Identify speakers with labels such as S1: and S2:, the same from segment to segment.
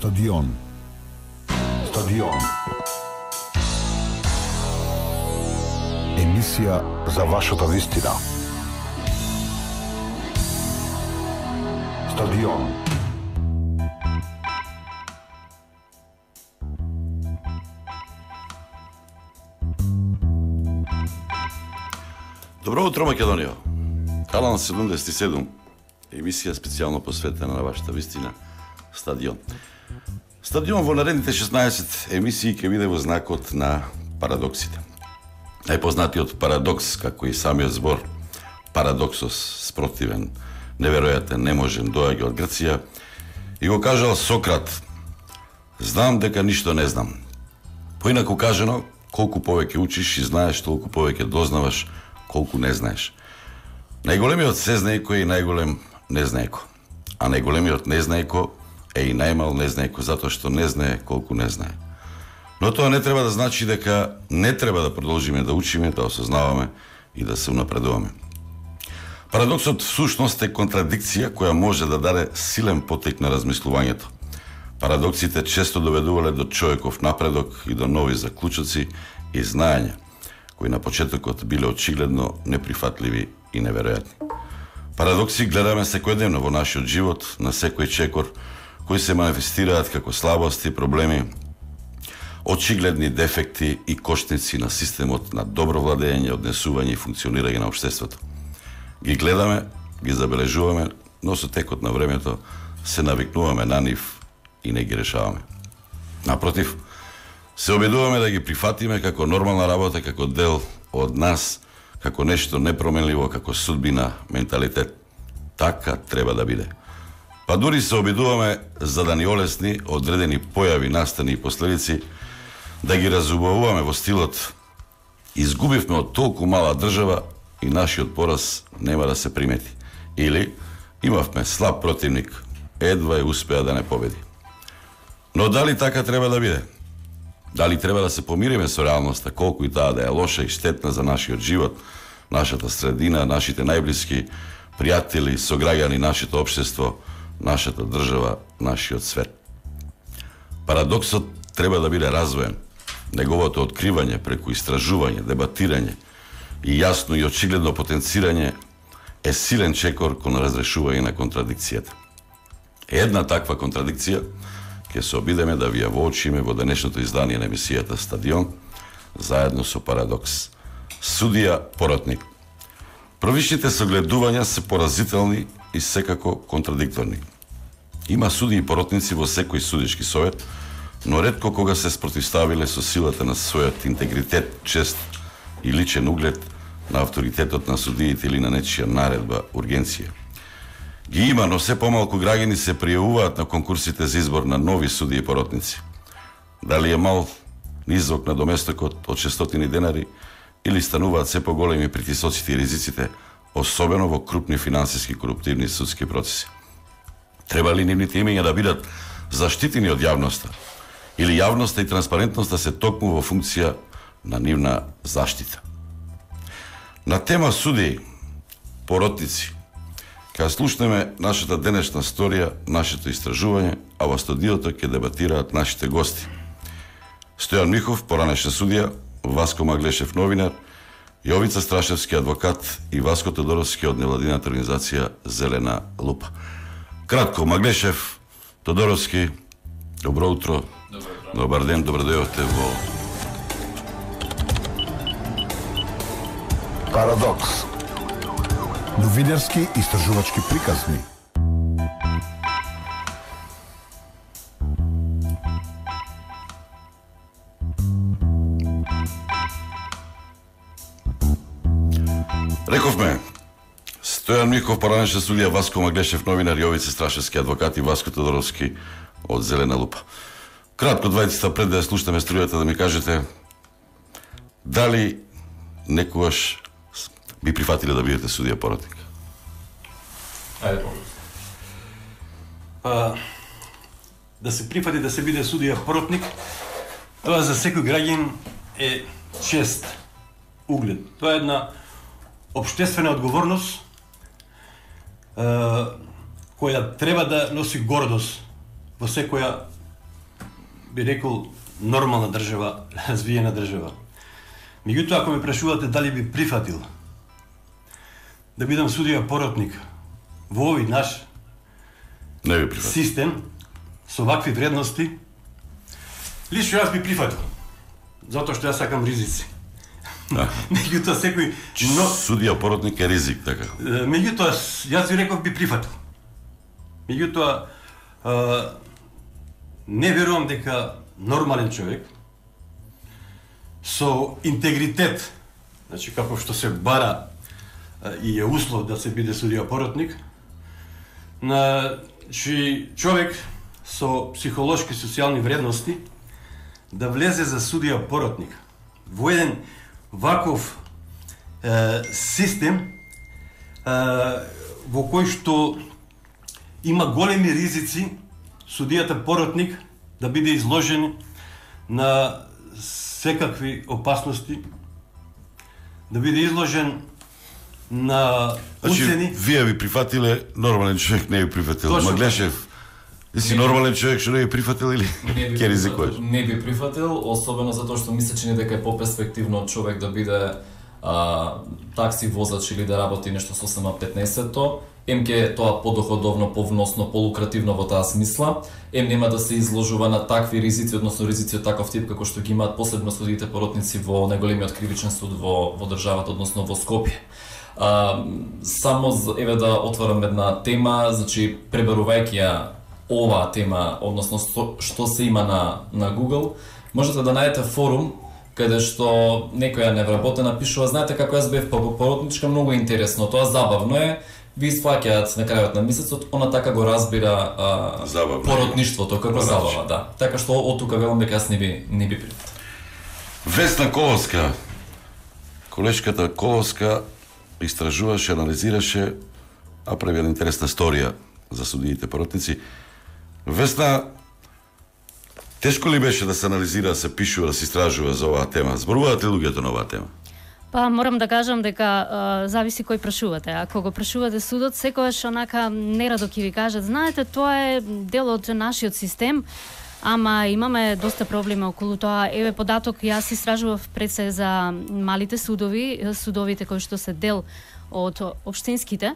S1: Стадион. Стадион. Емисија за вашата вистина. Стадион.
S2: Добро утро, Македонија. Канал 77, емисија специјално посветена на вашата вистина, Стадион. Стадион во наредните 16 емисии ќе биде во знакот на парадоксите. Најпознатиот парадокс, како и самиот збор парадоксос, спротивен, неверојатен, неможен, доаѓа од Грција, и го кажал Сократ: знам дека ништо не знам. Поинаку кажано, колку повеќе учиш и знаеш, толку повеќе дознаваш колку не знаеш. Најголемиот сезнаеко е и најголем незнаеко, а најголемиот незнаеко е и најмал незнаеко, затоа што не знае колку не знае. Но тоа не треба да значи дека не треба да продолжиме да учиме, да осознаваме и да се унапредуваме. Парадоксот всушност е контрадикција која може да даде силен потек на размислувањето. Парадоксите често доведувале до човеков напредок и до нови заклучоци и знаења, кои на почетокот биле очигледно неприфатливи и неверојатни. Парадокси гледаме секојдневно во нашиот живот, на секој чекор, кои се манифестираат како слабости, проблеми, очигледни дефекти и кошници на системот на добро владење, однесување и функционирање на општеството. Ги гледаме, ги забележуваме, но со текот на времето се навикнуваме на нив и не ги решаваме. Напротив, се обидуваме да ги прифатиме како нормална работа, како дел од нас, како нешто непроменливо, како судбина, менталитет. Така треба да биде. Па дури се обидуваме за да ни олесни одредени појави, настани и последици, да ги разубавуваме во стилот: изгубивме од толку мала држава и нашиот пораз нема да се примети. Или имавме слаб противник, едва успеа да не победи. Но дали така треба да биде? Дали треба да се помириме со реалноста, колку и таа да е лоша и штетна за нашиот живот, нашата средина, нашите најблиски пријатели, сограѓани, нашето општество, нашата држава, нашиот свет? Парадоксот треба да биде развоен. Неговото откривање преку истражување, дебатирање и јасно и очигледно потенцирање е силен чекор кон разрешување на контрадикцијата. Една таква контрадикција ќе се обидеме да ви ја воочиме во денешното издание на емисијата Стадион, заедно со Парадокс. Судија поротник. Првичните согледувања се поразителни и секако контрадикторни. Има судии и поротници во секој судишки совет, но ретко кога се спротивставиле со силата на својот интегритет, чест и личен углед на авторитетот на судиите или на нечија наредба, ургенција. Ги има, но се помалку граѓани се пријавуваат на конкурсите за избор на нови судии и поротници. Дали е мал низок на доместокот од 600 денари или стануваат се поголеми притисоците и ризиците, особено во крупни финансиски коруптивни судски процеси. Треба ли нивните имења да бидат заштитени од јавноста? Или јавноста и транспарентноста се токму во функција на нивна заштита? На тема судии, поротници, ќе слушнеме нашата денешна сторија, нашето истражување, а во студиото ќе дебатираат нашите гости: Стојан Михов, поранешен судија, Васко Маглешев, новинар, Јовица Страшевски, адвокат, и Васко Тодоровски од невладината организација Зелена лупа. Кратко, Маглешев, Тодоровски, добро утро. Добар ден, добро дојдовте во
S1: Парадокс. Новинарски истражувачки приказни.
S2: Рековме, Стојан Михов, поранешен судија, Васко Маглешев, новинар, Јовица Страшевски, адвокат, и Васко Тодоровски од Зелена лупа. Кратко, двајцата, пред да ја слушнеме струјата, да ми кажете дали некогаш би прифатиле да бидете судија поротник?
S3: Да се прифати да се биде судија поротник, тоа за секој граѓанин е чест, углед. Тоа е една општествена одговорност која треба да носи гордост во секоја би рекол, нормална држава, развиена држава. Меѓутоа, ако ме прашувате дали би прифатил да бидам судија поротник во овој наш
S2: Не би прифатил.
S3: систем со вакви вредности, лично јас би прифатил. Затоа што јас сакам ризици.
S2: Да.
S3: Меѓутоа секој
S2: Судија поротник е ризик, така.
S3: меѓутоа јас ви реков би прифатил. Меѓутоа не верувам дека нормален човек со интегритет, значи како што се бара и е услов да се биде судија поротник, значи човек со психолошки и социјални вредности да влезе за судија поротник во еден ваков систем во кој што има големи ризици судијата поротник да биде изложен на секакви опасности, да биде изложен на уцени.
S2: Вие би прифатиле, нормален човек не би прифатил.
S3: Точно.
S2: Маглешев, ти си нормален човек што не би прифатил или ќе ризикуваш?
S4: Не би прифатил, особено затоа што мисля че дека е поперспективно од човек да биде такси возач или да работи нешто со СМ-15-то. Ем ке тоа подоходовно, повносно, полукративно во таа смисла. Ем нема да се изложува на такви ризици, односно ризици од таков тип како што ги имаат посебно судиите поротници во најголемиот кривичен суд во државата, односно во Скопје. Само еве да отворам една тема, значи пребарувајќи ја оваа тема, односно што се има на Google, можете да најдете форум каде што некоја невработена пишува, знаете како јас бев поротничка, многу интересно, тоа забавно е, ви исплаќаат на крајот на месецот, она така го разбира поротништвото како забава, да. Така што од тука велам дека јас не би прифатил.
S2: Весна Коловска, колешката Коловска истражуваше, анализираше, а прави една интересна сторија за судиите поротници. Весна, тешко ли беше да се анализира, да се пишува, да се истражува за оваа тема? Зборуваат ли луѓето на оваа тема?
S5: Па морам да кажам дека зависи кој прашувате. Ако го прашувате судот, секогаш онака нерадо ќе ви кажат, знаете, тоа е дел од нашиот систем, ама имаме доста проблеми околу тоа. Еве податок, јас истражував пред се за малите судови, судовите кои што се дел од општинските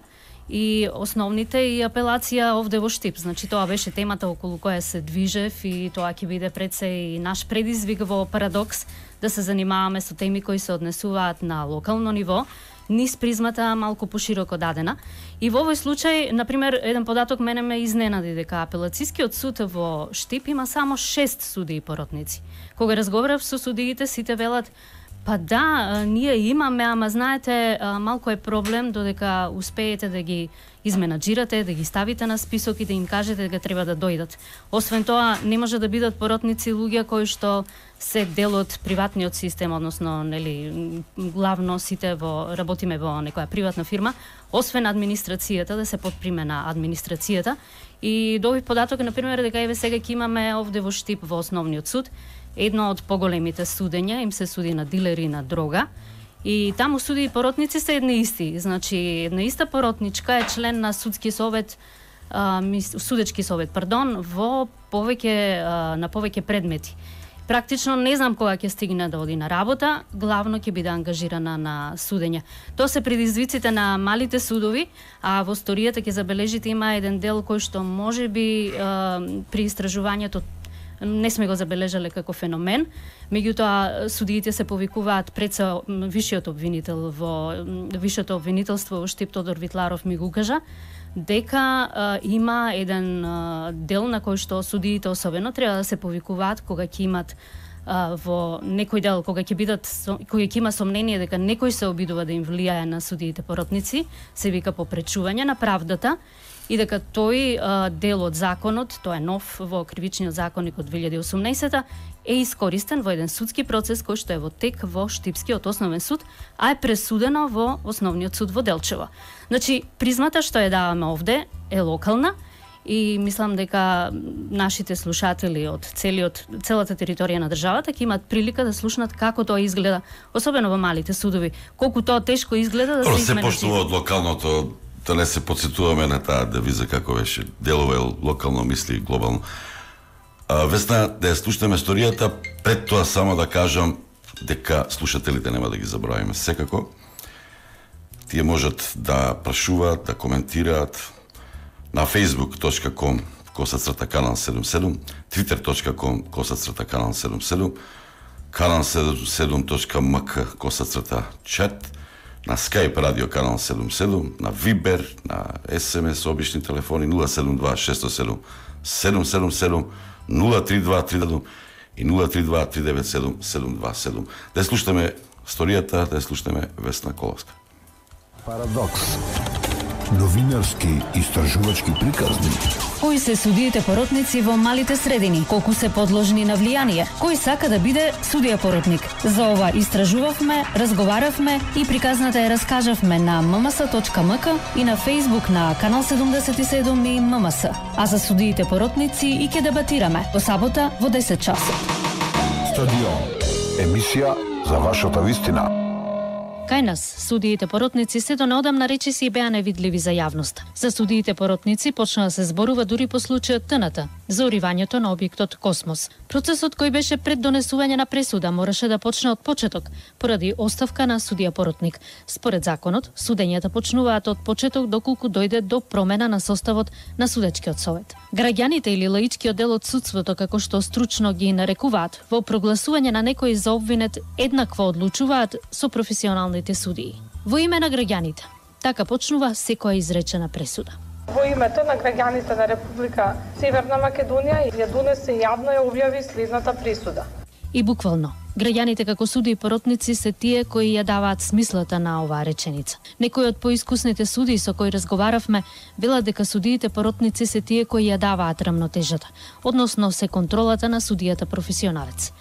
S5: и основните и апелација овде во Штип. Значи тоа беше темата околу која се движев и тоа ќе биде пред се и наш предизвик во Парадокс да се занимаваме со теми кои се однесуваат на локално ниво, низ призмата малку пошироко дадена. И во овој случај, например, еден податок мене ме изненади дека апелацискиот суд во Штип има само 6 судии поротници. Кога разговарав со судиите, сите велат па да, ние имаме, ама знаете, малку е проблем додека успеете да ги изменаџирате, да ги ставите на список и да им кажете дека треба да дојдат. Освен тоа, не може да бидат поротници луѓе кои што се дел од приватниот систем, односно, нели, главно сите работиме во некоја приватна фирма, освен администрацијата, да се подприме на администрацијата. И до овој податок, например, дека еве сега ќе имаме овде во Штип во основниот суд, едно од поголемите судења, им се суди на дилери на дрога, и таму суди и поротници се едни исти. Значи, една иста поротничка е член на судски совет, судечки совет, во на повеќе предмети. Практично не знам кога ќе стигне да оди на работа, главно ќе биде ангажирана на судење. Тоа се предизвиците на малите судови, а во историјата ќе забележите има еден дел кој што можеби при истражувањето не сме го забележале како феномен, меѓутоа судиите се повикуваат пред висшиот обвинител во висшето обвинителство во Штип, Тодор Витларов ми го кажа дека има еден дел на кој што судиите особено треба да се повикуваат кога ќе имат во некој дел, кога ќе има сомнение дека некој се обидува да им влијае на судиите поротници, се вика попречување на правдата, и дека тој дел од законот, тоа е нов во Кривичниот законник од 2018, е искористен во еден судски процес кој што е во тек во Штипскиот основен суд, а е пресудено во Основниот суд во Делчево. Значи, призмата што ја даваме овде е локална и мислам дека нашите слушатели од целата територија на државата ќе имаат прилика да слушнат како тоа изгледа, особено во малите судови, колку тоа тешко изгледа да се измени.
S2: Се почнува од локалното, да не се подсетуваме на таа девиза како беше, делува локално, мисли глобално. Весна, да ја слушнеме историјата, пред тоа само да кажам дека слушателите нема да ги забравиме секако. Тие можат да прашуваат, да коментираат на facebook.com/Канал77, twitter.com/Канал77, Канал77.mk/chat, на Skype радио Канал 77, на Viber, на SMS, обични телефони 072 607 777, 032 и 032 397 727. Да ја слушнеме историјата, да ја слушнеме Весна Коловска.
S1: Парадокс. Новинарски истражувачки приказни.
S5: Кои се судиите поротници во малите средини? Колку се подложни на влијание? Кој сака да биде судија поротник? За ова истражувавме, разговаравме и приказната ја раскажавме на mms.mk и на Facebook на Канал 77 и ММС. А за судиите поротници и ќе дебатираме во сабота во 10 часот.
S1: Стадион. Емисија за вашата вистина.
S5: Кај нас, судиите поротници сето неодамна речиси и беа невидливи за јавноста. За судиите поротници почна да се зборува дури по случајот ТНТ, за уривањето на објектот Космос. Процесот кој беше пред донесување на пресуда мораше да почне од почеток, поради оставка на судија поротник. Според законот, судењата почнуваат од почеток доколку дојде до промена на составот на судечкиот совет. Граѓаните или лаичкиот дел од судството, како што стручно ги нарекуваат, во прогласување на некој за обвинет еднакво одлучуваат со професионалните судии. Во име на граѓаните, така почнува секоја изречена пресуда.
S6: Во името на граѓаните на Република Северна Македонија ја донесе јавно ја објави следната пресуда.
S5: И буквално, граѓаните како суди и поротници се тие кои ја даваат смислата на оваа реченица. Некои од поискусните судии со кои разговаравме велат дека судиите поротници се тие кои ја даваат рамнотежата, односно се контролата на судијата професионалец.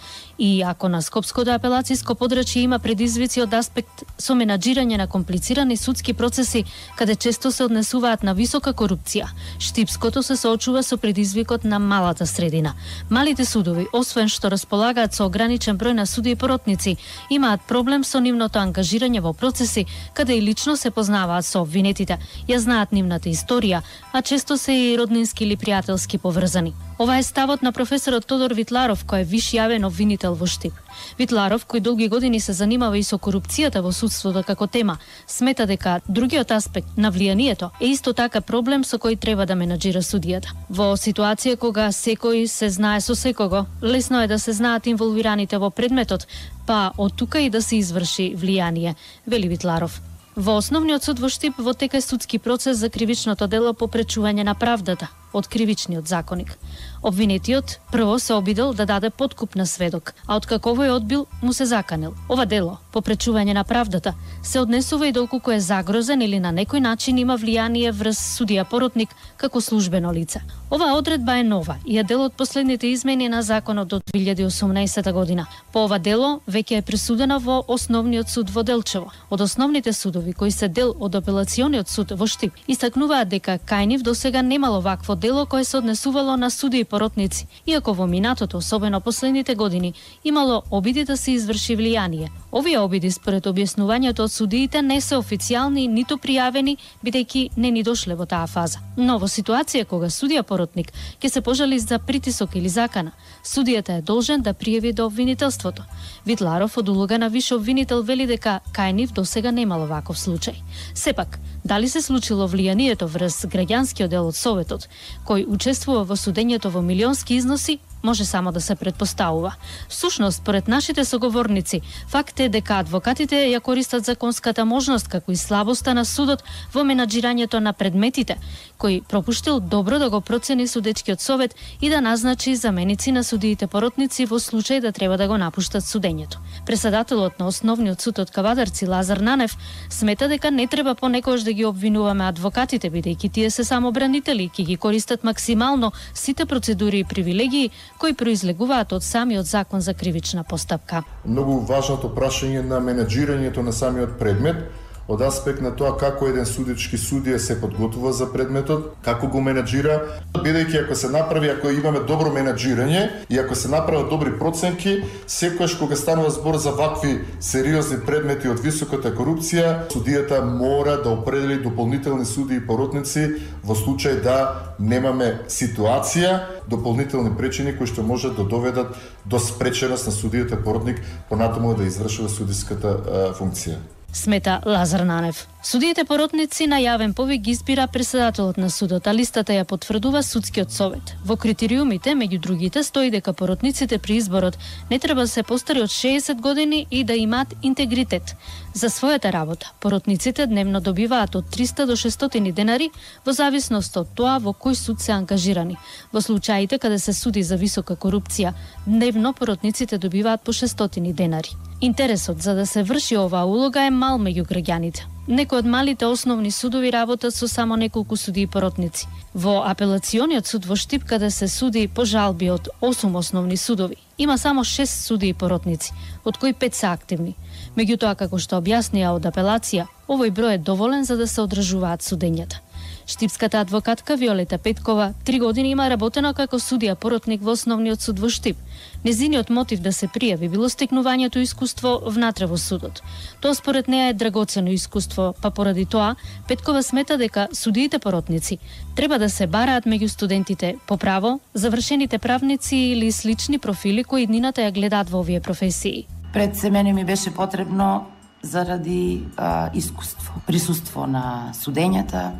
S5: И ако на Скопското апелациско подрачје има предизвици од аспект со менаџирање на комплицирани судски процеси, каде често се однесуваат на висока корупција, Штипското се соочува со предизвикот на малата средина. Малите судови, освен што располагаат со ограничен број на суди и поротници, имаат проблем со нивното ангажирање во процеси каде и лично се познаваат со обвинетите, ја знаат нивната историја, а често се и роднински или пријателски поврзани. Ова е ставот на професорот Тодор Витларов, кој е виш јавен обвинител во Штип. Витларов, кој долги години се занимава и со корупцијата во судството како тема, смета дека другиот аспект на влијанието е исто така проблем со кој треба да менаџира судијата. Во ситуација кога секој се знае со секого, лесно е да се знаат инволвираните во предметот, па од тука и да се изврши влијание, вели Витларов. Во Основниот суд во Штип во тека е судски процес за кривичното дело попречување на правдата од кривичниот законик. Обвинетиот прво се обидел да даде подкуп на сведок, а откако овој одбил, му се заканил. Ова дело, попречување на правдата, се однесува и доколку е загрозен или на некој начин има влијание врз судија поротник како службено лице. Оваа одредба е нова и е дел од последните измени на законот од 2018 година. По ова дело веќе е пресудена во Основниот суд во Делчево. Од основните судови кои се дел од Апелациониот суд во Штип истакнуваат дека кај нив досега немало вакво дело кое се однесувало на суди и поротници, иако во минатото, особено последните години, имало обиди да се изврши влијание. Овие обиди според објаснувањето од судиите не се официјални ниту пријавени, бидејќи не ни дошле во таа фаза. Но во ситуација кога судија поротник ќе се пожали за притисок или закана, судијата е должен да пријави до обвинителството. Витларов од улога на виш обвинител вели дека кај нив досега немало ваков случај. Сепак, дали се случило влијанието врз граѓанскиот дел од Советот, кој учествува во судењето во милионски износи, може само да се предпоставува. Всушност, според нашите соговорници, факт е дека адвокатите ја користат законската можност како и слабоста на судот во менаџирањето на предметите, кој пропуштил добро да го процени судечкиот совет и да назначи заменици на судиите поротници во случај да треба да го напуштат судењето. Преседателот на Основниот суд од Кавадарци Лазар Нанев смета дека не треба понекогаш да ги обвинуваме адвокатите, бидејќи тие се само бранители и ќе ги користат максимално сите процедури и привилегии кои произлегуваат од самиот закон за кривична постапка.
S7: Многу важното прашање на менеџирањето на самиот предмет, од аспект на тоа како еден судички судија се подготвува за предметот, како го менаџира, бидејќи ако се направи, ако имаме добро менаџирање и ако се направат добри проценки, секогаш кога станува збор за вакви сериозни предмети од високата корупција, судијата мора да определи дополнителни суди и поротници во случај да немаме ситуација, дополнителни пречини кои што можат да доведат до спреченост на судијата поротник понатаму да извршува судиската функција.
S5: Смета Лазар Нанев. Судиите поротници на јавен повик ги избира председателот на судот, а листата ја потврдува судскиот совет. Во критериумите, меѓу другите, стои дека поротниците при изборот не треба да се постари од 60 години и да имаат интегритет. За својата работа, поротниците дневно добиваат од 300 до 600 денари во зависност од тоа во кој суд се ангажирани. Во случаите каде се суди за висока корупција, дневно поротниците добиваат по 600 денари. Интересот за да се врши оваа улога е мал меѓу граѓаните. Некои од малите основни судови работат со само неколку суди и поротници. Во апелациониот суд во Штип, каде се суди по жалби од 8 основни судови, има само 6 суди и поротници, од кои 5 се активни. Меѓутоа, како што објаснија од апелација, овој број е доволен за да се одржуваат судењата. Штипската адвокатка Виолета Петкова 3 години има работено како судија поротник во основниот суд во Штип. Незиниот мотив да се пријави било стекнувањето искуство внатре во судот. Тоа според неа е драгоцено искуство, па поради тоа Петкова смета дека судиите поротници треба да се бараат меѓу студентите по право, завршените правници или слични профили кои иднината ја гледаат во овие професии.
S8: Пред се мене ми беше потребно заради искуство, присуство на судењата,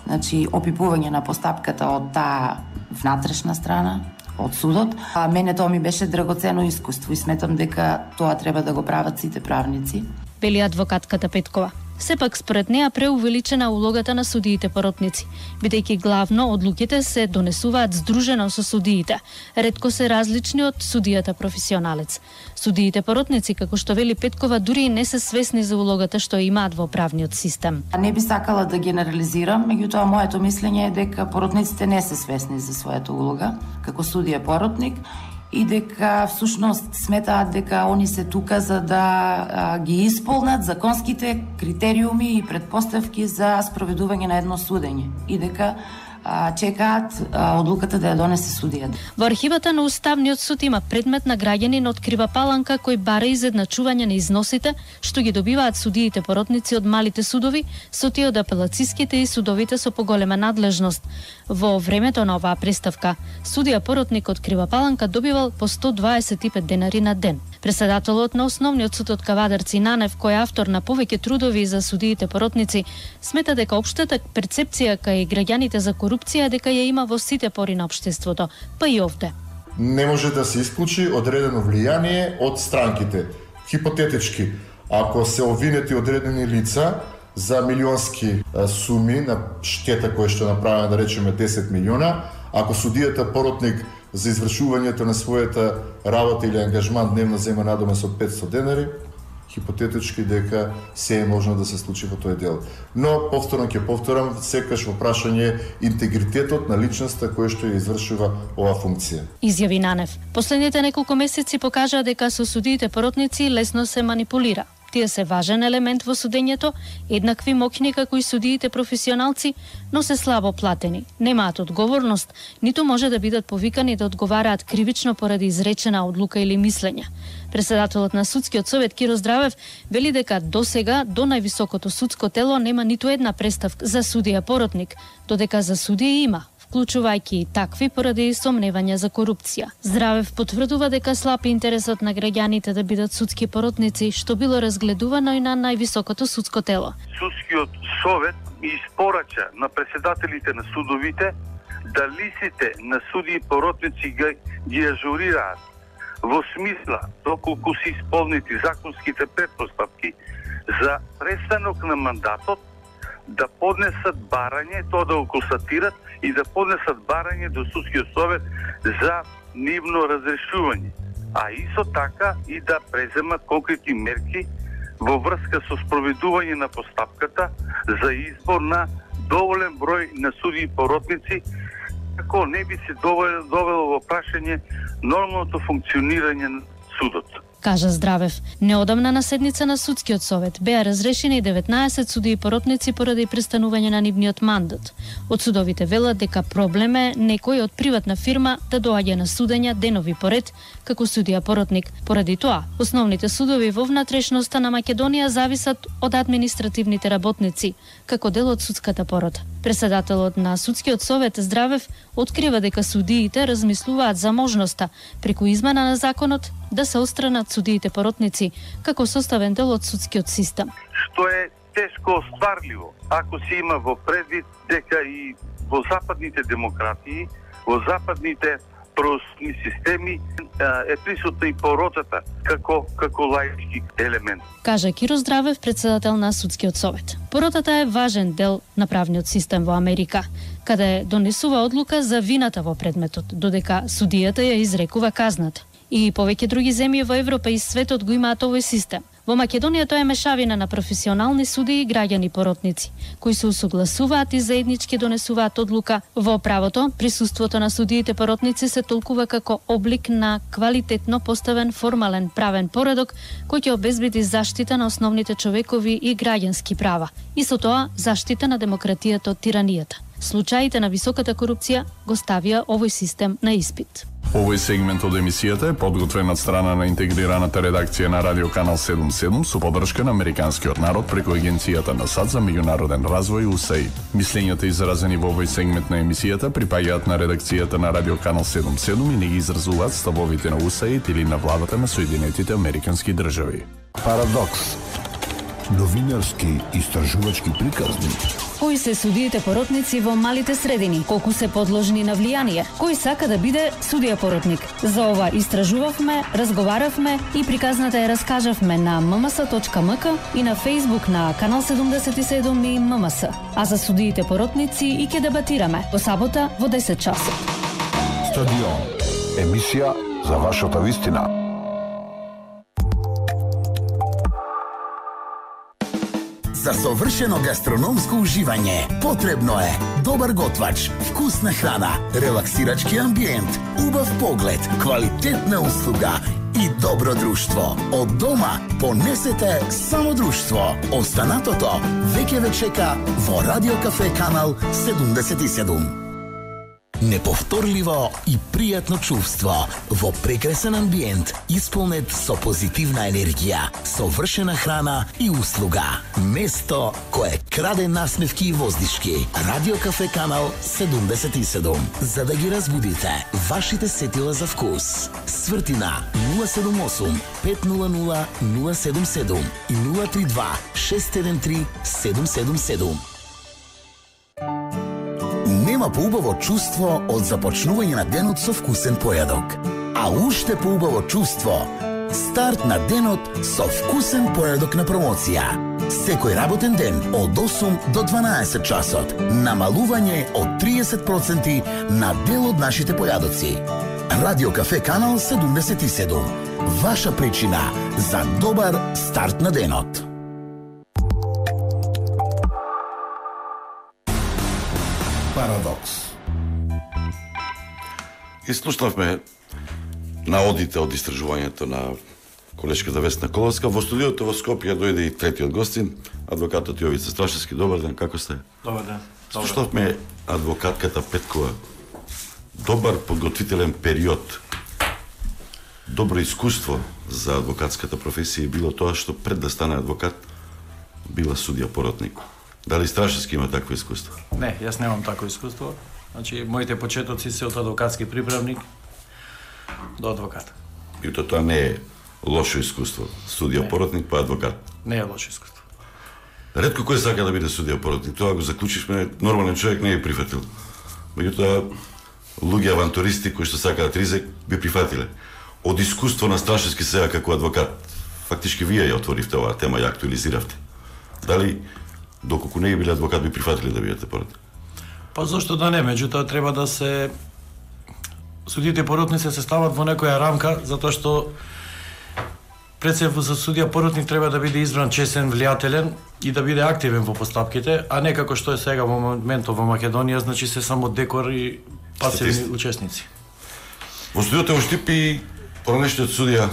S8: значи опипување на постапката од таа внатрешна страна, од судот. А мене тоа ми беше драгоцено искуство и сметам дека тоа треба да го прават сите правници.
S5: Вели адвокатката Петкова. Сепак според неа преувеличена улогата на судиите поротници, бидејќи главно одлуките се донесуваат здружено со судиите, ретко се различни од судијата професионалец. Судиите поротници, како што вели Петкова, дури не се свесни за улогата што имаат во правниот систем.
S8: Не би сакала да генерализирам, меѓутоа моето мислење е дека поротниците не се свесни за својата улога како судија поротник и дека всушност сметаат дека они се тука за да ги исполнат законските критериуми и предпоставки за спроведување на едно судење и дека чекаат одлуката да ја донесе судијата.
S5: Во архивата на Уставниот суд има предмет на граѓанин од Крива Паланка кој бара изедначување на износите што ги добиваат судиите поротници од малите судови со тие од апелациските и судовите со поголема надлежност. Во времето на оваа преставка, судија поротник од Крива Паланка добивал по 125 денари на ден. Председателот на Основниот суд од Кавадарци Нанев, кој е автор на повеќе трудови за судиите поротници, смета дека општата перцепција кај граѓаните за корупција дека ја има во сите пори на општеството, па и овде.
S7: Не може да се исклучи одредено влијание од странките. Хипотетички, ако се обвинети одредени лица за милионски суми на штета која што направена, да речеме 10 милиона, ако судијата поротник за извршувањето на својата работа или ангажман дневно зема надома со 500 денари, хипотетички дека се е можно да се случи во тој дел. Но, повторно ќе повторам, секаш во прашање интегритетот на личноста која што ја извршува оваа функција.
S5: Изјави Нанев. Последните неколку месеци покажаа дека со судиите поротници лесно се манипулира. Тие се важен елемент во судењето, еднакви моќни како и судиите професионалци, но се слабо платени, немаат одговорност, ниту може да бидат повикани да одговараат кривично поради изречена одлука или мислење. Председателот на судскиот совет Киро Здравев вели дека досега до највисокото судско тело нема ниту една преставка за судија поротник, додека за судија има, вклучувајќи и такви поради сомневања за корупција. Здравев потврдува дека слаб интересот на граѓаните да бидат судски поротници, што било разгледувано и на највисокото судско тело.
S9: Судскиот совет испорача на председателите на судовите да листите на судии поротници ги ажурираат во смисла доколку се исполнети законските претпоставки за престанок на мандатот, да поднесат барање, тоа да го констатират и да поднесат барање до судскиот совет за нивно разрешување, а исто така и да преземат конкретни мерки во врска со спроведување на постапката за избор на доволен број на судии поротници, како не би се довело во прашање нормалното функционирање на судот.
S5: кажа Здравев. Неодамна на седница на судскиот совет беа разрешени 19 судии поротници поради престанување на нивниот мандат. Од судовите велат дека проблем е некој од приватна фирма да доаѓа на судења денови поред како судија поротник. Поради тоа, основните судови во внатрешноста на Македонија зависат од административните работници, како дел од судската порота. Председателот на судскиот совет Здравев открива дека судиите размислуваат за можноста преку измена на законот да се отстранат судиите поротници како составен дел од судскиот систем.
S9: Што е тешко остварливо, ако се има во предвид дека и во западните демократии, во западните правосудни системи е присутна и поротата како лаички елемент.
S5: Кажа Киро Здравев, председател на судскиот совет. Поротата е важен дел на правниот систем во Америка, каде донесува одлука за вината во предметот, додека судијата ја изрекува казната. И повеќе други земји во Европа и светот го имаат овој систем. Во Македонија тоа е мешавина на професионални судии и граѓани поротници, кои се усогласуваат и заеднички донесуваат одлука. Во правото, присуството на судиите поротници се толкува како облик на квалитетно поставен формален правен поредок кој ќе обезбеди заштита на основните човекови и граѓански права и со тоа заштита на демократијата од тиранијата. Случаите на високата корупција го ставија овој систем на испит.
S10: Овој сегмент од емисијата е подготвен од страна на интегрираната редакција на Радио Канал 77 со поддршка на Американскиот народ преку Агенцијата на САД за меѓународен развој USAID. Мислењата изразени во овој сегмент на емисијата припаѓаат на редакцијата на Радио Канал 77 и не ги изразуваат ставовите на USAID или на владата на Соединетите Американски држави.
S1: Парадокс. Новинарски истражувачки приказни.
S5: Кои се судиите поротници во малите средини? Колку се подложни на влијание? Кој сака да биде судија поротник? За ова истражувавме, разговаравме и приказната ја раскажавме на mms.mk и на Facebook на Канал 77 и ММС. А за судиите поротници и ќе дебатираме во сабота во 10 часот.
S1: Стадион. Емисија за вашата вистина.
S11: За совршено гастрономско уживање потребно е добар готвач, вкусна храна, релаксирачки амбиент, убав поглед, квалитетна услуга и добро друштво. Од дома понесете само друштво. Останатото веќе ве чека во Радио Кафе Канал 77. Неповторливо и пријатно чувство во прекрасен амбиент, исполнет со позитивна енергија, совршена храна и услуга. Место кое краде насмевки и воздишки. Радио Кафе Канал 77. За да ги разбудите вашите сетила за вкус. Свртина 078 500 077 и 032 613 777. Нема поубаво чувство од започнување на денот со вкусен појадок. А уште поубаво чувство старт на денот со вкусен појадок на промоција. Секој работен ден од 8 до 12 часот намалување од 30% на дел од нашите појадоци. Радио Кафе Канал 77. Ваша причина за добар старт на денот.
S1: Парадокс.
S2: И слушнавме наодите од истражувањето на колешката Весна Коловска. Во студиото во Скопје дојде и третиот гостин, адвокатот Јовица Страшевски. Добар ден, како сте?
S3: Добар ден.
S2: Слушнавме адвокатката Петкова. Добар подготвителен период. Добро искуство за адвокатската професија било тоа што пред да стане адвокат била судија поротник. Дали Страшевски има такво искуство?
S3: Не, јас немам такво искуство. Значи, моите почетоци се од адвокатски приправник до адвокат.
S2: И тоа не е лошо искуство. Судија поротник па адвокат.
S3: Не е лошо искуство.
S2: Ретко кој сака да биде судија поротник. Тоа го заклучишме, нормален човек не е прифатил. Меѓутоа, луѓе авантуристи кои што сакаат ризик би прифатиле. Од искуство на Страшевски сега како адвокат, фактички вие ја отворивте оваа тема, ја актуализиравте. Дали доколку не биле адвокат би прифатиле да бидете поротник?
S3: Па зошто да не, меѓутоа треба да се судите поротници се стават во некоја рамка, затоа што пред се за судија поротник треба да биде избран чесен, влијателен и да биде активен во постапките, а не како што е сега во моментот во Македонија, значи се само декор и пасивни учесници.
S2: Во студиото во Штип и поранешниот судија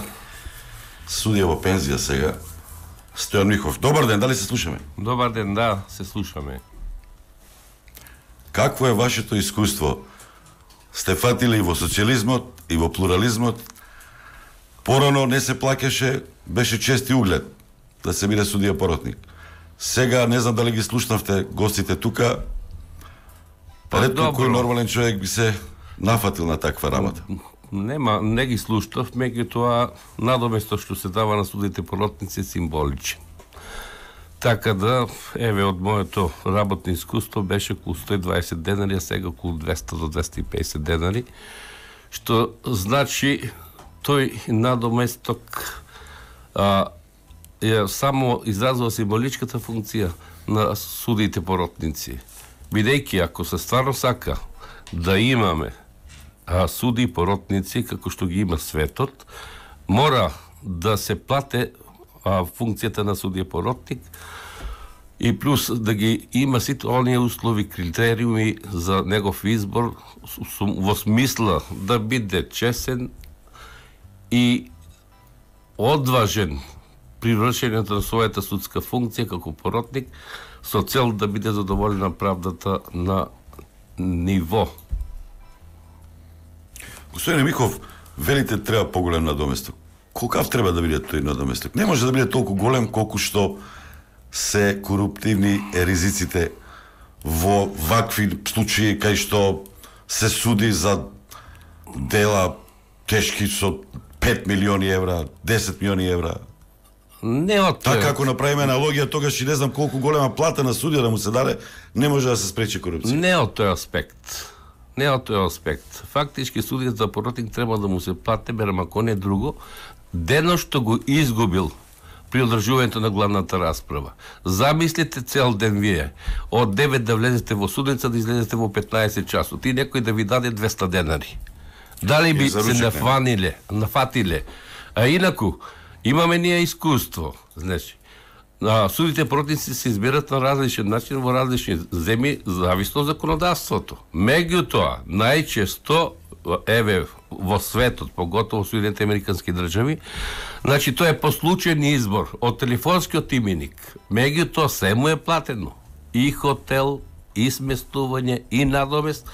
S2: судија во пензија сега, Стојан Михов. Добар ден, дали се слушаме?
S12: Добар ден, да, се слушаме.
S2: Какво е вашето искуство? Сте фатили и во социјализмот, и во плурализмот. Порано не се плаќаше, беше чест и углед да се биде судија поротник. Сега не знам дали ги слушнавте гостите тука. Ретко кој нормален човек би се нафатил на таква работа.
S12: Нема, не ги слушнав, меѓутоа надоместо што се дава на судите поротници е символичен. Така да, еве, од моето работно искуство беше околу 120 денари, а сега околу 200 до 250 денари, што значи тој надоместок само изразува символичката функција на судите поротници. Бидејќи, ако се стварно сака да имаме суди и поротници, како што ги има светот, мора да се плате функцијата на судија поротник и плюс да ги има сите оние услови, критериуми за негов избор во смисла да биде чесен и одважен при вршењето на својата судска функција како поротник со цел да биде задоволена правдата на ниво.
S2: Господине Михов, велите треба поголем надоместок. Колкав треба да биде тој надоместок? Не може да биде толку голем колку што се коруптивни ризиците во вакви случаи кај што се суди за дела тешки со 5 милиони евра, 10 милиони евра.
S12: Не од
S2: така ако направиме аналогија, тогаш и не знам колку голема плата на судија да му се даде, не може да се спречи корупција.
S12: Не од тој аспект. Не од тој аспект. Фактички судијата за поротник треба да му се плати, берам ако не друго, денот што го изгубил при одржувањето на главната расправа. Замислите цел ден вие, од 9 да влезете во судница, да излезете во 15 часот, и некој да ви даде 200 денари. Дали би се нафатиле? А инаку, имаме ние искуство. Значи, судите поротници се избират на различен начин во различни земји, зависно од законодавството. Меѓутоа, најчесто, еве, во светот, поготово Соединените американски држави, значи тоа е по случајен избор од телефонскиот именик. Меѓутоа се му е платено. И хотел, и сместување, и надомест.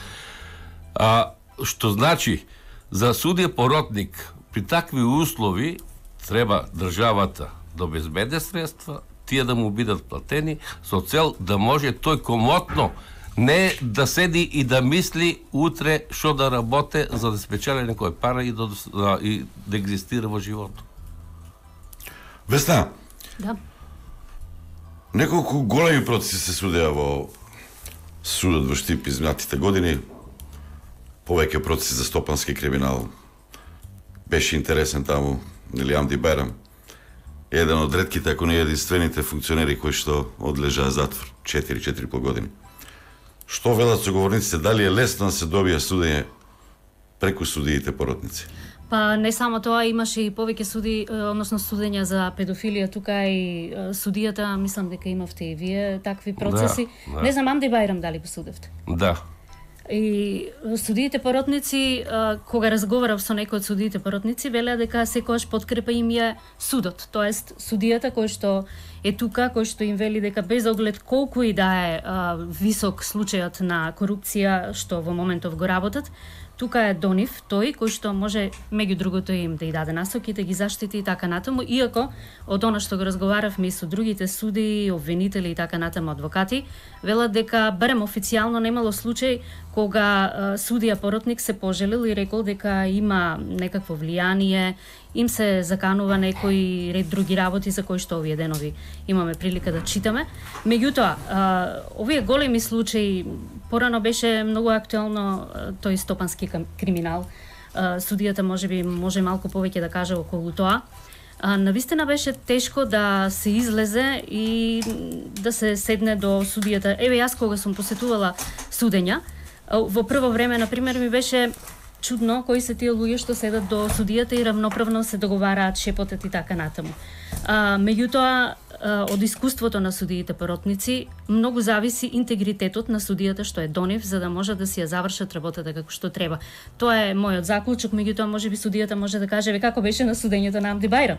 S12: Што значи, за судија поротник при такви услови треба државата да обезбеди средства, тие да му бидат платени со цел да може тој комотно не да седи и да мисли утре што да работи за да спечели некој пара и да екзистира во животот.
S2: Весна.
S5: Да.
S2: Неколку големи процеси се судеа во судот во Штип изминатите години. Повеќе процеси за стопански криминал. Беше интересен таму Нелијам Диберам. Еден од ретките, ако не единствените функционери кои што одлежаа затвор 4,5 години. Што велат соговорниците, дали е лесно да се добие судење преку судиите поротници?
S5: Па не само тоа, имаше и повеќе суди, односно судења за педофилија, тука и судијата, мислам дека имавте и вие такви процеси.
S12: Да.
S5: Не знам, Амде Бајрам дали го судевте?
S12: Да.
S5: И судиите поротници, кога разговарав со некои од судиите поротници, велеа дека секогаш подкрепа им е судот, тоест судијата кој што е тука, кој што им вели дека без оглед колку и да е висок случајот на корупција што во моментов го работат, тука е до нив тој кој што може меѓу другото им да и даде насоки, да ги заштити и така натаму, иако од она што го разговаравме и со другите суди, обвинители и така натаму адвокати, велат дека барем официјално немало случај кога судија поротник се пожелил и рекол дека има некакво влијание, им се заканува некои ред други работи за кои што овие денови имаме прилика да читаме. Меѓутоа, овие големи случаи, порано беше многу актуелно тој стопански криминал. Судијата може малку повеќе да каже околу тоа. Навистина беше тешко да се излезе и да се седне до судијата. Еве, јас кога сум посетувала судења, во прво време, например, ми беше чудно кои се тие луѓе што седат до судијата и равноправно се договараат, шепотат и така натаму. Меѓутоа, од искуството на судиите поротници, многу зависи интегритетот на судијата што е до нив, за да може да си ја завршат работата како што треба. Тоа е мојот заклучок, меѓутоа можеби судијата може да каже како беше на судењето на Амди Бајрам.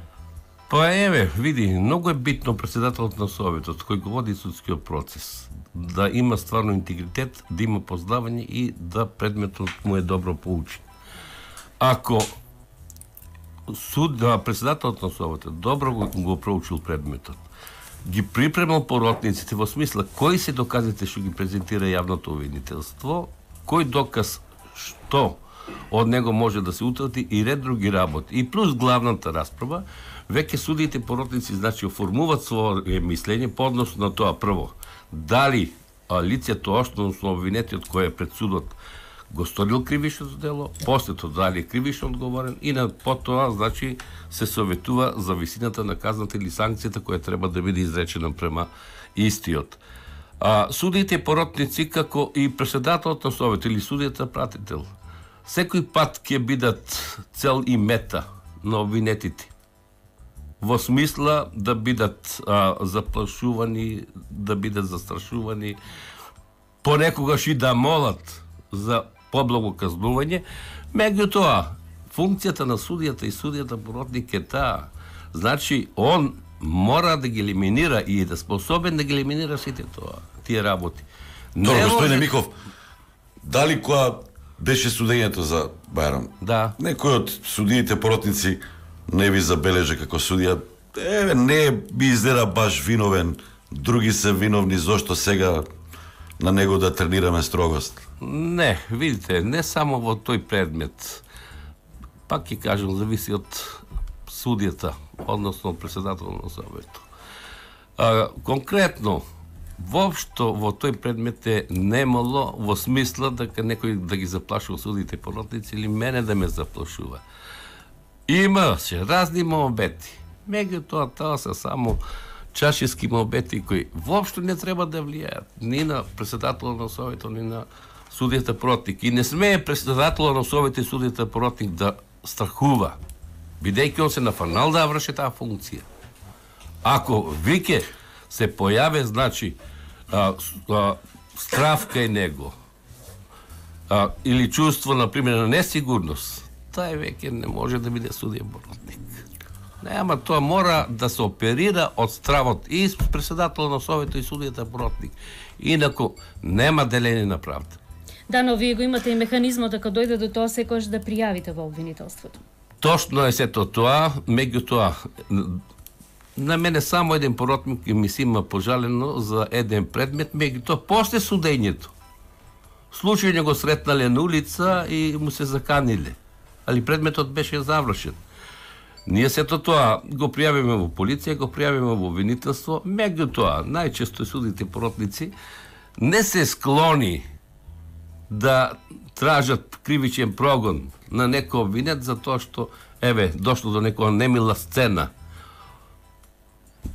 S12: Па еве, види, многу е битно председателот на Советот кој го води судскиот процес да има стварно интегритет, да има познавање и да предметот му е добро поучен. Ако председателот на Советот добро го проучил предметот, ги припремал поротниците во смисла кои се доказите што ги презентира јавното обвинителство, кој доказ што од него може да се утврди и ред други работи. И плюс главната расправа, веќе судиите поротници значи оформуваат свое мислење по однос на тоа прво. Дали лицето основно обвинетиот кој е пред судот го сторил кривишното дело, после тоа дали е кривично одговорен и на потоа значи се советува за висината на казната или санкцијата која треба да биде изречена према истиот. Судиите поротници како и председателот на Совет или судијата пратител секој пат ќе бидат цел и мета на обвинетите. Во смисла да бидат заплашувани, да бидат застрашувани, понекогаш и да молат за поблаго казнување. Меѓутоа, функцијата на судијата и судијата поротник е таа. Значи, он мора да ги елиминира и да способен да ги елиминира сите тие работи.
S2: Добро, господине Миков, дали која беше судењето за Бајрам?
S12: Да.
S2: Некој од судиите поротници не ви забележа како судија, не би изгледа баш виновен, други се виновни, зошто сега на него да тренираме строгост?
S12: Не, видите, не само во тој предмет. Пак ќе кажам, зависи од судијата, односно председател на Советот. Конкретно, воопшто во тој предмет е немало во смисла дека некој да ги заплашува судиите поротници или мене да ме заплашува. Имаше разни молбети. Меѓутоа, тоа се само чашиски молбети кои воопшто не треба да влијаат ни на председателот на Советот, ни на судијата поротник. И не смее председателот на Советот и судијата поротник да страхува, бидејќи он се нафанал да врши таа функција. Ако вике се појаве, значи, страв кај него, или чувство, например, на несигурност, тај веќе не може да биде судија поротник. Не, ама тоа мора да се оперира од стравот и председателот на Советот и судијата поротник. Инаку нема делење на правда.
S5: Да, но вие го имате и механизмот дека дојде до тоа секогаш да пријавите во обвинителството.
S12: Точно е сето тоа, меѓутоа на мене само еден поротник ми се има пожалено за еден предмет, меѓутоа после судењето. Случајно го сретнале на улица и му се заканиле. Али предметот беше завршен. Ние сето тоа го пријавиме во полиција, го пријавиме во обвинителство, меѓутоа најчесто судите поротници не се склони да тражат кривичен прогон на некој обвинет за тоа што дошло до некоја немила сцена.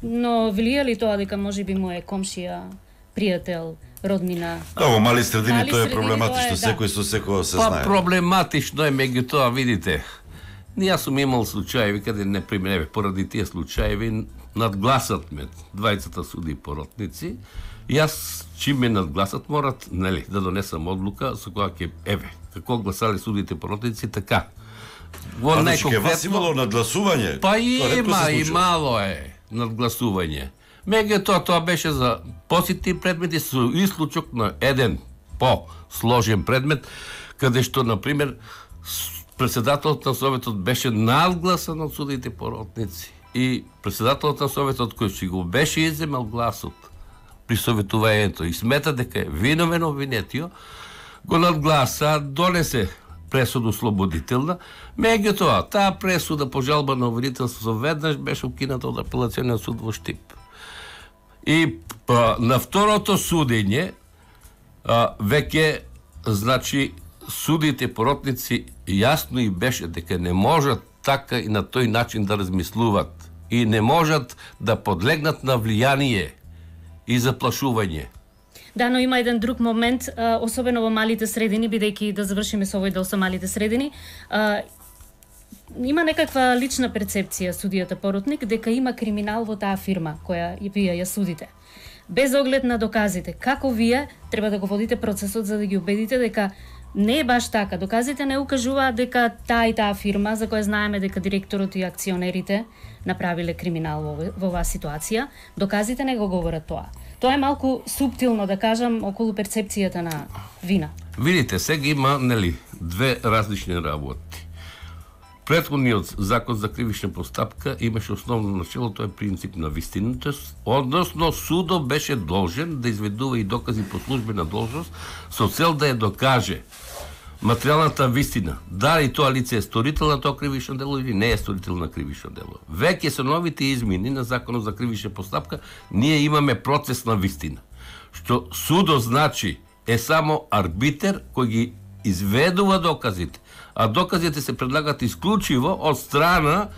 S5: Но влија ли тоа дека можеби му е комшија, пријател, роднина?
S2: Да, во мали средини тоа е проблематично, секој со секој се знае.
S12: Па проблематично е, меѓутоа, видите, јас сум имал случаеви каде, например, поради тие случаеви надгласат ме двајцата суди поротници, јас чим ме надгласат морат, нели, да донесам одлука со која ќе, како гласале судите поротници, така.
S2: Во ке вас имало надгласување?
S12: Па има, и мало е надгласување. Меѓутоа тоа беше за посетни предмети со исклучок на еден по-сложен предмет, каде што, например, председателот на Советот беше надгласан од судите поротници и председателот на Советот кој си го беше иземал гласот при советувањето и смета дека е виновен обвинетио, го надгласа, донесе пресуду слободителна, меѓутоа таа пресуда по жалба на обвинителството веднаш беше укината од апелационен суд во Штип. И на второто судење веќе, значи, судите поротници јасно и беше дека не можат така и на тој начин да размислуват и не можат да подлегнат на влијание и заплашување.
S5: Да, но има еден друг момент, особено во малите средини, бидејќи да завршиме со овој дел со малите средини, има некаква лична перцепција судијата поротник дека има криминал во таа фирма која вие ја судите. Без оглед на доказите, како вие треба да го водите процесот за да ги убедите дека Не е баш така. Доказите не укажуваат дека таа и таа фирма, за која знаеме дека директорот и акционерите направиле криминал во оваа ситуација, доказите не го говорат тоа. Тоа е малку суптилно, да кажам, околу перцепцијата на вина.
S12: Видите, сега има, нели, две различни работи. Претходниот закон за кривична постапка имаше основно начало, тоа е принцип на вистината, односно судот беше должен да изведува и докази по службена должност со цел да ја докаже материјалната вистина, дали тоа лице е сторител на тоа кривично дело или не е сторител на кривично дело. Веќе со новите измени на законот за кривична постапка ние имаме процес на вистина, што судот значи е само арбитер кој ги изведува доказите, а доказите се предлагат исклучиво од страна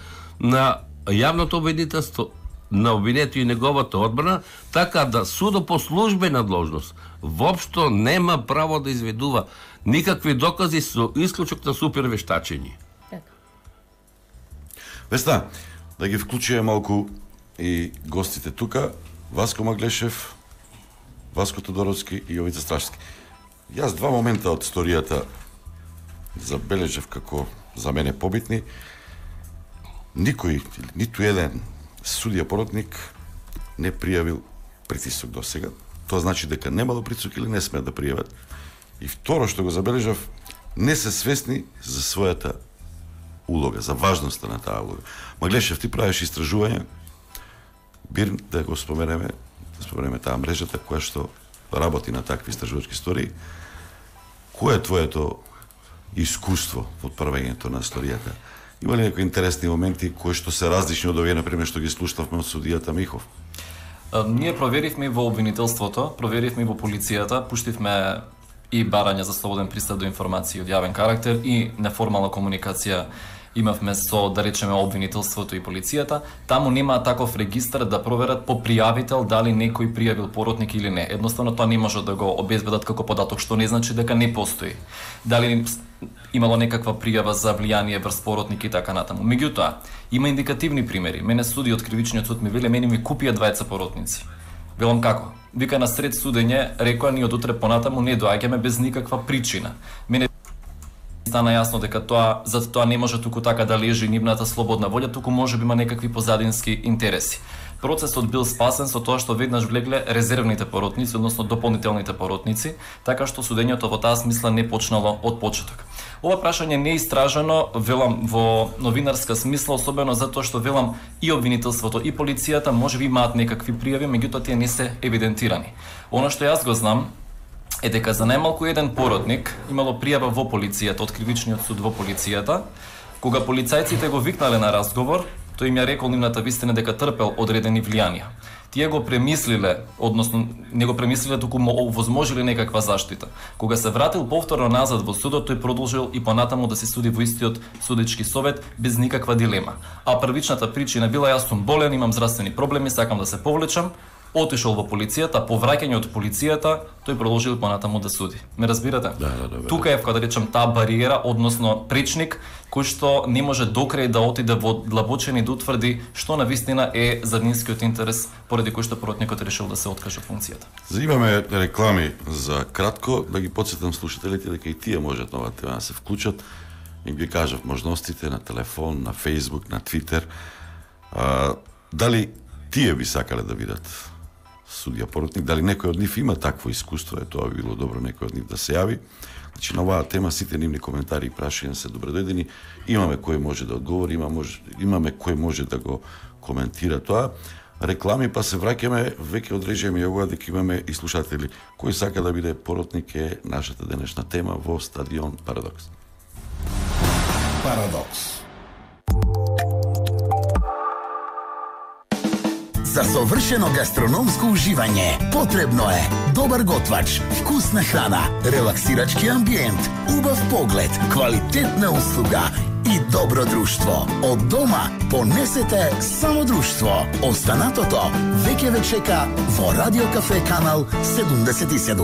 S12: на јавното обвинителство, на обвинетиот и неговата одбрана, така да судот по службена должност воопшто нема право да изведува никакви докази со исклучок на супервештачење.
S2: Веста, да ги вклучиме малку и гостите тука, Васко Маглешев, Васко Тодоровски и Јовица Страшевски. Јас два момента од историјата забележав како за мене побитни. Никој, ниту еден судија поротник не пријавил притисок до сега. Тоа значи дека немало притисок или не смеат да пријават. И второ што го забележав, не се свесни за својата улога, за важноста на таа улога. Маглешев, ти правиш истражување, БИРН, да го споменеме таа мрежата која што работи на такви истражувачки истории. Кој е твоето искуство во отправењето на историјата? Има ли некои интересни моменти кои што се различни од овие, например, што ги слушнавме од судијата Михов?
S4: Ние проверивме во обвинителството, проверивме во полицијата, пуштивме и барање за слободен пристап до информации од јавен карактер и неформална комуникација имавме со, да речеме, обвинителството и полицијата. Таму нема таков регистар да проверат по пријавител дали некој пријавил поротник или не. Едноставно тоа не може да го обезбедат како податок, што не значи дека не постои. Дали имало некаква пријава за влијание врз поротник и така натаму. Меѓутоа, има индикативни примери. Мене суди од кривичниот суд ми веле, мене ми купија двајца поротници. Велам како? Вика на сред судење, рекоа ние од утре понатаму не доаѓаме без никаква причина. Мене стана јасно дека за тоа не може туку така да лежи нивната слободна волја, туку може би има некакви позадински интереси. Процесот бил спасен со тоа што веднаш влегле резервните поротници, односно дополнителните поротници, така што судењето во таа смисла не почнало од почеток. Ова прашање не е истражено, велам, во новинарска смисла, особено затоа што, велам, и обвинителството и полицијата може би имаат некакви пријави, меѓутоа тие не се евидентирани. Она што јас го знам е дека за најмалку еден поротник имало пријава во полицијата, од кривичниот суд во полицијата, кога полицајците го викнале на разговор, тој им ја рекол нивната вистина дека трпел одредени влијанија. Тие го премислиле, односно не го премислиле, туку му овозможили некаква заштита. Кога се вратил повторно назад во судот, тој продолжил и понатаму да се суди во истиот судечки совет без никаква дилема. А првичната причина била: јас сум болен, имам здравствени проблеми, сакам да се повлечам. Отишол во полицијата, по враќање од полицијата, тој продолжил понатаму да суди. Ме разбирате?
S2: Да.
S4: Тука е, кога да речам, таа бариера, односно пречник, кој што не може докрај да отиде во длабочини да утврди што навистина е заднинскиот интерес, поради кој што поротникот решил да се откаже од функцијата.
S2: Имаме реклами за кратко, да ги потсетам слушателите дека и тие можат на оваа тема да се вклучат, и ги кажав можностите на телефон, на Facebook, на Twitter. Дали тие би сакале да видат судија поротник, дали некој од нив има такво искуство, тоа би било добро некој од нив да се јави. Значи, на оваа тема сите нивни коментари и прашања се добродојдени. Имаме кој може да одговори, имаме кој може да го коментира тоа. Реклами, па се враќаме, веќе одрежеме јагова дека имаме и слушатели. Кој сака да биде поротник е нашата денешна тема во стадион Парадокс.
S1: Парадокс.
S11: За совршено гастрономско уживање потребно е добар готвач, вкусна храна, релаксирачки амбиент, убав поглед, квалитетна услуга и добро друштво. Од дома понесете само друштво. Останатото веќе ве чека во Радио Кафе канал 77.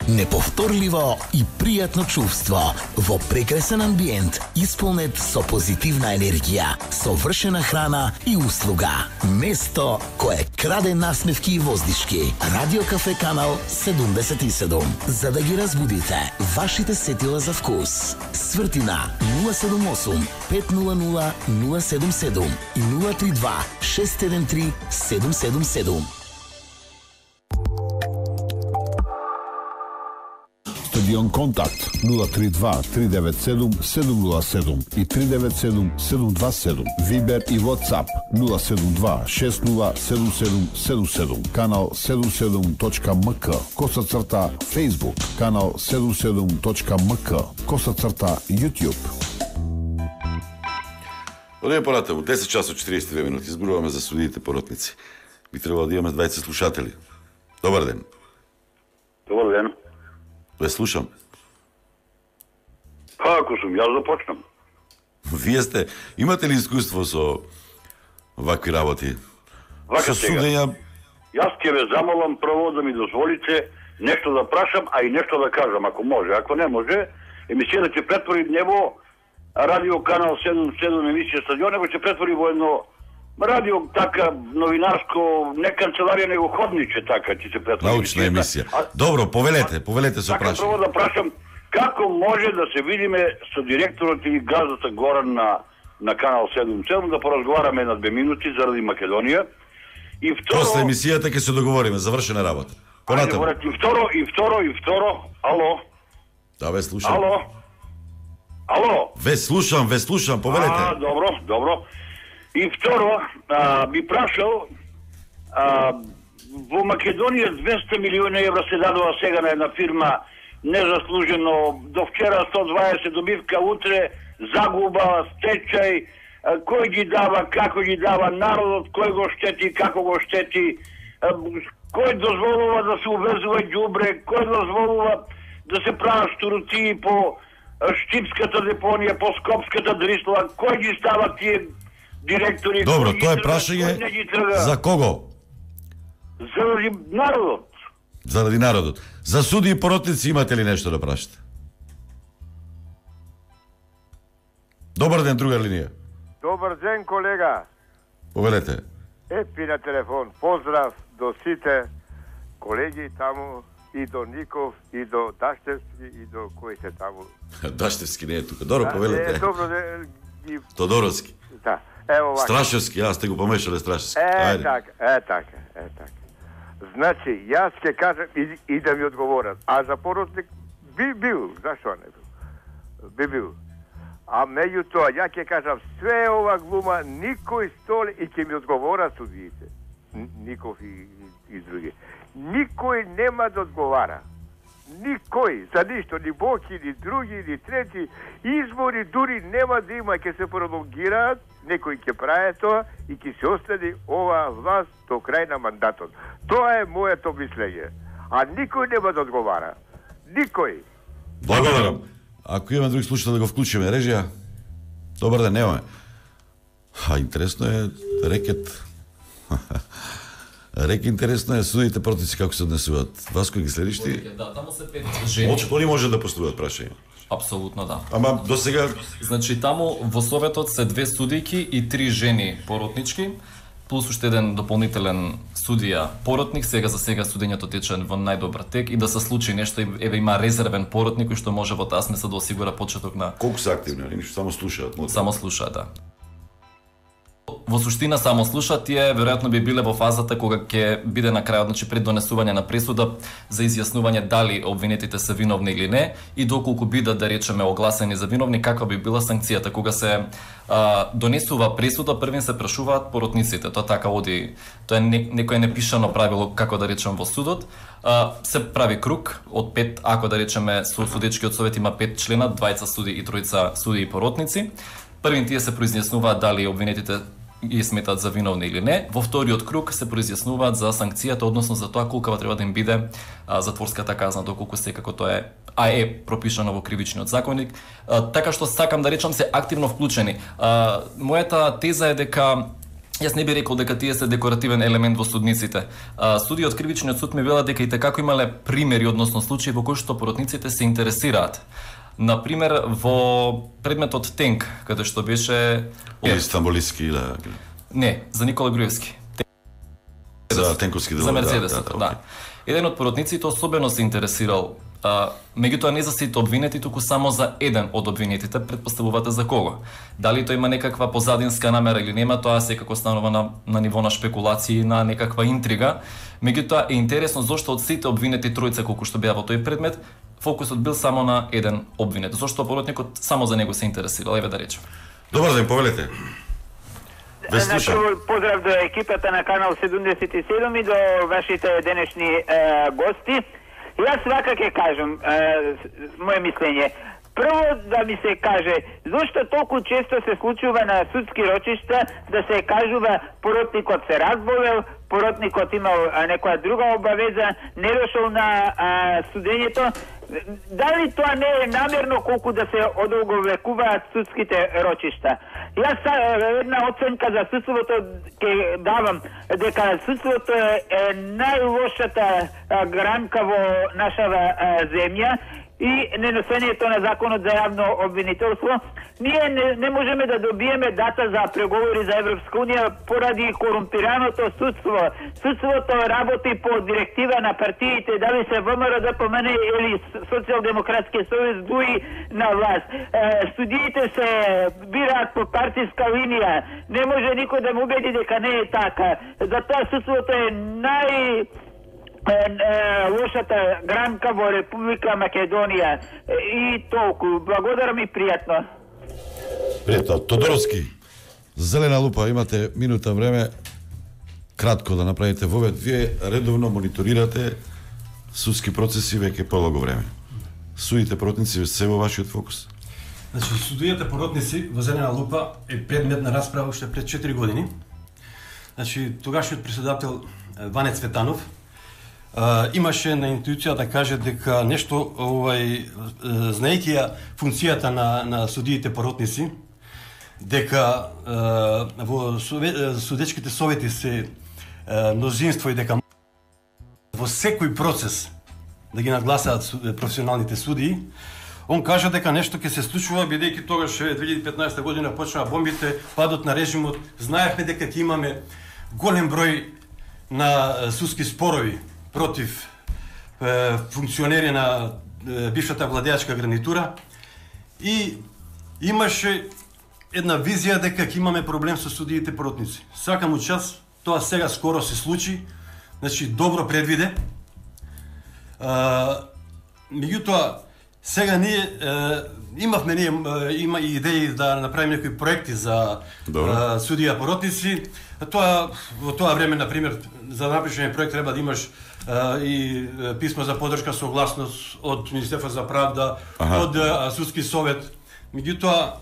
S11: Неповторливо и пријатно чувство во прекрасен амбиент, исполнет со позитивна енергија, совршена храна и услуга. Место кое краде насмевки и воздишки. Радио Кафе Канал 77. За да ги разбудите вашите сетила за вкус. Свртина 078 500 077 и 032 673 777.
S1: Стадион Контакт 032 397 707 и 397 727. Вибер и WhatsApp 072 607777. Канал 77.мк. _. Facebook. Канал 77.мк. _ YouTube.
S2: Одеме понатаму, 10 часот 42 минути, изборуваме за судиите поротници. Би требало да имаме 20 слушатели. Добар ден.
S13: Добар ден.
S2: Ве слушам.
S13: Ако сум, јас започнам.
S2: Вие сте, имате ли искуство со вакви работи?
S13: Вака
S2: со судења?
S13: Јас ќе ве замолам прво да ми дозволите нешто да прашам, а и нешто да кажам, ако може. Ако не може, емисијата ќе претвори не во радио канал 77 емисија Стадион, него ќе претвори во едно радио така новинарско, не канцеларија, него ходниче така ќе се претвори.
S2: Научна емисија. Добро, повелете со прашање.
S13: Прво да прашам како може да се видиме со директорот или газдата Горан на канал 77 да поразговараме на 2 минути заради Македонија. И второ,
S2: после емисијата ќе се договориме, завршена работа. Понатаму.
S13: И второ, ало.
S2: Да, ве слушам.
S13: Ало.
S2: Ве слушам, повелете.
S13: Добро. И второ, би прашал, во Македонија 200 милиони евра се дадува сега на една фирма незаслужено, до вчера 120 добивка, утре загуба, стечај, кој ги дава, како ги дава, народот кој го штети, како го штети, кој дозволува да се увезува ѓубре, кој дозволува да се прават штуротии по Штипската депонија, по Скопската дрисла, кој ги става тие директори?
S2: Добро, тоа е прашање за кого?
S13: Заради народот.
S2: Заради народот. За суди и поротници имате ли нешто да прашате? Добар ден, друга линија.
S14: Добар ден, колега.
S2: Повелете.
S14: Епи на телефон. Поздрав до сите колеги таму, и до Ников, и до Даштевски, и до кои се таму.
S2: Даштевски не е тука. Добро, повелете.
S14: Добро,
S2: Тодоровски.
S14: Да. Ево вака.
S2: Страшевски, јас сте го помешале Страшевски.
S14: Така. Значи, јас ќе кажам и да ми одговорат. А за поротник би бил, зашто не бил? Би бил. А меѓутоа, ја ќе кажам, све ова глума, никој стол и ќе ми одговорат судиите. Ников и други. Никој нема да одговара. Никој, за ништо, ни Боки, ни други, ни трети. Избори дури нема да има, ќе се пролонгираат, некој ќе прави тоа и ќе се остани ова власт до крај на мандатот. Тоа е моето мислење. А никој нема да одговара. Никој.
S2: Благодарам. Ако имаме други слушател да го вклучиме, режија. Добар ден, немаме. Интересно е рекет. Интересно е судите протици како се однесуваат. Васко ги следиш ти?
S4: Да, таму се 5 жени.
S2: Они може да постуваат прашање.
S4: Апсолутно да.
S2: Ама до сега,
S4: значи таму во советот се 2 судијки и 3 жени поротнички, плюс уште еден дополнителен судија поротник. Сега за сега судењето тече во најдобар тек и да се случи нешто, еве има резервен поротник кој што може во таа смисла да осигура почеток на.
S2: Колку се активни, они само слушаат,
S4: Само слушаат, да. Во суштина само слушаат, тие веројатно би биле во фазата кога ќе биде на крајот, значи пред донесување на пресуда за изјаснување дали обвинетите се виновни или не и доколку бидат, да речеме, огласени за виновни, каква би била санкцијата. Кога се донесува пресуда, првин се прашуваат поротниците. Тоа така оди, тоа е некое непишано правило, како да речем, во судот. Се прави круг од 5, ако да речеме со судечкиот совет има 5 члена, 2 суди и 3 суди и поротници. Првин тие се произјаснуваат дали обвинетите ги сметат за виновни или не. Во вториот круг се произјаснуваат за санкцијата, односно за тоа колкава треба да им биде затворската казна, доколку секако тоа е пропишано во кривичниот законник. Така што сакам да речам се активно вклучени. Мојата теза е дека Јас не би рекол дека тие се декоративен елемент во судниците. Судија од Кривичниот суд ми вела дека и како имале примери, односно случаи во кои што поротниците се интересираат. Например, во предметот Тенк, каде што беше...
S2: Или Стамболиски, да.
S4: Не, за Никола Груевски.
S2: За тенковски делови,
S4: за Мерцедесот, да. Еден од поротниците особено се интересирал, меѓутоа не за сите обвинети, туку само за еден од обвинетите. Предпоставувате за кого? Дали тој има некаква позадинска намера или нема, тоа секако станува на ниво на шпекулации, на некаква интрига. Меѓутоа е интересно зошто од сите обвинети тројца колку што беа во тој предмет, фокусот бил само на еден обвинет. Зошто поротникот само за него се интересирал, еве да речем.
S2: Добар ден, повелете.
S15: Поздрав до екипата на Канал 77 и до вашите денешни гости. Јас свака ќе кажам моje мислење. Прво да ми се каже, зашто толку често се случува на судски рочишта да се кажува поротникот се разболел, поротникот имал некоја друга обавеза, не дошол на судењето. Дали тоа не е намерно колку да се одолговекуваат судските рочишта? Јас една оценка за судството ќе давам дека судството е најлошата гранка во нашава земја и неносењето на законот за јавно обвинителство. Ние не можеме да добиеме дата за преговори за Европска унија поради корумпираното судство. Судството работи по директива на партиите, дали се ВМРО, ДПМН или Социјалдемократски сојуз дуи на власт. Судиите се бираат по партиска линија. Не може никој да му убеди дека не е така. Затоа судството е лошата гранка во Република Македонија. И толку. Благодарам и пријатно.
S2: Пријатно. Тодоровски, Зелена лупа, имате минута време кратко да направите вовед. Вие редовно мониторирате судски процеси веќе полого време. Судите поротници се во вашиот фокус?
S16: Значи, судијата поротници во Зелена лупа е предмет на расправа уште пред 4 години. Значи, тогашниот председател Ване Цветанов имаше на интуиција да каже дека нешто, знаејќи ја функцијата на судиите поротници, дека во судечките совети се мнозинство и дека во секој процес да ги нагласаат професионалните судии, он кажа дека нешто ќе се случува, бидејќи тогаш 2015 година почнаа бомбите, падот на режимот, знаевме дека ќе имаме голем број на судски спорови против функционери на бившата владеачка гарнитура и имаше една визија дека ќе имаме проблем со судиите поротници. Сакам час, тоа сега скоро се случи, значи добро предвиде. Меѓутоа, сега ние има и идеи да направиме некои проекти за судија поротници. Во тоа време, например, за да напишеме проект треба да имаш и писмо за поддршка, согласност од Министерство за правда, од судски совет. Меѓутоа,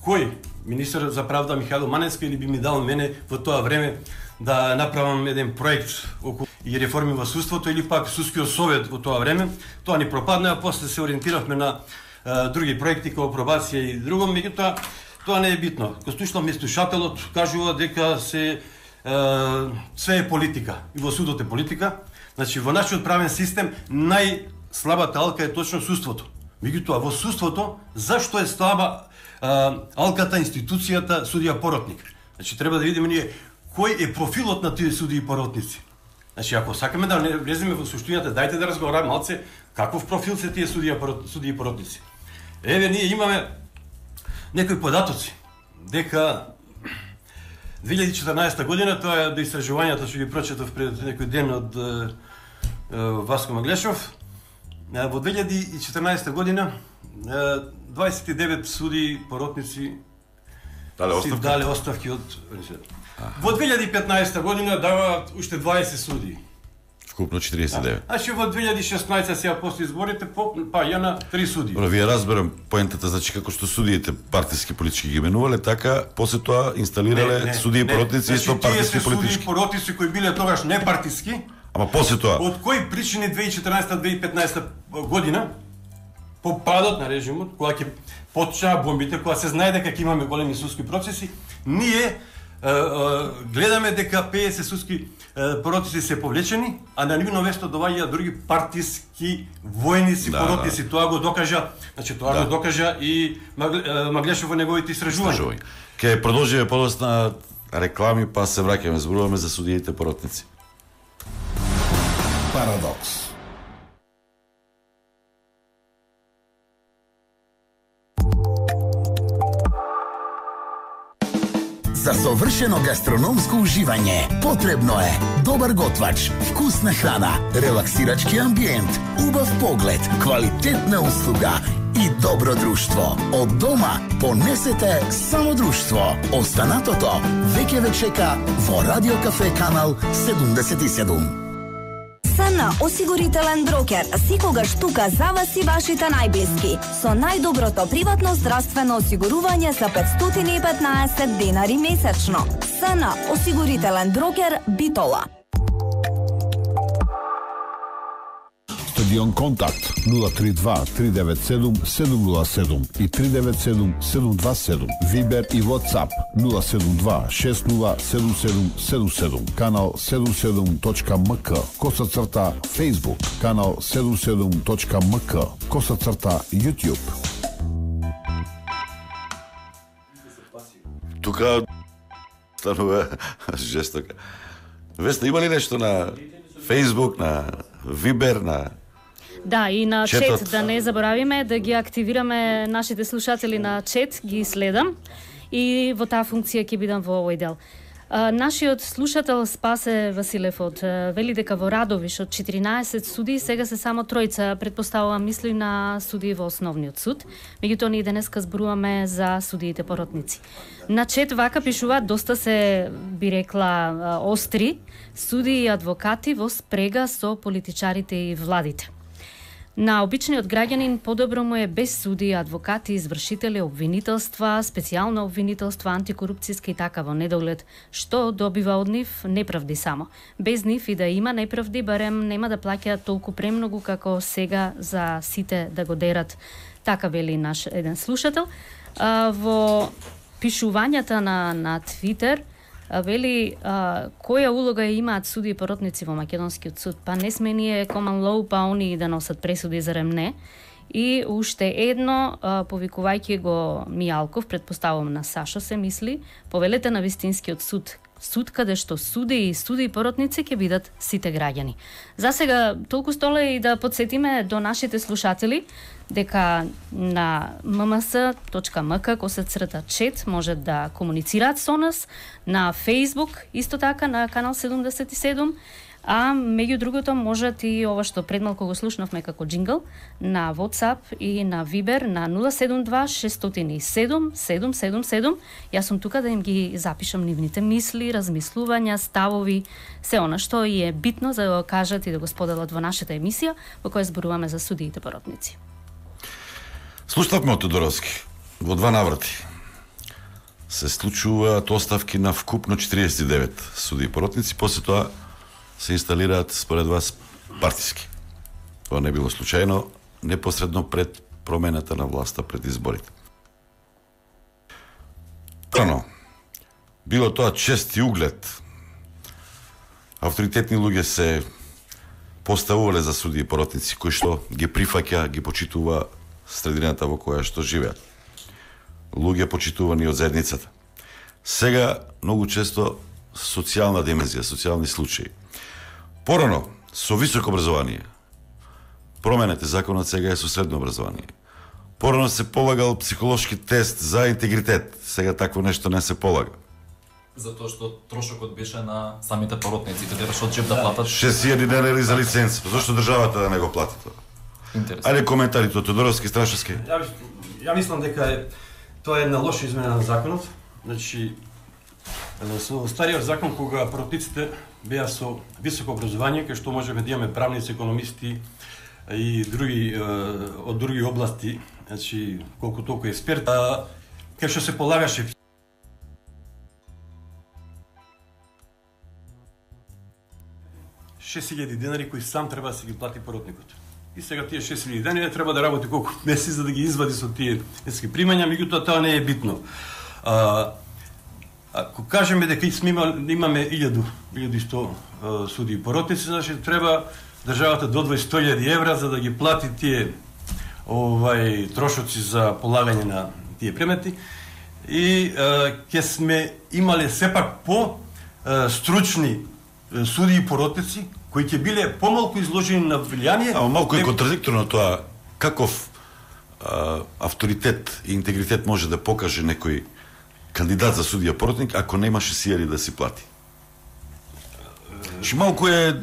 S16: кој министер за правда Михајло Маневски или би ми дал мене во тоа време да направам еден проект околу и реформи во судството или пак судскиот совет во тоа време, тоа ни пропадна, а после се ориентиравме на други проекти како пробација и друго, меѓутоа тоа не е битно. Конституционално слушателот кажува дека све е политика и во судот е политика. Значи во нашиот правен систем најслабата алка е точно судството. Меѓутоа во судството зашто е слаба алката, институцијата судија поротник? Значи треба да видиме ние кој е профилот на тие судии поротници. Значи ако сакаме да влеземе во суштината, дајте да разговараме малце каков профил се тие судии поротници. Еве ние имаме некои податоци дека 2014 година, тоа е до истражувањата што ги прочетав пред некој ден од Васко Маглешов, во 2014 година 29 судии поротници си дале оставки од во 2015 година даваат уште 20 судии.
S2: Вкупно 49.
S16: Значи во 2016 сега после изборите паѓа на 3 судии.
S2: Добро, вие разберам поентата, значи како што судиите партиски политички ги именувале, така после тоа инсталирале судии поротници исто партиски политички.
S16: Судии поротници кои биле тогаш непартиски.
S2: Ама после тоа.
S16: Од кои причини 2014-2015 година по падот на режимот, кога ќе почнаа бомбите, кога се знае дека ќе имаме големи судски процеси, ние гледаме дека 50 судски поротници се повлечени, а на нивно место доаѓаат други партиски војници, поротници. Тоа го докажа, го докажа и Маглешов во неговите истражувања.
S2: Ке продолжиме подосна реклами, па се враќаме, зборуваме за судиите поротници.
S1: Парадокс.
S11: За совршено гастрономско уживање потребно е добар готвач, вкусна храна, релаксирачки амбиент, убав поглед, квалитетна услуга и добро друштво. Од дома понесете само друштво. Останатото веќе ве чека во Радио Кафе канал 77.
S17: СН осигурителен брокер секогаш тука за вас и вашите најблиски со најдоброто приватно здравствено осигурување за 515 денари месечно. СН осигурителен брокер Битола.
S1: Стадион Контакт 032 397 707 и 397 727. Вибер и WhatsApp 072 607777. Канал 77.мк. _. Facebook. Канал 77.мк. _ YouTube.
S2: Тука станува жестока. Веста, има ли нешто на Facebook, на Вибер, на
S5: Да, и на
S2: четот.
S5: чет, да не заборавиме да ги активираме нашите слушатели на чет, ги следам и во таа функција ќе бидам во овој дел. Нашиот слушател Спасе Василев вели дека во Радовиш од 14 суди сега се само тројца, предпоставувам мисли на суди во основниот суд. Меѓутоа ние денеска зборуваме за судиите поротници. На чет вака пишуваат доста се би рекла остри суди и адвокати во спрега со политичарите и владите. На обичниот граѓанин подобро му е без суди, адвокати, извршители, обвинителства, специјално обвинителства, антикорупцијска и така во недоглед, што добива од нив неправди само. Без нив и да има неправди, барем нема да плаќаат толку премногу како сега за сите да го дерат. Така вели наш еден слушател. Во пишувањата на Твитер вели која улога имаат суди и поротници во македонскиот суд? Па не сме ние common law, па они да носат пресуди, зарем не? И уште едно, повикувајќи го Мијалков, предпоставувам на Сашо се мисли, повелете на вистинскиот суд. Суд каде што суди и поротници ќе бидат сите граѓани. За сега толку столе и да подсетиме до нашите слушатели дека на mms.mk _чет може да комуницираат со нас, на Facebook исто така на канал 77, а меѓу другото можат и ова што предмалку го слушнавме како джингл на WhatsApp и на Viber на 072 607 777. Јас сум тука да им ги запишам нивните мисли, размислувања, ставови, се она што е битно за да го кажат и да го споделат во нашата емисија во која зборуваме за судиите поротници.
S2: Слушнавме од Тодоровски во два наврати. Се случуваат оставки на вкупно 49 суди и поротници, после тоа се инсталираат според вас партиски. Тоа не било случајно, непосредно пред промената на власта пред изборите. Прано, било тоа чест и углед. Авторитетни луѓе се поставувале за суди и поротници, кои што ги прифаќа, ги почитува средината во која што живеат. Луѓе почитувани од заедницата. Сега, многу често, социјална димензија, социјални случаи. Порано, со високо образование. Променете законот сега е со средно образование. Порано се полагал психолошки тест за интегритет. Сега такво нешто не се полага.
S4: Затоа што трошокот беше на самите поротници, каде беше од джеб да платат.
S2: 6.000 денари за лиценз. Зошто државата да не го плати тоа?
S4: Интересно.
S2: Ајде коментарите од Тодоровски, Страшевски.
S16: Ја мислам дека тоа е една лоша измена на законот. Значи, со стариот закон, кога поротниците беа со високо образование, кај што можеме да имаме правници, економисти и други од други области, значи колку толку експерт, кај што се полагаше 6.000 денари кои сам треба да се ги плати поротникот. И сега тие 6.000 денари треба да работи колку месеци за да ги извади со тие нески примања, меѓутоа тоа не е битно. Ако кажеме дека имаме 1100 судии поротници, значи треба државата да одвои 100.000 евра за да ги плати тие трошоци за полагање на тие предмети и ќе сме имале сепак по стручни судии поротници кои ќе биле помалку изложени на влијание.
S2: Малку е контрадикторно тоа. Каков авторитет и интегритет може да покаже некој кандидат за судија поротник ако немаше сијари да си плати? Ши малку е...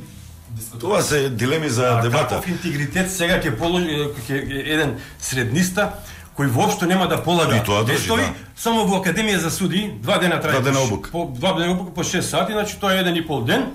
S2: Това се дилеми за дебата.
S16: Каков интегритет сега ќе положи еден средниста кој воопшто нема да полага тестови, само во Академија за судии, 2 дена трае.
S2: 2 дена обука.
S16: 2 дена обука по 6 сати, значи тоа е 1,5 ден.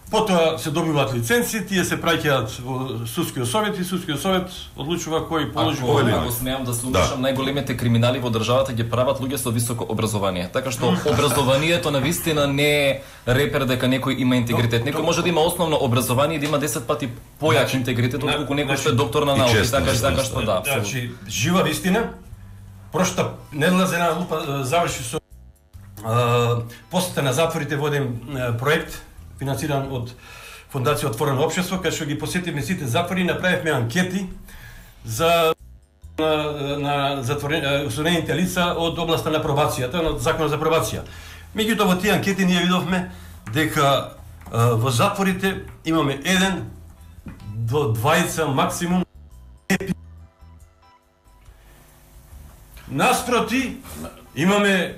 S16: Потоа се добиваат лиценци, тие се праќаат во судскиот совет и судскиот совет одлучува кој положи
S4: овој. Ако смеам да се умешам, најголемите криминали во државата ги прават луѓе со високо образование. Така што образованието на вистина не е репер дека некој има интегритет. Некој може да има основно образование и да има 10 пати појак интегритет отколку некој што е доктор на науки, така што да.
S16: Значи жива вистина. Прошта неделна лупа заврши со посета на затворите водим проект финансиран од Фондација Отворено општество, кај што ги посетивме сите затвори и направивме анкети за на осудените лица од областа на пробацијата, на законот за пробација. Меѓутоа во тие анкети ние видовме дека во затворите имаме 1 до 2 максимум. Наспроти имаме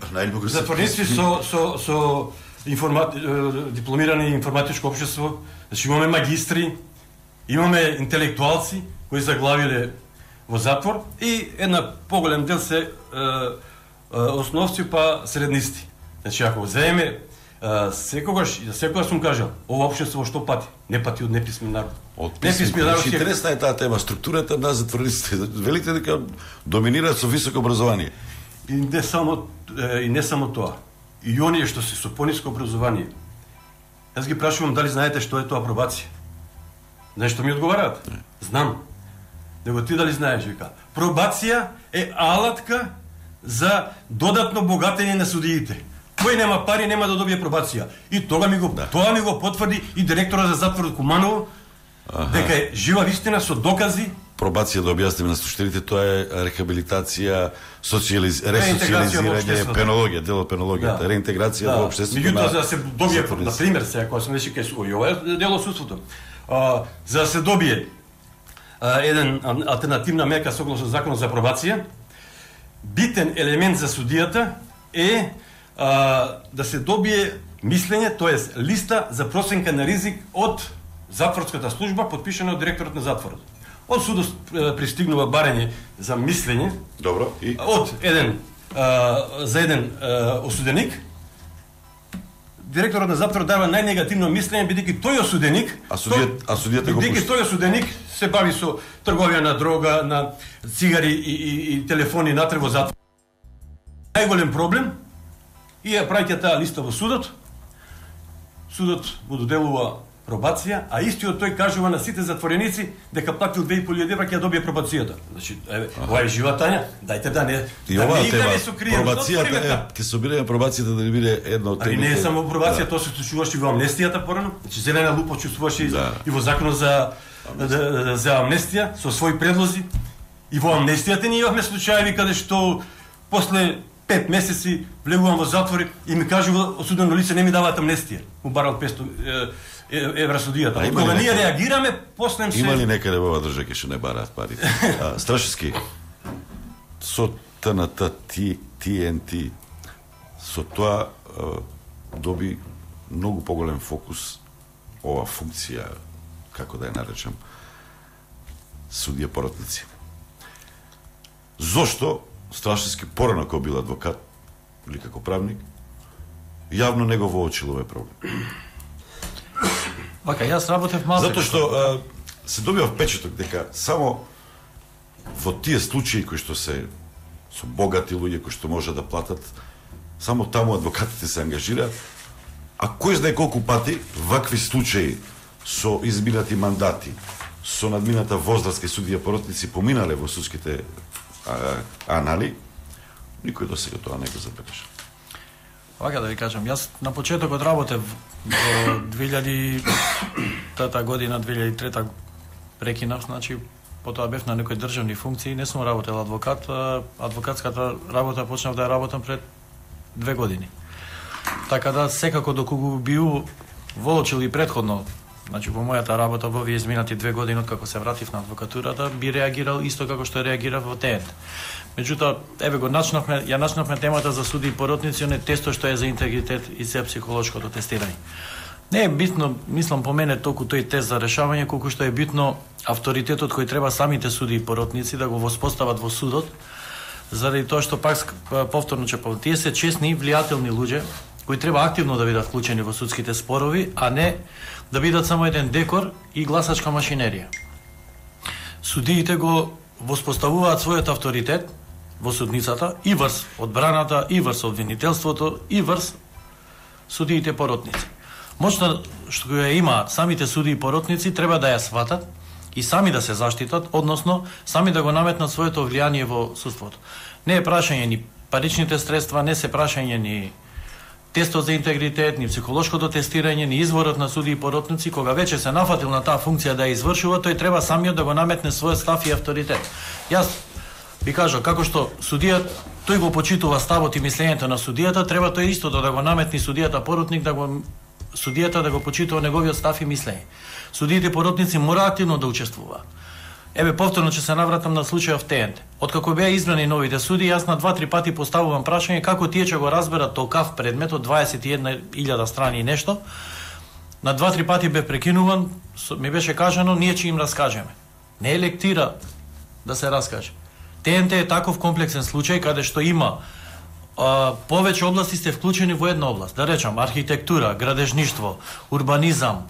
S16: затворници со дипломирани информатичко општество, значи имаме магистри, имаме интелектуалци кои заглавиле во затвор и една поголем дел се основци па среднисти. Значи ако земеме секогаш сум кажал, ова општество што пати? Не пати од неписмен народ.
S2: Неписмен народ. Интересна е таа тема, структурата на затворниците. Велите дека доминираат со високо образование.
S16: И не само тоа. И оние што се со пониско образование. Јас ги прашувам дали знаете што е тоа пробација. Нешто ми одговараат. Знам. Него ти дали знаеш, вика. Пробација е алатка за додатно богатење на судиите. Кој нема пари нема да добие пробација. И тоа ми го потврди и директорот за затворот Куманово, дека е жива вистина со докази.
S2: Пробација, да објасниме на слушателите, тоа е рехабилитација, ресоциализирање, пенологија, дел од пенологијата, реинтеграција во општеството.
S16: Меѓутоа, за да се добие, на пример, сега кога сме веќе кај ова е дел од судството. За да се добие еден алтернативна мека согласно законот за пробација, битен елемент за судијата е да се добие мислење, тоест листа за проценка на ризик од затворската служба, подпишана од директорот на затворот. Од судот пристигнува барање за мислење.
S2: Добро. И
S16: од за еден осуденик. Директорот на затворот дава најнегативно мислење бидејќи тој осуденик,
S2: судијата го пушта.
S16: Бидејќи тој осуденик се бави со трговија на дрога, на цигари и телефони натре во затвор. Најголем проблем и ја праќа таа листа во судот. Судот му доделува пробација, а истиот тој кажува на сите затвореници дека платил 2.500 евра ќе ја добие пробацијата. Значи, ова е жива Тања, дајте да не играме со криено.
S2: Пробацијата ќе собираме пробацијата да не биде едно од темите.
S16: Не е само пробација, тоа се случуваше и во амнестијата порано. Значи зелена лупа чувствуваше и во законот за амнестија со своји предлози. И во амнестијата ние имавме случаи каде што после 5 месеци влегувам во затвор и ми кажува осудено лице не ми даваат амнестија. Му барал 500 евра судијата. Кога ние реагираме, после се...
S2: Има ли некаде во оваа држава што не бараат пари? Страшевски, со ТНТ, ТНТ, со тоа доби многу поголем фокус ова функција, како да ја наречам, судија поротници. Зошто Страшевски порано кога бил адвокат или како правник, јавно не го воочил овој проблем?
S3: Вака, јас работев малку.
S2: Затоа што се добива впечаток дека само во тие случаи кои што се со богати луѓе кои што може да платат, само таму адвокатите се ангажираат, а кој знае колку пати вакви случаи со изминати мандати, со надмината возраст кај судија поротници поминале во судските анали, никој до сега тоа не го забележа.
S3: Вака да ви кажам, јас на почетокот работев во 2000 година, 2003 прекинав, значи потоа бев на некои државни функции, не сум работел адвокат, адвокатската работа почнав да ја работам пред 2 години. Така да секако доколку бил воочил и предходно, значи во мојата работа во овие изминати 2 години откако се вратив на адвокатурата, би реагирал исто како што реагирав во ТЕНТ. Меѓутоа, еве го начнавме темата за суди и поротници, оне тесто што е за интегритет и за психолошкото тестирање. Не е битно, мислам по мене, толку тој тест за решавање, колку што е битно авторитетот кој треба самите суди и поротници да го воспостават во судот, заради тоа што пак повторно тие се честни, влијателни луѓе кои треба активно да бидат вклучени во судските спорови, а не да бидат само еден декор и гласачка машинерија. Судиите го воспоставуваат својот авторитет во судницата и врз одбраната, и врз обвинителството, и врз судиите поротници. Моќта што ја имаат самите суди и поротници треба да ја сватат и сами да се заштитат, односно сами да го наметнат своето влијание во судството. Не е прашање ни паричните средства, не се прашање ни тестот за интегритет, ни психолошкото тестирање, ни изворот на суди и поротници. Кога веќе се нафатил на таа функција да ја извршува, тој треба самиот да го наметне својот став и авторитет. Јас би кажал, како што судијат, тој го почитува ставот и мислењето на судијата, треба тој истото да го наметни судијата поротник, судијата да го почитува неговиот став и мислење. Судиите и поротници мора активно да учествуваат. Еве повторно ќе се навратам на случајот ТЕНТ. Откако беа избрани новите суди, јас на 2-3 пати поставувам прашање како тие ќе го разберат толкав предмет од 21.000 страни и нешто. На 2-3 пати бе прекинуван, ми беше кажано ние ќе им раскажеме. Не е лектира да се раскаже. ТЕНТ е таков комплексен случај каде што има повеќе области сте вклучени во една област. Да речам архитектура, градежништво, урбанизам,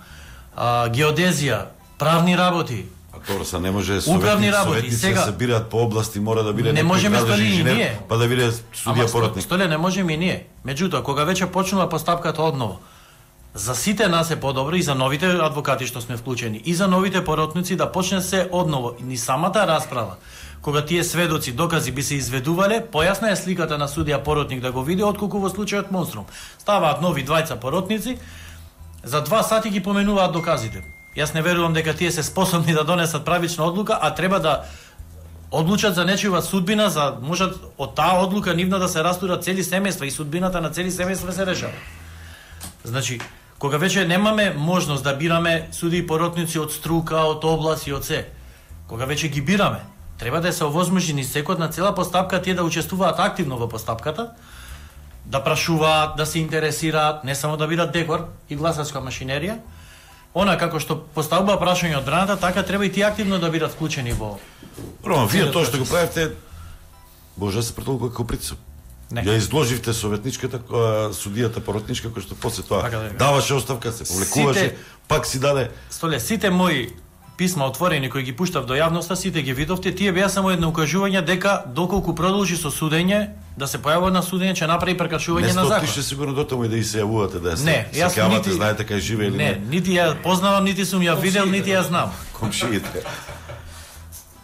S3: геодезија, правни работи.
S2: Тоа се не може советници сега се бираат по области, мора да биде
S3: некој градежни инженер,
S2: па да биде судија поротник.
S3: Столе не можеме и ние. Меѓутоа, кога веќе почнува постапката одново, за сите нас е подобро и за новите адвокати што сме вклучени, и за новите поротници да почне се одново. Ни самата расправа, кога тие сведоци, докази би се изведувале, појасна е сликата на судија поротник да го види, отколку во случајот Монструм. Ставаат нови двајца поротници, за 2 сати ги поменуваат доказите. Јас не верувам дека тие се способни да донесат правична одлука, а треба да одлучат за нечива судбина, за можат од таа одлука нивна да се растурат цели семејства и судбината на цели семејства се решава. Значи, кога веќе немаме можност да бираме суди и поротници од струка, од област и од се, кога веќе ги бираме, треба да се овозможи ни секој на цела постапка тие да учествуваат активно во постапката, да прашуваат, да се интересираат, не само да бидат декор и гласачка машинерија. Она како што поставува прашање од браната, така треба и тие активно да бидат вклучени во.
S2: Рома, вие тоа што го правите, може да се претолкува како притисок. Ја изложивте советничката судијата поротничка кој што после тоа даваше оставка, се повлекуваше, пак си даде.
S3: Столе, сите мои писма отворени кои ги пуштав до јавноста, сите ги видовте, тие беа само едно укажување дека доколку продолжи со судење, да се појавува на судење, ќе направи прекршување на закон.
S2: Не стотише сигурно до таму и да и се јавувате да
S3: се
S2: сеќавате, знаете кај живее или не.
S3: Не, нити ја познавам, нити сум ја видел, нити ја знам.
S2: Комшиите.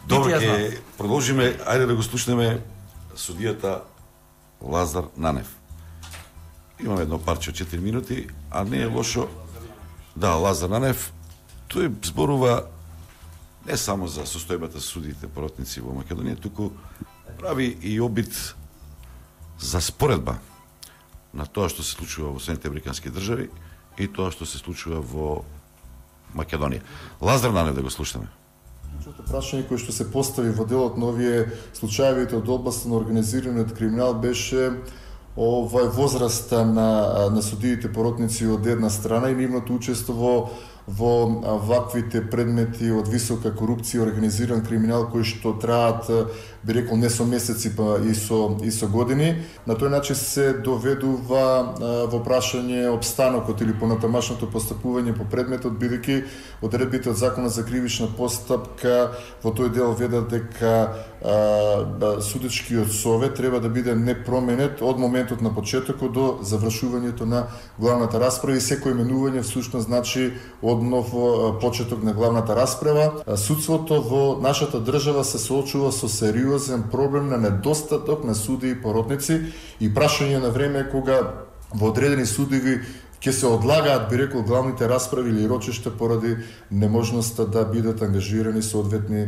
S2: Добро, ќе продолжиме, ајде да го слушнеме судијата Лазар Нанев. Имаме едно парче од 4 минути, а не е лошо. Да, Лазар Нанев, тој зборува не само за состојбата судиите поротници во Македонија, туку прави и обид за споредба на тоа што се случува во Соединетите Американски држави и тоа што се случува во Македонија. Лазар Нанев да го слушаме.
S7: Прашање кој што се постави во делот на овие случаевите од областа на организираниот криминал беше возраста на судиите поротници од една страна и нивното учество во ваквите предмети од висока корупција и организиран криминал кои што траат, би рекол, не со месеци, па и со години. На тој начин се доведува во прашање обстанокот или понатамашното постапување по предметот, бидејќи одредбите од Законот за кривична постапка во тој дел ведат дека судечкиот совет треба да биде непроменет од моментот на почетокот до завршувањето на главната расправа и секој именување всушност значи однов почеток на главната расправа. Судството во нашата држава се соочува со сериозен проблем на недостаток на суди и поротници и прашање на време кога во одредени судови ќе се одлагаат, би рекол, главните расправи или рочишта поради неможноста да бидат ангажирани соодветни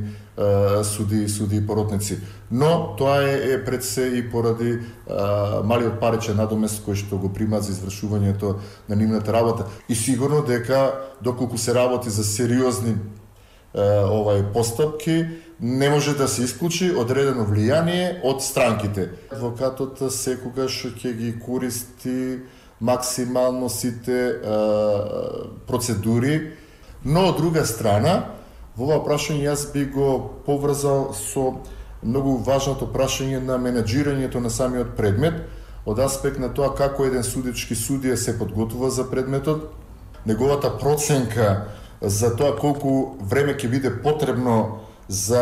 S7: суди и поротници. Но тоа е пред се и поради малиот паричен надомест кој што го примаат за извршувањето на нивната работа. И сигурно дека доколку се работи за сериозни постапки, не може да се исклучи одредено влијание од странките. Адвокатот секогаш ќе ги користи максимално сите процедури, но од друга страна, во ова прашање јас би го поврзал со многу важното прашање на менеджирањето на самиот предмет, од аспект на тоа како еден судички судија се подготвува за предметот, неговата проценка за тоа колку време ќе биде потребно за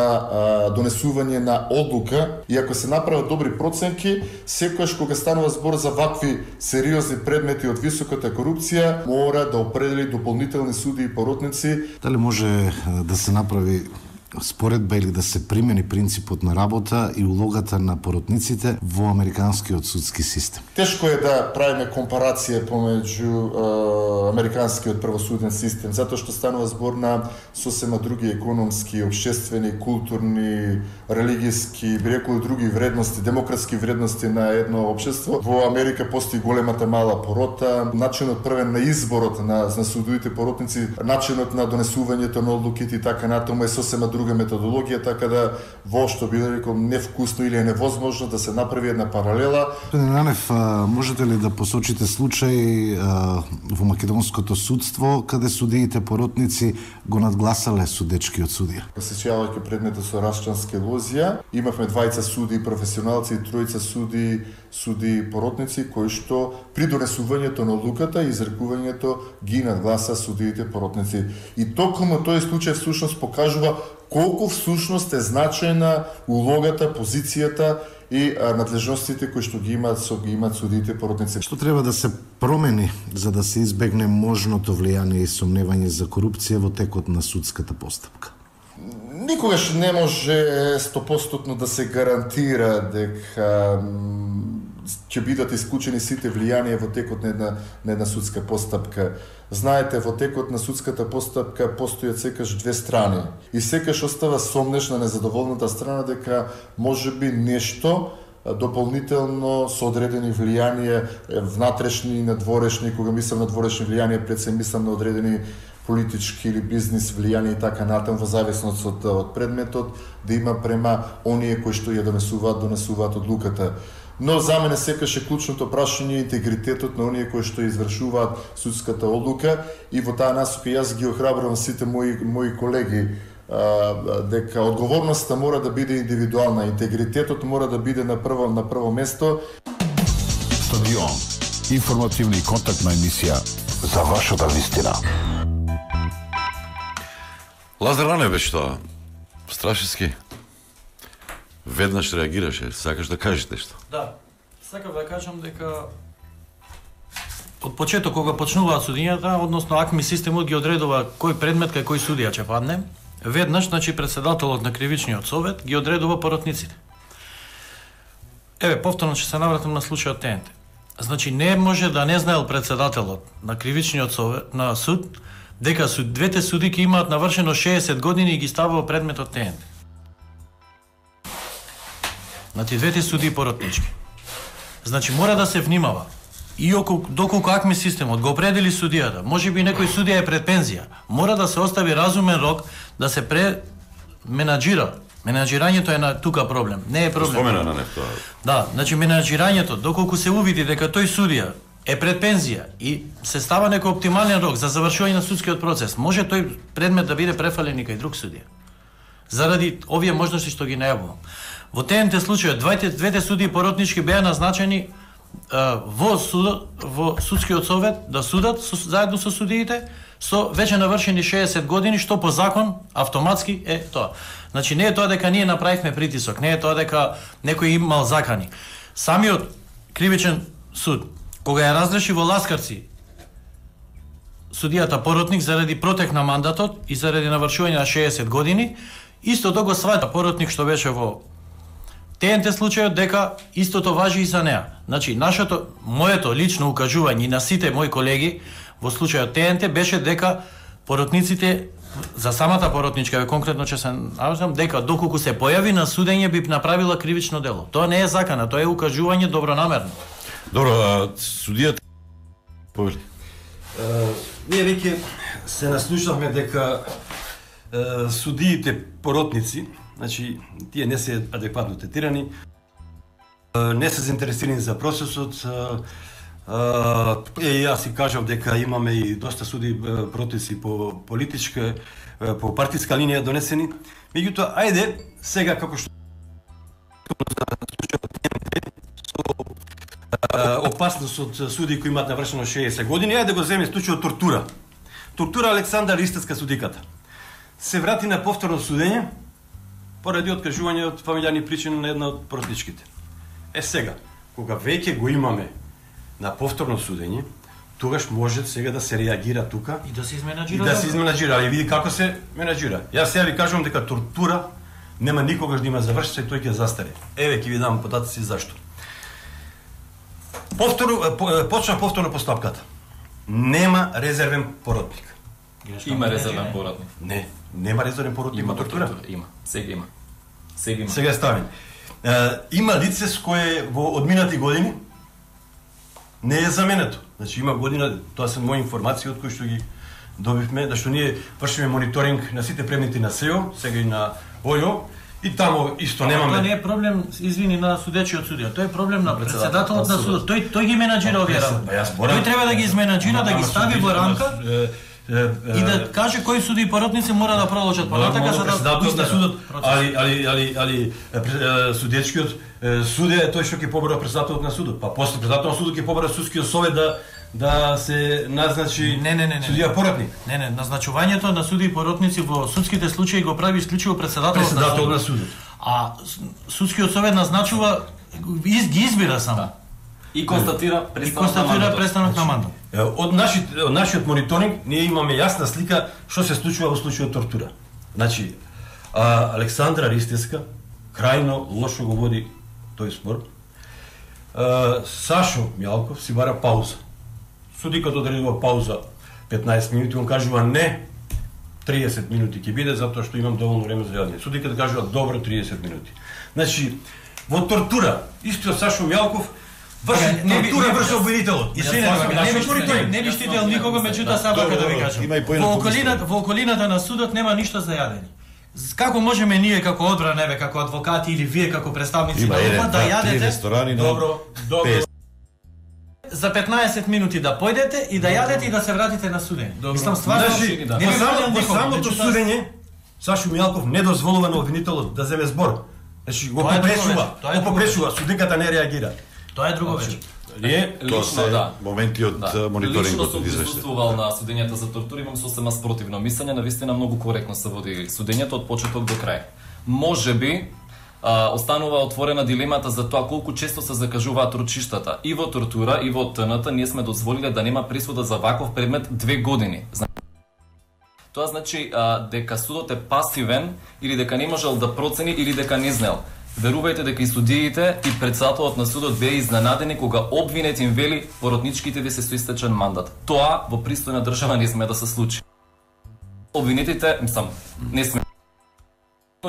S7: донесување на одлука, и ако се направат добри проценки, секогаш кога станува збор за вакви сериозни предмети од високата корупција, мора да определи дополнителни суди и поротници.
S18: Дали може да се направи споредба или да се примени принципот на работа и улогата на поротниците во американскиот судски систем?
S7: Тешко е да правиме компарација помеѓу американскиот правосуден систем, затоа што станува збор на сосема други економски, општествени, културни, религиски, би рекол други вредности, демократски вредности на едно општество. Во Америка постои големата мала порота, начинот првен на изборот на судовите поротници, начинот на донесувањето на одлуките и така натаму е сосема друга методологија, така да воопшто би рекол невкусно или е невозможно да се направи една паралела.
S18: Господин Ранев, можете ли да посочите случај во македонското судство каде судиите поротници го надгласале судечкиот судија?
S7: Сеќавајќи предметот со Рашчански Лозија, имавме двајца суди професионалци и тројца суди поротници кои што при донесувањето на одлуката и изрекувањето ги надгласа судиите поротници. И токму тој случај всушност покажува колку всушност е значајна улогата, позицијата и надлежностите кои што ги имаат судиите поротници.
S18: Што треба да се промени за да се избегне можното влијание и сомневање за корупција во текот на судската постапка?
S7: Никогаш не може 100% да се гарантира дека ќе бидат исклучени сите влијанија во текот на една судска постапка. Знаете, во текот на судската постапка постојат секаш две страни и секаш остава сомнеш на незадоволната страна дека можеби нешто дополнително со одредени влијанија внатрешни и надворешни, кога мислам на дворешни влијанија, пред се мислам на одредени политички или бизнис влијанија и така натаму, во зависност од предметот, да има према оние кои што ја донесуваат одлуката. Но за мене секаш е клучното прашање интегритетот на оние кои што извршуваат судската одлука, и во таа насока јас ги охрабрувам сите мои колеги дека одговорноста мора да биде индивидуална, интегритетот мора да биде на прво место.
S1: Стадион, информативна и контактна емисија за вашата вистина.
S2: Лазар Ранев беше тоа. Страшески. Веднаш реагираше, сакаш да кажеш нешто?
S3: Да, сакав да кажам дека од почеток кога почнуваат судињата, односно АКМИ системот ги одредува кој предмет кај кој судија ќе падне, веднаш, значи, председателот на кривичниот совет ги одредува поротниците. Еве, повторно ќе се навратам на случајот ТНТ. Значи, не може да не знаел председателот на кривичниот совет, на суд, дека двете судики имаат навршено 60 години и ги ставува предметот ТНТ. Значи, двете суди поротнички. Значи, мора да се внимава. И доколку АКМИ системот го определи судијата, може би некој судија е пред пензија, мора да се остави разумен рок да се менаџира. Менаџирањето е на тука проблем, не е проблем.
S2: Спомена на нефто.
S3: Да, значи менаџирањето, доколку се увиди дека тој судија е пред пензија и се става некој оптимален рок за завршување на судскиот процес, може тој предмет да биде префален и кај друг судија. Заради овие можности што ги најавувам. Во ТНТ случајот двете судии поротнички беа назначени во судскиот совет да судат заедно со судиите со веќе навршени 60 години, што по закон автоматски е тоа. Значи, не е тоа дека ние направивме притисок, не е тоа дека некој имал закани. Самиот кривичен суд, кога ја разреши во Ласкарци судијата поротник заради протек на мандатот и заради навршување на 60 години, исто го сваќа поротник што беше во ТНТ случајот дека истото важи и за неа. Значи, моето лично укажување и на сите мои колеги во случајот ТНТ беше дека поротниците, за самата поротничка, конкретно че се навзам, дека доколку се појави на судење би направила кривично дело. Тоа не е закана, тоа е укажување добронамерно.
S2: Добро, судијата повели.
S16: Ние веќе се наслушавме дека судиите поротници, значи тие не се адекватно третирани, не се заинтересирани за процесот. Јас си кажав дека имаме и доста суди протести по политичка, по партиска линија донесени. Меѓутоа, ајде сега како што опасност од суди кои имаат навршено 60 години, ајде да го земе случајот тортура. Тортура Александра Ристевска судиката. Се врати на повторно судење поради откажување од фамилијарни причини на една од поротничките. Сега, кога веќе го имаме на повторно судење, тогаш може сега да се реагира тука
S3: и да се изменаџира.
S16: И да се изменаџира, али види како се менаџира. Јас сега ви кажувам дека тортура нема никогаш да има завршица и тој ќе застаре. Еве ќе ви дам податоци зашто. Почна повторно постапката. Нема резервен поротник.
S4: Има резервен поротник.
S16: Не, нема резервен поротник во тортура.
S4: Има. Сега има.
S16: Сега е ставен. Има лице с кое во одминати години не е заменето. Значи има година, тоа се мои информации од кои што ги добивме, да што ние вршиме мониторинг на сите предмети на СЕО, сега и на ОЈО, и тамо исто немаме.
S3: Тоа не е проблем, извини, на судечиот судија. Тоа е проблем на председателот на судот. Тој ги менаџира овие работи. Тој треба да ги изменаџира, да ги стави во рамка и да каже кои суди и поротници мора да продолжат понатака за да
S16: председателот на судот, али судечкиот суде е тој што ќе побара председателот на судот. Па после председателот на судот ќе побара судскиот совет да се назначи судија поротник.
S3: Не, назначувањето на суди и поротници во судските случаи го прави исклучиво председателот
S16: на судот.
S3: А судскиот совет назначува, ги избира само.
S4: И констатира престанок
S3: на мандат.
S16: Од нашиот мониторинг ние имаме јасна слика што се случува во случајот тортура. Значи, Александра Ристевска крајно лошо го води тој спор. Сашо Мјалков си бара пауза. Судиката одредува пауза 15 минути, он кажува не, 30 минути ќе биде затоа што имам доволно време за јадење. Судиката кажува добро 30 минути. Значи, во тортура истиот Сашо Мјалков тортура врз обвинителот.
S3: Не би штител никого, меѓутоа сака да ви кажам. Во околината на судот нема ништо за јадење. Како можеме ние како одбрана, како адвокати или вие како представници на ОПА да јадете? Добро. За 15 минути да појдете и да јадете и да се вратите на судење. Мислам стварно.
S16: Во самото судење Сашо Мјалков не дозволува на обвинителот да земе збор. Значи го попречува, судиката не реагира.
S3: Тоа е друго вече.
S2: Тоа се моменти од мониторингот.
S4: Лично сум присуствувал на судењата за тортура, имам сосема спротивно мислење, навистина многу коректно се води судењето од почеток до крај. Можеби останува отворена дилемата за тоа колку често се закажуваат рочиштата. И во тортура, и во ТНТ ние сме дозволиле да нема присуда за ваков предмет 2 години. Тоа значи дека судот е пасивен или дека не можел да процени или дека не знел. Верувајте дека и судиите и председателот на судот беа изненадени кога обвинет им вели поротничките ви се со истечен мандат. Тоа во пристојна држава не сме да се случи. Обвинетите, не сме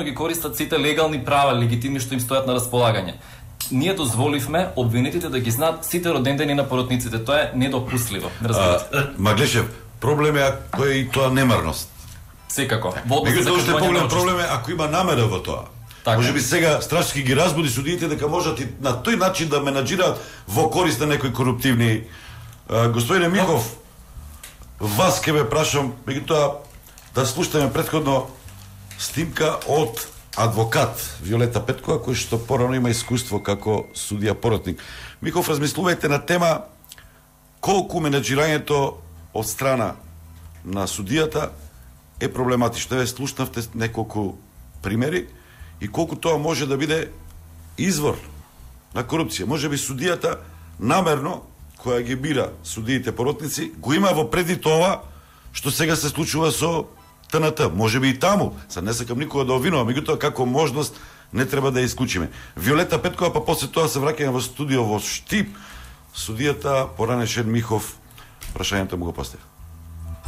S4: ги користат сите легални права, легитимни што им стојат на располагање. Ние дозволивме обвинетите да ги знаат сите родендени на поротниците. Тоа е недопустливо.
S2: Маглешев, проблем е ако е и тоа немарност.
S4: Секако.
S2: Меѓутоа поголем проблем е ако има намера во тоа. Може би сега страшки ги разбуди судиите дека можат и на тој начин да менаџираат во корист на некои коруптивни. Господине Михов, вас ке ве прашам, меѓутоа да слушаме претходно снимка од адвокат Виолета Петкова, кој што порано има искуство како судија поротник. Михов, размислувајте на тема колку менаџирањето од страна на судијата е проблематично. Ве слушнавте неколку примери и колку тоа може да биде извор на корупција. Може би судијата намерно, која ги бира судиите поротници, го има во преди тоа што сега се случува со ТНТ. Може би и таму, не сакам никога да обвинувам, меѓутоа како можност не треба да ја исклучиме. Виолета Петкова, па после тоа се враќаме во студио во Штип. Судијата поранешен Михов, прашањето му го постави.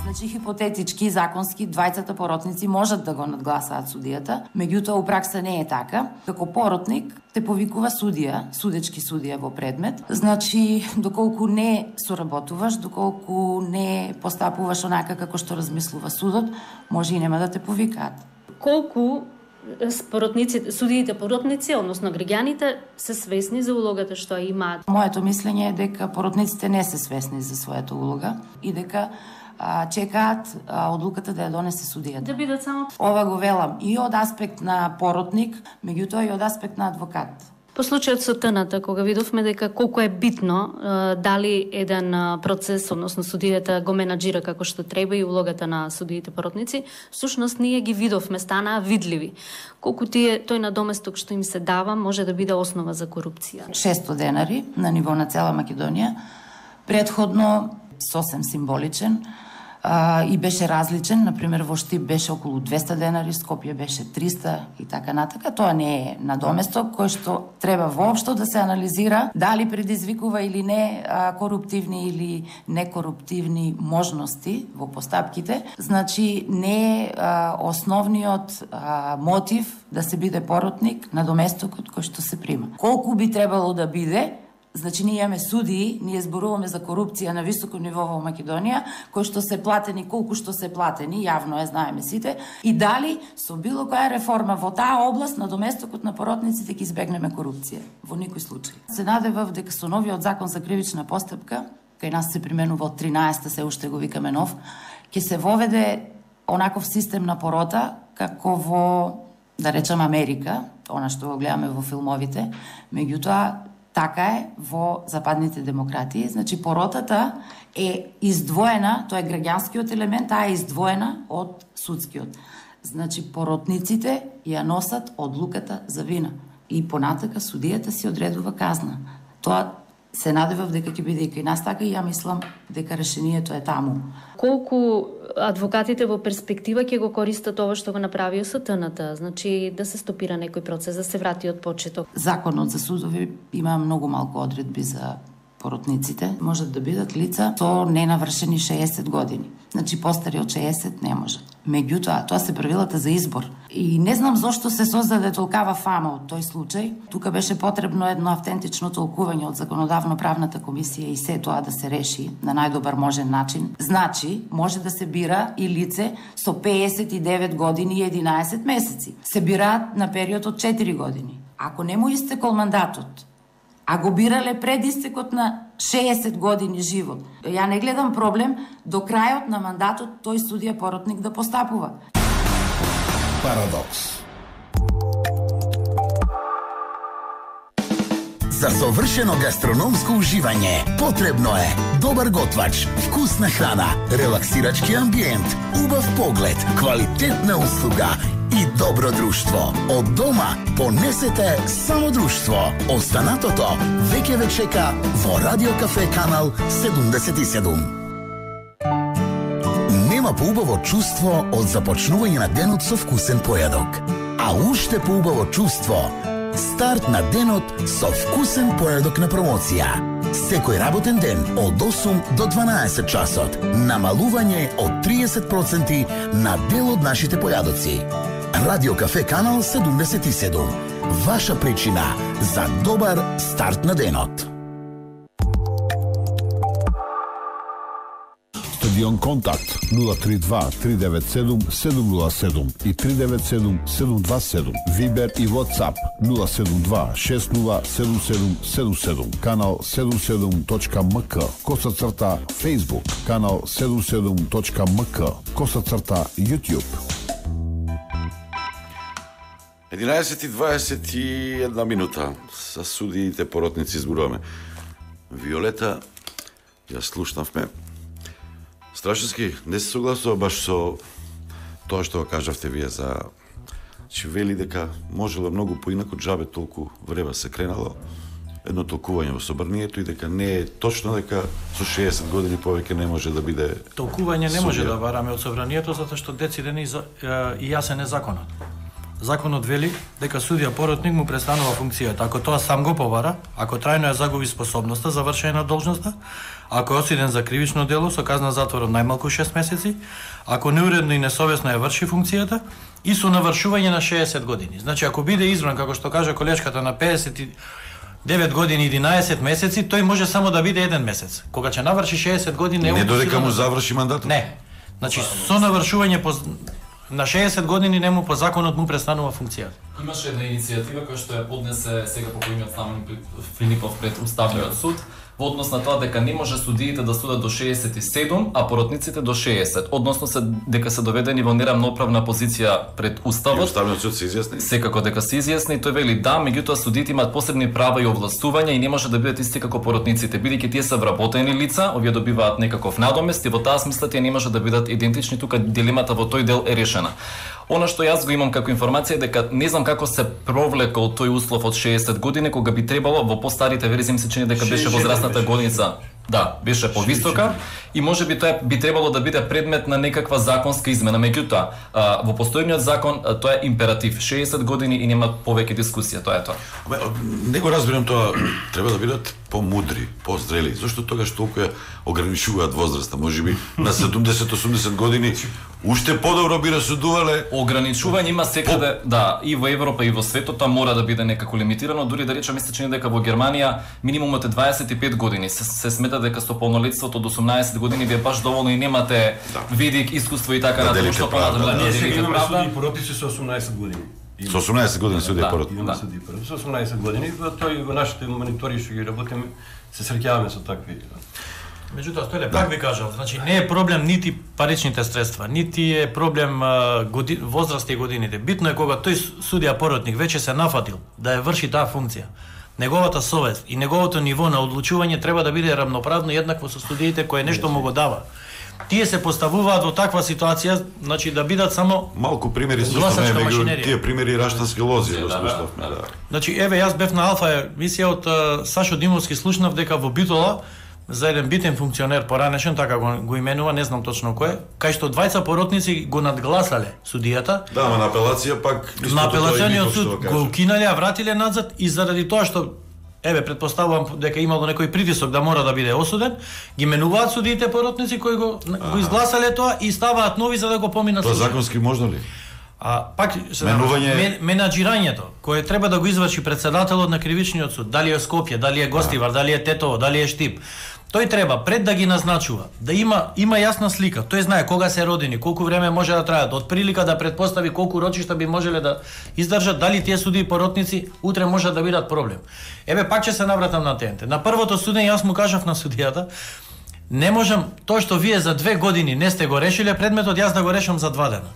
S8: Значи, хипотетички, законски, двајцата поротници можат да го надгласаат судијата, меѓутоа у пракса не е така. Како поротник те повикува судија, судечки судија во предмет. Значи, доколку не соработуваш, доколку не постапуваш онака како што размислува судот, може и нема да те повикаат.
S5: Колку судиите поротници, односно граѓаните, се свесни за улогата што имаат?
S8: Моето мислење е дека поротниците не се свесни за својата улога и дека чекаат одлуката да ја донесе судијата.
S5: Да бидат само...
S8: Ова го велам и од аспект на поротник, меѓутоа и од аспект на адвокат.
S5: По случајот со ТНТ, кога видовме дека колку е битно дали еден процес, односно судијата го менаџира како што треба и улогата на судиите поротници, всушност ние ги видовме, станаа видливи. Колку тој надоместок што им се дава може да биде основа за корупција.
S8: 600 денари на ниво на цела Македонија, предходно сосем символичен, и беше различен, например во Штип беше околу 200 денари, Скопје беше 300 и така натака. Тоа не е надоместок кој што треба воопшто да се анализира дали предизвикува или не коруптивни или некоруптивни можности во постапките. Значи не е основниот мотив да се биде поротник надоместокот кој што се прима. Колку би требало да биде? Значи, ние имаме судии, ние зборуваме за корупција на високо ниво во Македонија, кои што се платени, колку што се платени, јавно е, знаеме сите, и дали со било која реформа во таа област на доместокот на поротниците ќе избегнеме корупција. Во никој случај. Се надевав дека со новиот закон за кривична постапка, кај нас се применува од 13-та, се уште го викаме нов, ќе се воведе онаков систем на порота, како во, да речем, Америка, она што го гледаме во филмовите, меѓутоа, така е во западните демократии. Значи, поротата е издвоена, тоа е граѓанскиот елемент, таа е издвоена од судскиот. Значи, поротниците ја носат одлуката за вина. И понатака судијата си одредува казна. Тоа се надевав дека ќе биде и кај нас така и ја мислам дека решението е таму.
S5: Колку адвокатите во перспектива ќе го користат ова што го направио со ТНТ, значи да се стопира некој процес, да се врати од почеток?
S8: Законот за судови има многу малку одредби за поротниците. Можат да бидат лица со ненавршени 60 години. Значи, постари од 60 не може. Меѓутоа, тоа се правилата за избор. И не знам зошто се создаде толкава фама од тој случај. Тука беше потребно едно автентично толкување од Законодавно-правната комисија и се тоа да се реши на најдобар можен начин. Значи, може да се бира и лице со 59 години и 11 месеци. Се бираат на период од 4 години. Ако не му истекол мандатот, а го бирале пред истекот на 60 години живот. Ја не гледам проблем до крајот на мандатот тој судија поротник да постапува.
S11: Парадокс. За совршено гастрономско уживање потребно е добар готвач, вкусна храна, релаксирачки амбиент, убав поглед, квалитетна услуга и добро друштво. Од дома понесете само друштво. Останатото веќе ве чека во Радио Кафе канал 77. Нема поубаво чувство од започнување на денот со вкусен појадок. А уште поубаво чувство старт на денот со вкусен појадок на промоција. Секој работен ден од 8 до 12 часот. Намалување од 30% на дел од нашите појадоци. Радио Кафе канал 77. Ваша причина за добар старт на денот.
S1: Стадион Контакт 032 397 707 и 397 727. Вибер и WhatsApp 072 607777. Канал 77.mk. _. Facebook. Канал 77.mk. _ YouTube.
S2: 11:21 минута. Са судиите поротници зборуваме. Виолета, ја слушнавме. Страшевски, не се согласува баш со тоа што го кажавте вие за... Че вели дека можело многу поинако, джабе толку време се кренало едно толкување во собранието и дека не е точно дека со 60 години повеќе не може да биде...
S3: Толкување не може да бараме од собранието, затоа што дециден и јасен е законот. законот вели дека судија поротник му престанува функцијата ако тоа сам го побара, ако трајно ја загуби способноста за вршење на должноста, ако е осуден за кривично дело со казна затвор од најмалку 6 месеци, ако неуредно и несовесно ја врши функцијата и со навршување на 60 години. Значи ако биде избран како што кажа колешката на 59 години и 11 месеци, тој може само да биде 1 месец. Кога ќе наврши 60 години
S2: не додека му заврши мандатот.
S3: Не. Значи со навршување на 60 години нему по законот му престанува функцијата.
S4: Имаше една иницијатива која што ја поднесе сега покојниот Стамен Филипов пред Уставниот суд во однос на тоа дека не може судиите да судат до 67, а поротниците до 60. Односно дека се доведени во неравноправна позиција пред Уставот.
S2: И Уставниот суд се изјасни?
S4: Секако дека се изјасни, тој вели да, меѓутоа судиите имаат посебни права и овластувања и не може да бидат исти како поротниците, бидејќи тие се вработени лица, овие добиваат некаков надомест и во таа смисла тие не може да бидат идентични, тука дилемата во тој дел е решена. Она што јас го имам како информација е дека не знам како се провлекол тој услов од 60 години, кога би требало во постарите верзии ми се чини дека беше возрастната годица. Да, беше повисока и можеби тоа би требало да биде предмет на некаква законска измена. Меѓутоа, во постојниот закон тоа е императив 60 години и нема повеќе дискусија, тоа е тоа.
S2: Не го разбирам тоа, треба да бидат помудри, позрели. Зошто тогаш толку ја ограничуваат возраста? Можеби на 70-80 години уште подобро би расудувале.
S4: Ограничување има секаде, да, и во Европа и во светот, тоа мора да биде некако лимитирано, дури да речам мислеч дека во Германија минимумот е 25 години. Се смета дека со полнолетството од 18 години ви е баш доволно и немате видик, искуство и така натаму што понатаму да делите
S16: имаме
S4: правда.
S16: судии поротници со 18 години.
S2: Со 18 години судија поротник.
S16: Имаме судии поротници со 18 години, тој во нашите монитори што ги работиме се среќаваме со такви.
S3: Меѓутоа, Стојле, пак ви кажав, значи не е проблем нити паричните средства, нити е проблем возраст и годините. Битно е кога тој судија поротник веќе се нафатил да ја врши таа функција. Неговата совест и неговото ниво на одлучување треба да биде рамноправно и еднакво со судиите кои нешто му го дава. Тие се поставуваат во таква ситуација, значи да бидат само
S2: малку примери
S3: гласачка машинерија.
S2: Тие примери раштански лози, да.
S3: Значи еве јас бев на Алфа емисија од Сашо Димовски, слушнав дека во Битола за еден битен функционер поранешен, така го именува, не знам точно кој, кај што двајца поротници го надгласале судијата.
S2: Да, ама на апелација пак
S3: на апелациониот суд го укинале, а вратиле назад и заради тоа што еве претпоставувам дека имало некој притисок да мора да биде осуден, ги менуваат судиите поротници кои го изгласале тоа и ставаат нови за да го поминат.
S2: Тоа законски можно ли?
S3: Пак менаџирањето кое треба да го изврши председателот на кривичниот суд, дали е Скопје, дали е Гостивар, дали е Тетово, дали е Штип, тој треба пред да ги назначува да има јасна слика. Тој знае кога се родени, колку време може да траат, од прилика да претпостави колку рочишта би можеле да издржат, дали тие судии поротници утре можат да бидат проблем. Еве пак ќе се навратам на тенте. На првото судење јас му кажав на судијата, не можам тоа што вие за 2 години не сте го решиле предметот, јас да го решам за 2 дена.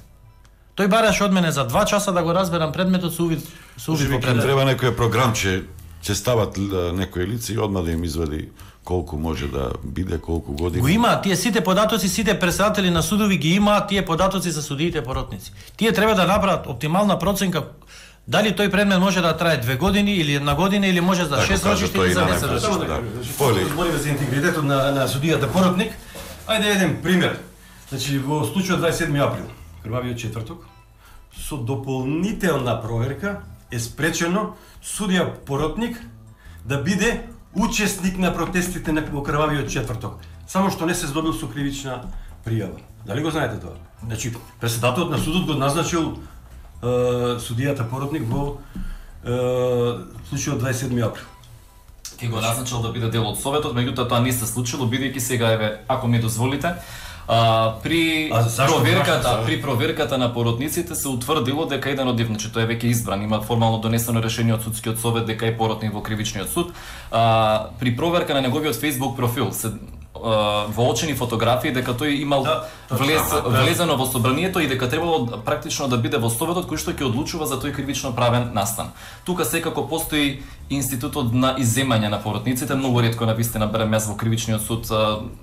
S3: Тој бараше од мене за 2 часа да го разберам предметот со увид во предметот.
S2: Треба некој програм ќе стават некои лица и одма да им извади колку може да биде, колку години.
S3: Го има тие сите податоци, сите председатели на судови ги имаат тие податоци за судиите поротници. Тие треба да направат оптимална проценка дали тој предмет може да трае 2 години или 1 година или може за 6 рочишта или за 10 рочишта.
S16: Збориме за интегритетот на судијата поротник. Ајде еден пример. Значи во случајот 27 април, крвавиот четврток, со дополнителна проверка е спречено судија поротник да биде учесник на протестите на крвавиот четврток, само што не се здобил со кривична пријава. Дали го знаете тоа? Значи, председателот на судот го назначил судијата поротник во случајот 27 април.
S4: Ке го назначил да биде дел од советот, меѓутоа тоа не се случило, бидејќи сега еве, ако ми дозволите, при проверката на поротниците се утврдило дека еден од нив, значи тој е веќе избран, има формално донесено решение од судскиот совет дека е поротник во кривичниот суд. При проверка на неговиот Facebook профил се воочени фотографии дека тој имал влезено во собранието и дека требало практично да биде во советот кој што ќе одлучува за тој кривично правен настан. Тука секако постои институтот на изземање на поротниците, многу ретко на вистина берам јас во кривичниот суд,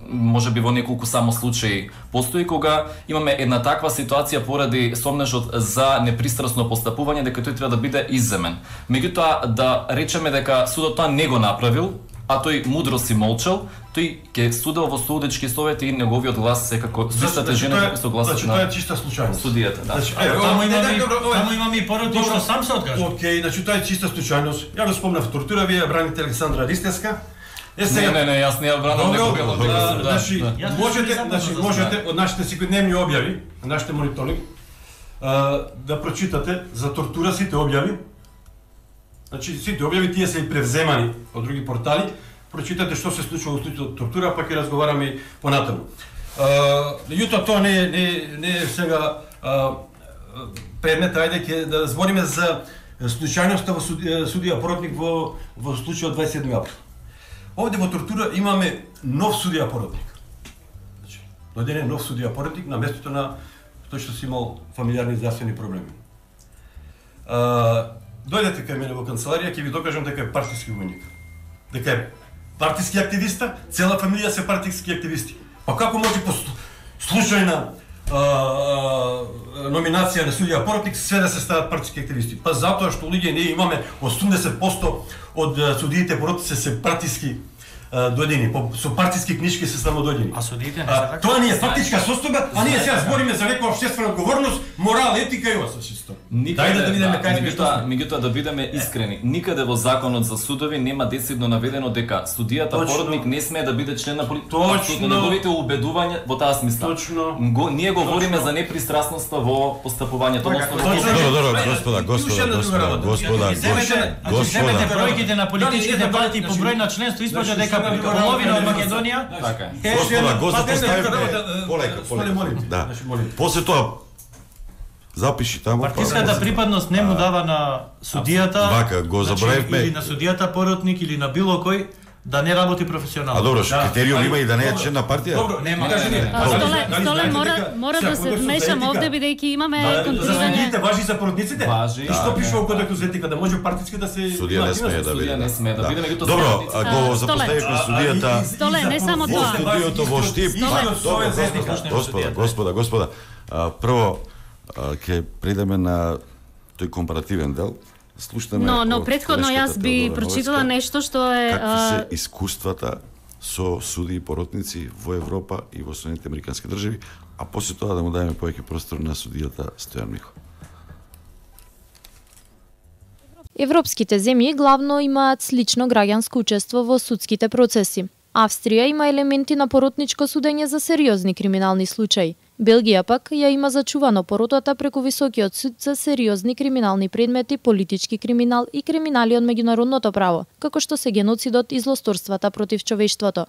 S4: можеби во неколку само случаи постои кога имаме една таква ситуација поради сомнежот за непристрасно постапување дека тој треба да биде изземен. Меѓутоа да речеме дека судот тоа не го направил, а тој мудро си молчал, тој ќе судел во судечки совет и неговиот глас секако сустата жена со гласот на.
S16: Значи тоа е чиста случајност.
S4: Судијата, да.
S16: Значи,
S3: таму имаме и поротник што сам се откажа.
S16: Океј, значи тоа е чиста случајност. Ја го спомнав тортура, вие браните Александра Ристевска.
S4: Не, јас не ја бранам некого.
S16: Значи, можете од нашите секојдневни објави, нашите мониторинг, да прочитате за тортура сите објави. Значи, сите објави тие се и превземани од други портали. Прочитате што се случува во случајот тортура, па ќе разговараме и понатаму. Меѓутоа тоа не е сега предмет, ајде ќе да збориме за случајноста во судија поротник во случајот 27 април. Овде во тортура имаме нов судија поротник. Значи, дојден е нов судија поротник на местото на тој што си имал фамилиарни здравствени проблеми. Дојдете кај мене во канцеларија, ќе ви докажам дека е партиски војник. Дека е партиски активиста, цела фамилија се партиски активисти. Па како може по случајна номинација на судија поротник све да се стават партиски активисти? Па затоа што луѓе ние имаме 80% од судиите поротници се партиски дојдени, со партиски книжки се само дојдени.
S3: А судиите не се така?
S16: Тоа не е фактичка состојба, а ние сега збориме за некоја обществена одговорност, морал, етика и ова чисто.
S4: Дај да видиме кај сме што сме. Меѓутоа да бидеме искрени, никаде во законот за судови нема децидно наведено дека судијата поротник не смее да биде член на
S16: Точно.
S4: Неговите убедувања во таа смисла.
S16: Точно.
S4: Ние говориме за непристрасноста во постапувањето.
S2: Добро, господа.
S3: Земете бројките на политичките партии по број на членство, испаѓа дека половина од Македонија.
S2: Господа, полека. Да. После тоа запиши таму.
S3: Партиската припадност не му дава на судијата.
S2: Вака, го забравивме.
S3: Или на судијата поротник или на било кој да не работи професионално.
S2: А добро, критериум има и да не е член на партија?
S16: Добро, нема.
S5: Столе мора да се вмешам овде бидејќи имаме контролирање.
S16: За судиите важи за поротниците?
S4: Важи.
S16: И што пише во кодексот за етика да може партиски да се
S2: Судија не смее да биде.
S4: Не смее да биде, меѓутоа
S2: добро, го запоставивме судијата.
S5: Столе, не само
S2: во
S5: тоа.
S2: студиото во Штип. Господа, прво ќе придеме на тој компаративен дел. Слушнеме.
S5: Но претходно јас би прочитала нешто што е
S2: какви се искуствата со суди и поротници во Европа и во Соединетите Американски држави, а после тоа да му дадеме повеќе простор на судијата Стојан Михо.
S19: Европските земји главно имаат слично граѓанско учество во судските процеси. Австрија има елементи на поротничко судење за сериозни криминални случаи. Белгија пак ја има зачувано поротата преку високиот суд за сериозни криминални предмети, политички криминал и криминали од меѓународното право, како што се геноцидот и злосторствата против човештвото.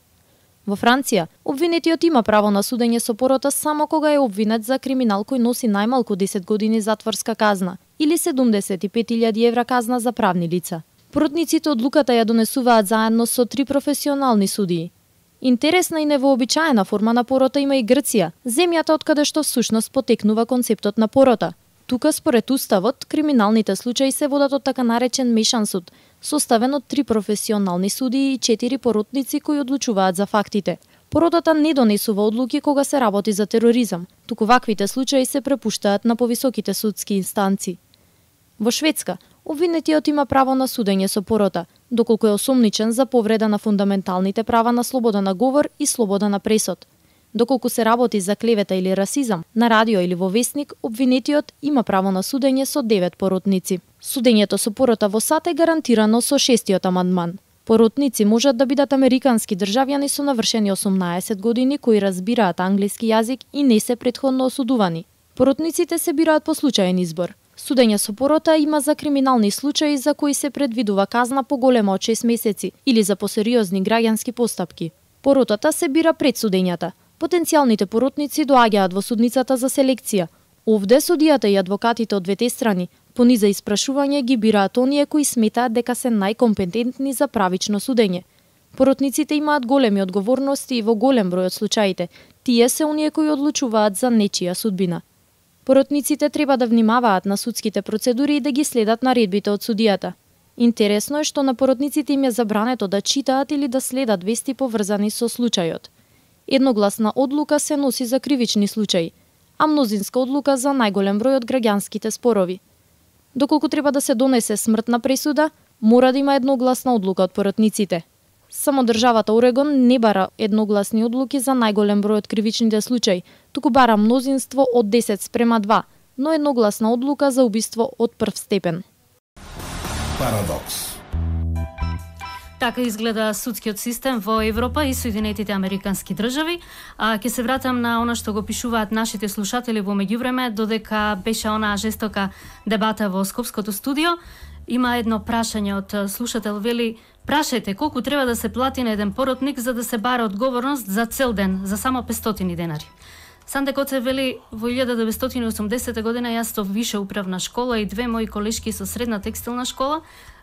S19: Во Франција, обвинетиот има право на судење со порота само кога е обвинет за криминал кој носи најмалку 10 години затворска казна или 75.000 евра казна за правни лица. Поротниците одлуката ја донесуваат заедно со 3 професионални судии. Интересна и невообичаена форма на порота има и Грција, земјата од каде што всушност потекнува концептот на порота. Тука, според уставот, криминалните случаи се водат од така наречен мешан суд, составен од 3 професионални судии и 4 поротници кои одлучуваат за фактите. Поротата не донесува одлуки кога се работи за тероризам, туку ваквите случаи се препуштаат на повисоките судски инстанци. Во Шведска, обвинетиот има право на судење со порота, доколку е осомничен за повреда на фундаменталните права на слобода на говор и слобода на пресод. Доколку се работи за клевета или расизам, на радио или во весник, обвинетиот има право на судење со 9 поротници. Судењето со порота во САД е гарантирано со 6-тиот амандман. Поротници можат да бидат американски државјани со навршени 18 години кои разбираат англиски јазик и не се претходно осудувани. Поротниците се бираат по случаен избор. Судење со порота има за криминални случаи за кои се предвидува казна поголема од 6 месеци или за посериозни граѓански постапки. Поротата се бира пред судењата. Потенцијалните поротници доаѓаат во судницата за селекција. Овде судијата и адвокатите од двете страни по низа испрашување ги бираат оние кои сметаат дека се најкомпетентни за правично судење. Поротниците имаат големи одговорности и во голем број од случаите. Тие се оние кои одлучуваат за нечија судбина. Поротниците треба да внимаваат на судските процедури и да ги следат наредбите од судијата. Интересно е што на поротниците им е забрането да читаат или да следат вести поврзани со случајот. Едногласна одлука се носи за кривични случаи, а мнозинска одлука за најголем број од граѓанските спорови. Доколку треба да се донесе смртна пресуда, мора да има едногласна одлука од поротниците. Само државата Орегон не бара едногласни одлуки за најголем број од кривичните случаи, туку бара мнозинство од 10:2, но едногласна одлука за убиство од прв степен.
S1: Парадокс.
S5: Така изгледа судскиот систем во Европа и Соединетите Американски држави. Ќе се вратам на она што го пишуваат нашите слушатели во меѓувреме, додека беше онаа жестока дебата во Скопското студио. Има едно прашање од слушател, вели: прашајте колку треба да се плати на еден поротник за да се бара одговорност за цел ден, за само 500 денари. Санде Коце вели: во 1980 година јас со више управна школа и две мои колешки со средна текстилна школа,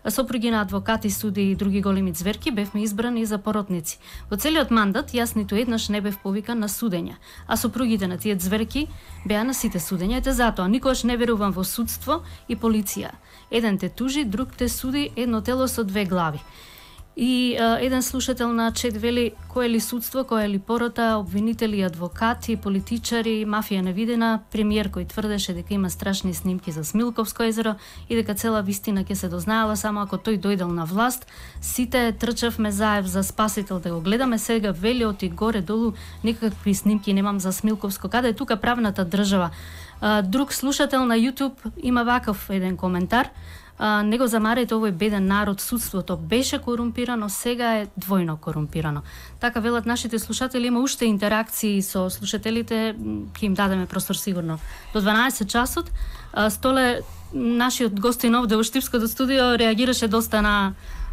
S5: сопруги на адвокати, суди и други големи зверки, бевме избрани за поротници. Во целиот мандат јас ниту еднаш не бев повикан на судење, а сопругите на тие зверки беа на сите судења. Ете затоа никогаш не верувам во судство и полиција. Еден те тужи, друг те суди, едно тело со две глави. И еден слушател на чет вели: кој е ли судство, кој е ли порота, обвинители, адвокати, политичари, мафија невидена, премиер кој тврдеше дека има страшни снимки за Смилковско езеро и дека цела вистина ќе се дознаела само ако тој дојдел на власт. Сите трчавме заев за спасител да го гледаме, сега вели оти горе долу никакви снимки немам за Смилковско. Каде е тука правната држава? Друг слушател на YouTube има ваков еден коментар: не го замарете овој беден народ, судството беше корумпирано, сега е двојно корумпирано. Така велат нашите слушатели. Има уште интеракции со слушателите, ќе им дадеме простор сигурно до 12 часот. Столе, нашиот гостин овде во Штипското студио реагираше доста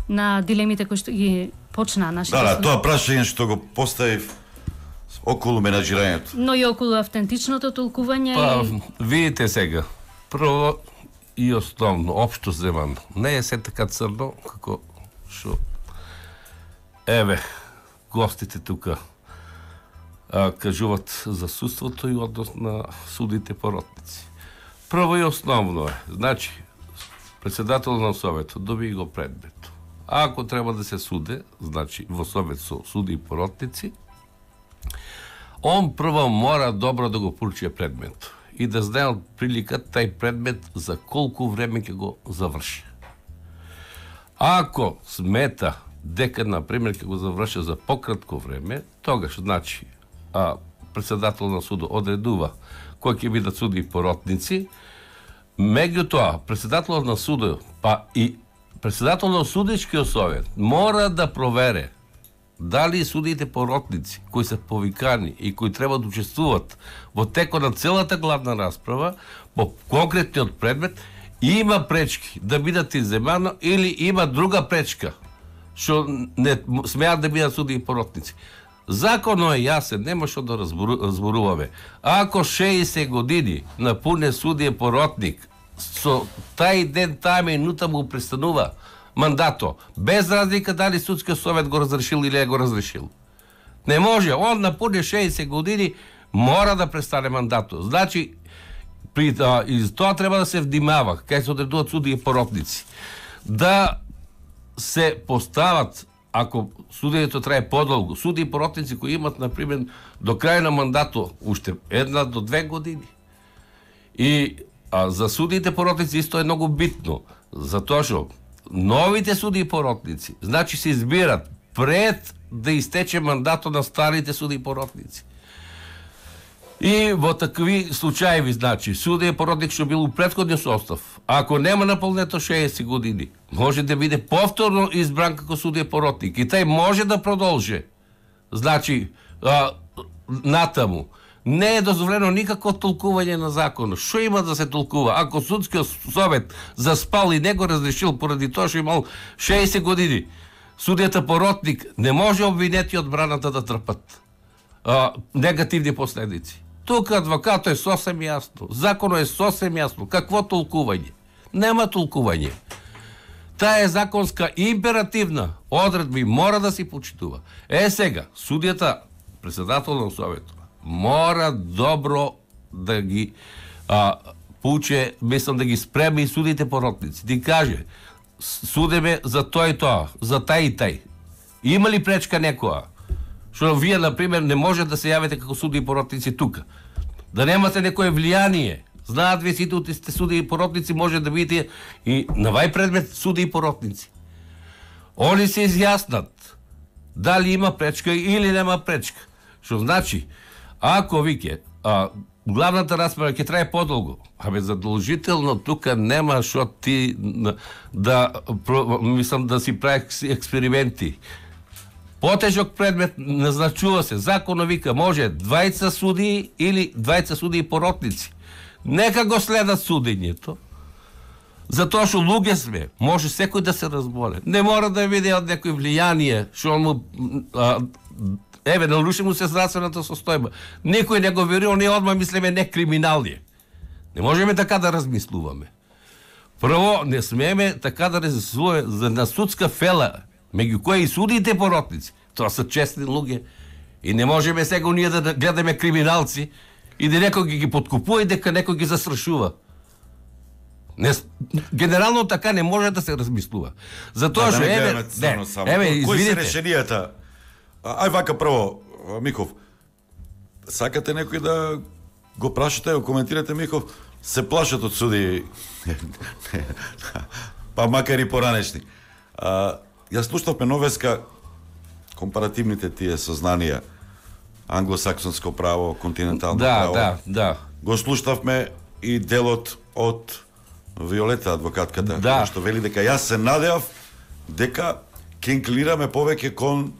S5: на дилемите кои што ги почна нашите слушатели.
S2: Тоа прашање што го поставив околу менаџирањето.
S5: Но и околу автентичното толкување.
S12: Видите сега, прво и основно, општо земано, не е се така црно како што еве гостите тука кажуват за судството и однос на судите поротници. Прво и основно е, значи, председател на Советот доби го предмет. Ако треба да се суде, значи во Совет со суди и поротници, он прво мора добро да го проучи предмет и да знае од прилика тај предмет за колку време ќе го заврши. Ако смета дека, например, ќе го заврши за пократко време, тогаш, значи, председател на судот одредува кој ќе бидат суди и поротници, меѓутоа, председател на судот, па и председател на судичкиот совет мора да провере дали судите поротници кои се повикани и кои треба да учествуват во текот на целата главна расправа по конкретниот предмет има пречки да бидат изземано или има друга пречка што не смеат да бидат суди и поротници. Законот е јасен, нема што да разборуваме. Ако 60 години напуне судија поротник, со тај ден, таа минута му престанува мандато, без разлика дали судскиот совет го разрешил или не го разрешил. Не може, он напуне 60 години, мора да престане мандато. Значи, и тоа треба да се внимава, кај се одредуваат суди и поротници. Да се постават, ако судењето трае подолго, суди и поротници кои имат, например, до крај на мандато, уште 1 до 2 години. И за судите поротници исто е многу битно, затоа што новите суди и поротници, значи се избират пред да истече мандато на старите суди и поротници. И во такви случаи, значи, судија и поротник што бил у претходниот состав, ако нема наполнето 60 години, може да биде повторно избран како судија и поротник и тај може да продолжи. Значи, натаму. Не е дозволено никакво толкување на законот. Што има да се толкува? Ако судскиот совет заспал и не го разрешил поради тоа што имал 60 години, судијата поротник не може обвинети од браната да трпат негативни последици. Тука адвокатот е сосем јасно. Законот е сосем јасно. Какво толкување? Нема толкување. Таа е законска императивна одредба и мора да се почитува. Сега, судијата, председател на Советот, мора добро да ги поуче, мислам да ги спреми и судите поротници. Ти каже, судеме за тој и тоа, за тај и тај. Има ли пречка некоја? Што вие, например, не може да се јавите како суди и поротници тука. Да немате некое влијание. Знаат ви сите сте суди и поротници, може да видите и на вај предмет суди и поротници. Они се изјаснат дали има пречка или нема пречка. Што значи, ако вике, главната расправа ќе трае подолго, задолжително тука нема што ти да си прави експерименти. Потежок предмет назначува се. Законот вика може 20 судии или 20 судии поротници. Нека го следат судењето. Затоа што луѓе сме, може секој да се разболе. Не мора да види од некој влијание, што му наруши му се здравствената состојба. Никој не го верува, ние одма мислиме не криминални. Не можеме така да размислуваме. Прво, не смееме така да размислуваме за на судска фела, меѓу кои и судиите поротници. Тоа се честни луѓе. И не можеме сега ние да гледаме криминалци и да некој ги подкупува и дека некој ги застрашува. Генерално така не може да се размислува. Затоа што
S2: кои се решенијата? Ај вака прво, Михов, сакате некој да го прашате, го коментирате, Михов, се плашат од суди, па макар и поранешни. Јас слушнавме новеска компаративните тие сознанија, англосаксонско право, континентално право.
S12: Да.
S2: Го слушнавме и делот од Виолета, адвокатката, што вели дека јас се надеав дека ќе инклинираме повеќе кон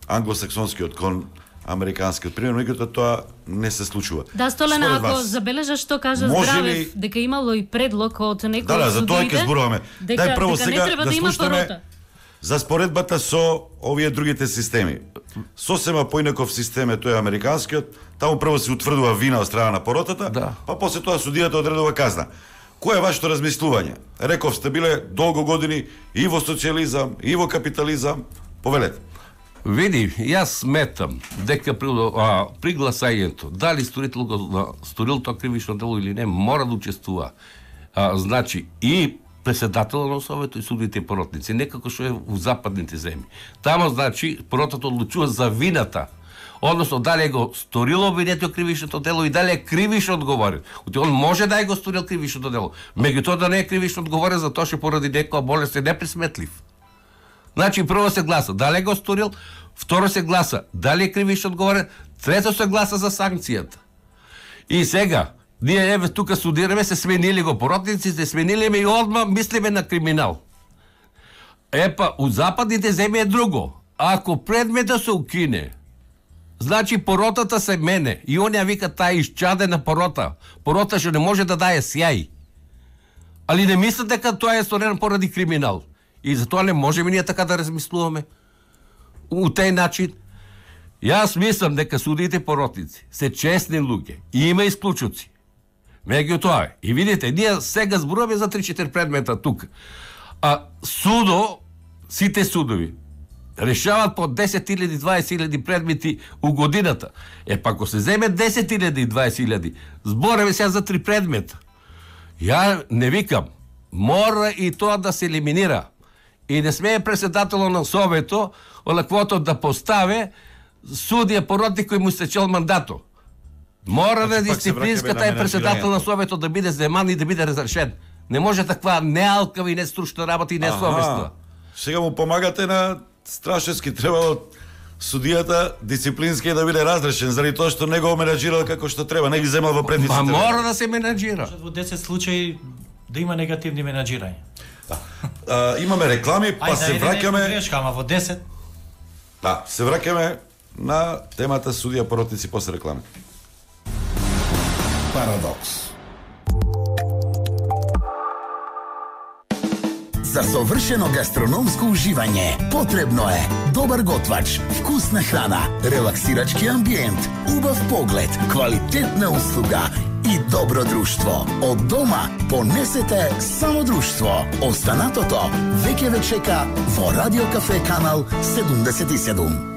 S2: англосаксонскиот, кон американскиот. Примерно, меѓутоа тоа не се случува.
S5: Да, Столена, ако забележаш што кажа Здравев, дека имало и предлог од некој од судиите.
S2: За тоа ќе зборуваме. Дај прво сега
S5: да слушаме
S2: за споредбата со овие другите системи. Сосема поинаков систем е тој американскиот, таму прво се утврдува вина од страна на поротата, па после тоа судијата одредува казна. Кој е вашето размислување? Реков сте биле долго години и во социјализам, и во капитализам. Повелете.
S12: Види, јас сметам дека при гласањето, дали сторител го сторил тоа кривично дело или не, мора да учествува. Значи, и председателот на Совето и судите и поротници, некако што е во западните земји. Тамо, значи, поротата одлучува за вината, односно дали го сторило обвинетиот кривичното дело и дали е кривично одговорен. Он може да е го сторил кривичното дело, меѓутоа да не е кривично одговорен затоа што поради некоја болест е неприсметлив. Значи, прво се гласа дали го сторил, второ се гласа дали е кривично одговорен, трето се гласа за санкцијата. И сега, ние тука судираме, се сменили го поротниците, сменили ме и одма мислиме на криминал. У западните земји е друго. Ако предметот се укине, значи поротата се мене и он ја вика таа исчадена порота. Порота што не може да дае сјај. Али не мислат дека тоа е сторено поради криминал. И затоа не можеме ние така да размислуваме. У тај начин, јас мислам дека судиите поротници се честни луѓе и има исклучоци. Меѓутоа, и видите, ние сега зборуваме за 3-4 предмета тука. Судо, сите судови, решават по 10.000, 20.000 предмети у годината. Па ако се земе 10.000 20.000, збореме сега за 3 предмета. Ја не викам, мора и тоа да се елиминира. И не смее председателот на Совето олаквото да поставе судија поротник кој му стечел мандато. Мора да дисциплинска тај председател на Совето да биде земан и да биде разрешен. Не може таква неалкава и нестручна работа и несовестна.
S2: Сега му помагате на Страшевски, требало судијата дисциплински да биде разрешен заради тоа што не го менаџирал како што треба, не ги земал во предниците.
S12: Мора да се менаџира.
S3: Во 10 случаи да има негативни менаџирања.
S2: Имаме реклами, па се враќаме.
S3: Во 10.
S2: Да, се враќаме на темата судија поротници после реклами.
S11: Парадокс. За совршено гастрономско уживање потребно е добар готвач, вкусна храна, релаксирачки амбиент, убав поглед, квалитетна услуга и добро друштво. Од дома понесете само друштво. Останатото веќе ве чека во Радио Кафе канал 77.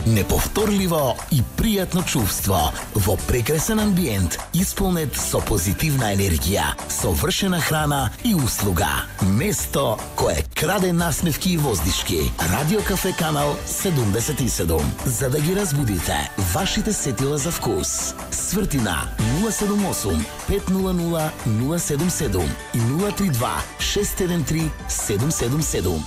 S11: Неповторливо и пријатно чувство во прекрасен амбиент, исполнет со позитивна енергија, совршена храна и услуга. Место кое краде насмевки и воздишки. Радио Кафе канал 77. За да ги разбудите вашите сетила за вкус. Свртина 078 500 077 и 032 613 777.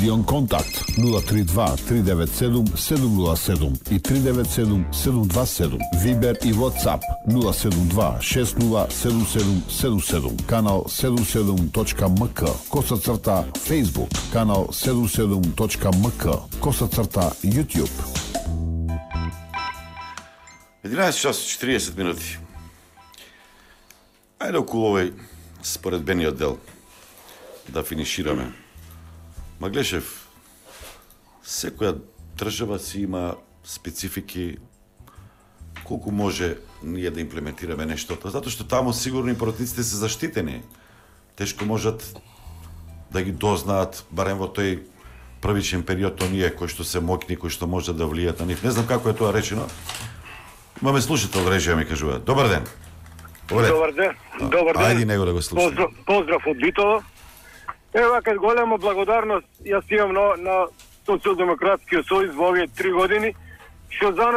S1: Стадион Контакт 032 397 707 и 397 727. Вибер и WhatsApp 072 607777. Канал 77.mk. _. Facebook. Канал 77.mk. _ YouTube.
S2: 11 часот 40 минути. Ајде околу овој споредбениот дел да финишираме. Маглешев, секоја држава си има специфики колку може ние да имплементираме нештото, затоа што таму сигурно и поротниците се заштитени. Тешко можат да ги дознаат, барем во тој првичен период, оние кои што се мокни, кои што можат да влијат на нив. Не знам како е тоа речено. Имаме слушател режија, ми кажува. Добар ден.
S20: Добар ден. Добар ден.
S2: Ајде него да го слушаме.
S20: Поздрав од Битово. Ева, кај голема благодарност јас имам на Социјалдемократскиот сојуз во овие 3 години, што за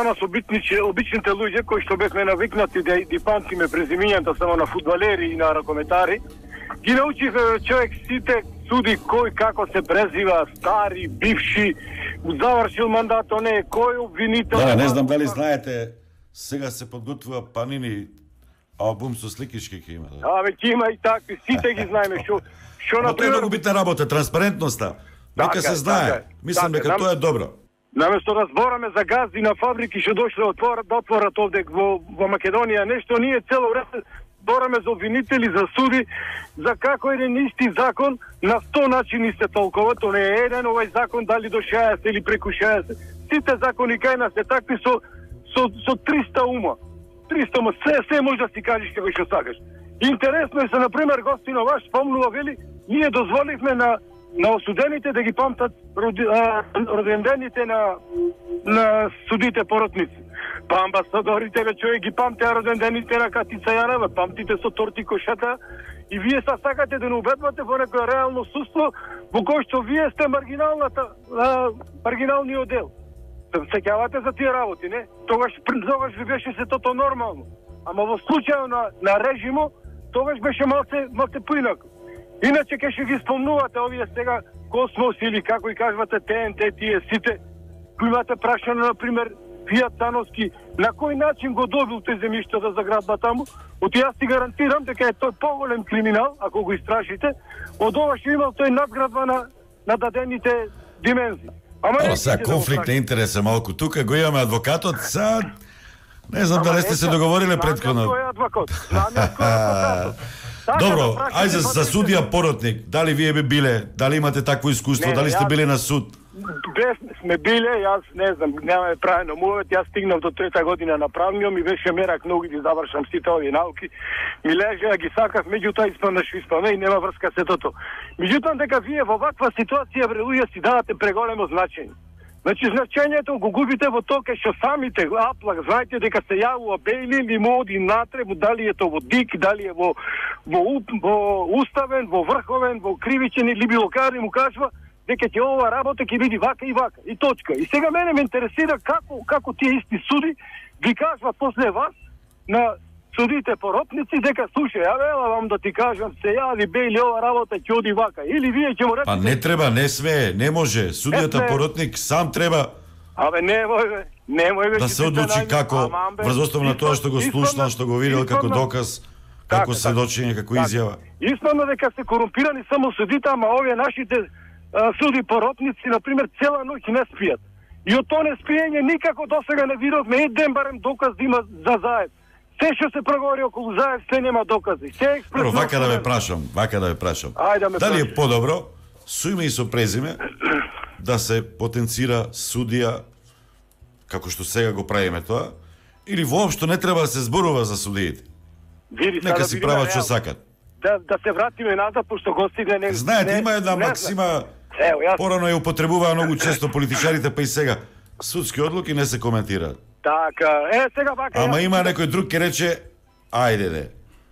S20: нас обичните луѓе кои што бевме навикнати да памтиме презимињата само на фудбалери и на ракометари, ги научивме човек сите суди кој како се презива, стари, бивши, завршил мандат, не кој обвинител.
S2: Да, не знам дали знаете, сега се подготвува Панини албум со сликички ќе има.
S20: Ќе има и такви, сите ги знаеме што
S2: на тоа е многу битна работа, транспарентноста. Нека се знае. Мислам дека тоа е добро.
S20: Наместо да збораме за гази на фабрики што дошле да отворат овде во Македонија нешто, ние цело време збораме за обвинители, за суди, за како еден исти закон на 100 начини се толкува, тоа не е еден овој закон дали до 60 или преку 60. Сите закони кај нас се такви со 300 ума. 300 ума, се може да си кажеш како што сакаш. Интересно е се, например, гостино ваш спомнува, вели, ние дозволивме на осудените да ги памтат родендените на судите поротници. Па амбасадорите, бе, човек ги памтеа родендените на Катица Јанева, памтите со торти кошата, и вие са сакате да не убедвате во некој реално суство во кој што вие сте маргиналниот дел. Сеќавате за тие работи, не? Тогаш ви беше се тото нормално. Ама во случајот на режимо, тогаш беше малце поинако. Иначе ке ќе ги спомнувате овие сега Космос или како и кажувате ТНТ, тие сите, кои имате прашано, например, Фијат Сановски, на кој начин го добил те земјиштата за градба таму, оти јас ти гарантирам дека е тој поголем криминал, ако го истражите, од ова што имал тој надградба на дадените димензии.
S2: Ама сега конфликт на интерес е малку. Тука го имаме адвокатот, сега не знам дали сте се договориле предходно.
S20: Кој е адвокат?
S2: Добро, ајде за судија поротник, дали вие би биле, дали имате такво искуство, дали сте биле на суд?
S20: Сме биле, јас не знам, немаме правено мувет, јас стигнав до 3-та година на правниот, ми беше мерак многу да завршам сите овие науки, ми лежеа, ги сакав, меѓутоа испадна што испадна и нема врска се тото. Меѓутоа дека вие во ваква ситуација, бре луѓе, си давате преголемо значење. Значи, значењето го губите во тоа кај што самите аплак, знаете дека се јавува Бејли или му оди натре, дали е тоа во ДИК, дали е во Уставен, во Врховен, во Кривичен или било каде му кажува дека ќе ова работа ќе биде вака и вака, и точка. И сега мене ме интересира како тие исти суди ви кажуват после вас на судите поротници дека слушај, ела вам да ти кажам, се јави Бејли, ова работа ќе оди вака. Или вие ќе му речете...
S2: Па не треба, не смее, не може. Судијата поротник сам треба
S20: немој
S2: да се одлучи како врз основа на тоа што го слушнал, што го видел како доказ, како сведочење, како изјава.
S20: Испадно дека се корумпирани само судите, ама овие нашите суди поротници, например, цела ноќ не спијат. И од тоа не спиење никако досега не видовме еден барем доказ да има за Заев. Се што се проговори околу Заев, се нема докази.
S2: Вака да ве прашам. Дали е подобро со име и со презиме да се потенцира судија како што сега го правиме тоа, или воопшто не треба да се зборува за судиите? Нека си прават што сакат.
S20: Да се вратиме назад, пошто гостите не...
S2: Знаете, има една максима, порано ја употребуваа многу често политичарите, па и сега. Судски одлуки не се коментираат.
S20: Така, сега вака...
S2: Ама има некој друг ке рече, ајде де.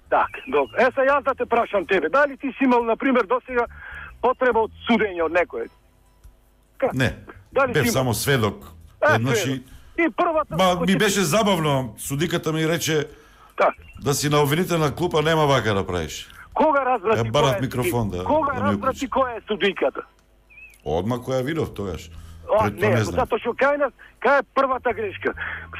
S20: Така, добро. Сега јас да те прашам тебе, дали ти си имал, например, досега потреба од судење од некој?
S2: Не, бев само сведок. Еднаш и
S20: првата...
S2: Ми беше забавно, судиката ми рече да си на обвинителна клупа нема вака да правиш.
S20: Кога разбрати
S2: која е микрофон,
S20: Кога разбрати која е судиката?
S2: Одма која видов тогаш.
S20: Не, затоа што кај нас, кај е првата грешка.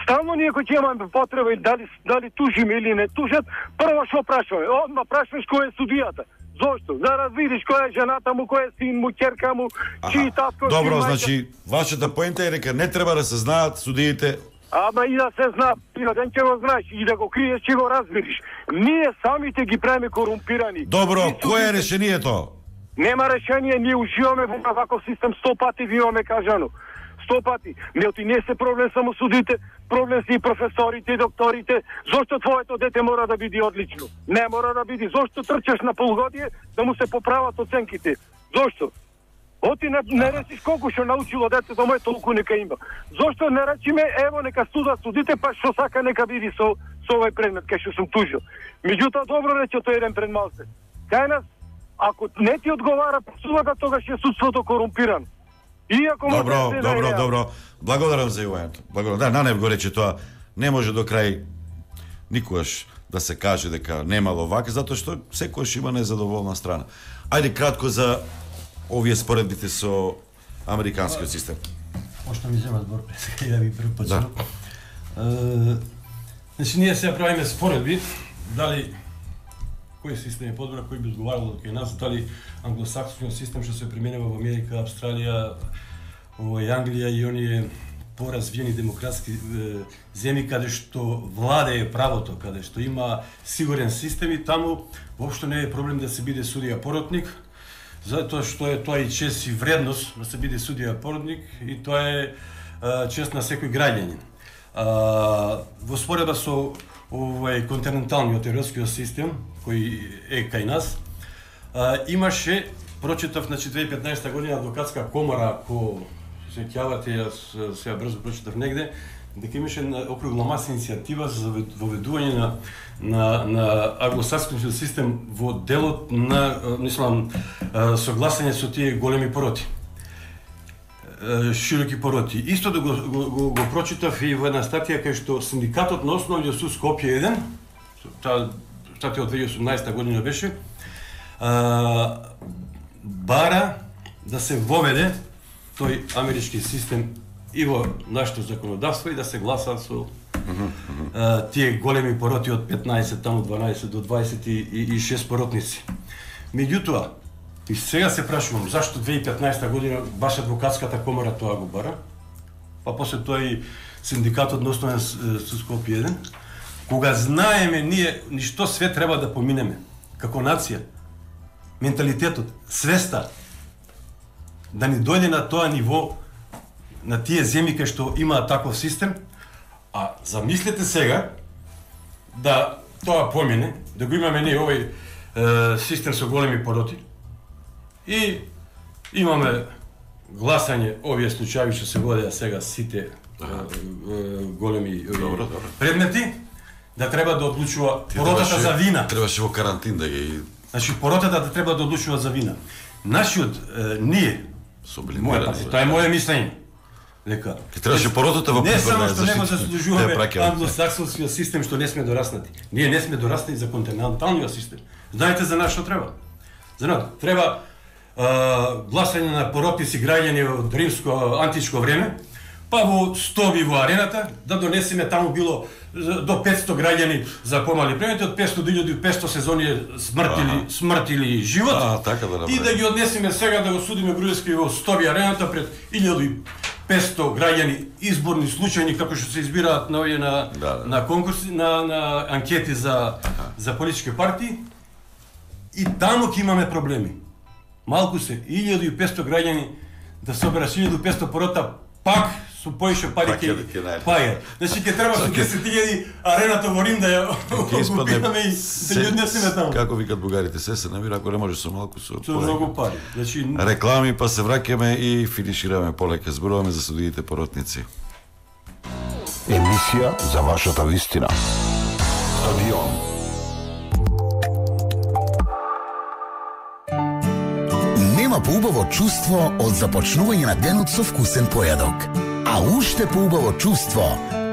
S20: Стално ние кои имаме потреба и дали тужиме или не тужат, прво што прашуваме? Одма прашуваш кој е судијата. Зошто? За да видиш која е жената му, кој е син му, ќерка му, чии татко,
S2: добро, значи, вашата поента е дека не треба да се знаат судиите.
S20: Ама и да се знае, ден ќе го знаеш, и да го криеш, ќе го разбериш. Ние самите ги правиме корумпирани.
S2: Добро, кој е решението?
S20: Нема решение, ние уживаме во ваков систем, 100 пати ви имаме кажано. 100 пати. Меѓутоа не се проблем само судите, проблем се и професорите и докторите. Зошто твоето дете мора да биде одлично? Не мора да биде. Зошто трчаш на полгодие да му се поправат оценките? Зошто? Оти не речиш колку што научило детето мој, толку нека има. Зошто не речиме, ево нека студат судите, па што сака нека биде со овој предмет, кај што сум тужил. Меѓутоа добро рече тој еден пред малце. Кај нас, ако не ти одговара судата, тогаш е судството корумпирано. Иако
S2: Добро. Благодарам за јавањето. Да, Нанев го рече тоа. Не може до крај никогаш да се каже дека немало вака, затоа што секојаш има незадоволна страна. Ајде кратко за овие споредбите со американскиот систем.
S16: Пошто ми зема збор пред да ви препочнам. Значи ние сега правиме споредби дали кој систем е подобар, кој би одговарал кај нас, дали англосаксонскиот систем што се применува во Америка, Австралија, во Англија и оние поразвиени демократски земји каде што владее правото, каде што има сигурен систем и таму воопшто не е проблем да се биде судија поротник, затоа што е тоа и чест и вредност да се биде судија поротник и тоа е чест на секој граѓанин. Во споредба со овој континенталниот европскиот систем кој е кај нас, имаше, прочитав, значи 2015 година адвокатска комора, ако се ќавате, јас сега брзо прочитав негде, дека имаше округла маса иницијатива за воведување на англосаксонскиот систем во делот на, согласање со тие големи пороти. Широки пороти. Исто да го прочитав и во една статија кај што синдикатот на Основниот суд Скопје 1, таа статија од 2018 година беше, бара да се воведе тој амерички систем и во нашето законодавство и да се гласа со тие големи пороти од 15, таму 12 до 26 поротници. Меѓутоа, и сега се прашувам, зашто 2015 година баш адвокатската комора тоа го бара, па после тоа и синдикатот на Основен суд Скопје 1, кога знаеме ние ништо све треба да поминеме, како нација, менталитетот, свеста, да ни дојде на тоа ниво, на тие земји кај што имаат таков систем, а замислете сега да тоа помине, да го имаме ние овој систем со големи пороти, и имаме гласање овие случаи што се водеа сега сите големи предмети, да треба да одлучува поротата за вина.
S2: Требаше во карантин да ги...
S16: Значи поротата да треба да одлучува за вина. Нашиот, ние, тоа е моје мислење, дека
S2: требаше поротата во
S16: не само што не го заслужуваме англосаксонскиот систем што не сме дораснати. Ние не сме дораснати за континенталниот систем. Знаете за нас што треба? За нас треба гласање на поротници граѓани од римско античко време, па во стоби во арената, да донесеме таму било до 500 граѓани за помали премети, од 500 до 1500 сезони смртили живот, и да ги однесеме сега да го судиме Груевски во стоби арената пред 1500 граѓани, изборни случајни, како што се избираат на конкурси, на анкети за политички партии, и таму ќе имаме проблеми. Малку се, 1500 граѓани да соберат 1500 порота, пак со поише пари ќе паја. Значи ќе треба со 10.000 арената во Рим да ја окупираме и да ја однесеме таму.
S2: Како викат бугарите, се намира, ако не може со малку со
S16: многу пари. Значи
S2: реклами, па се враќаме и финишираме полека. Зборуваме за судиите поротници.
S1: Емисија за вашата вистина. Стадион.
S11: Нема поубаво чувство од започнување на денот со вкусен појадок. А уште поубаво чувство,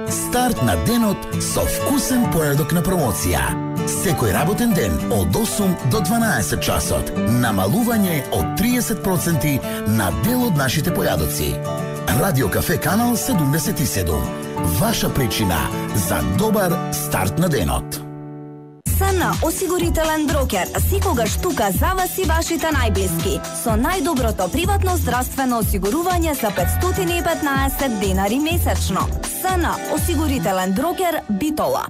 S11: старт на денот со вкусен појадок на промоција. Секој работен ден од 8 до 12 часот. Намалување од 30% на дел од нашите појадоци. Радио Кафе Канал 77. Ваша причина за добар старт на денот.
S17: СН осигурителен брокер, секогаш тука за вас и вашите најблиски. Со најдоброто приватно здравствено осигурување за 515 денари месечно. СН осигурителен брокер Битола.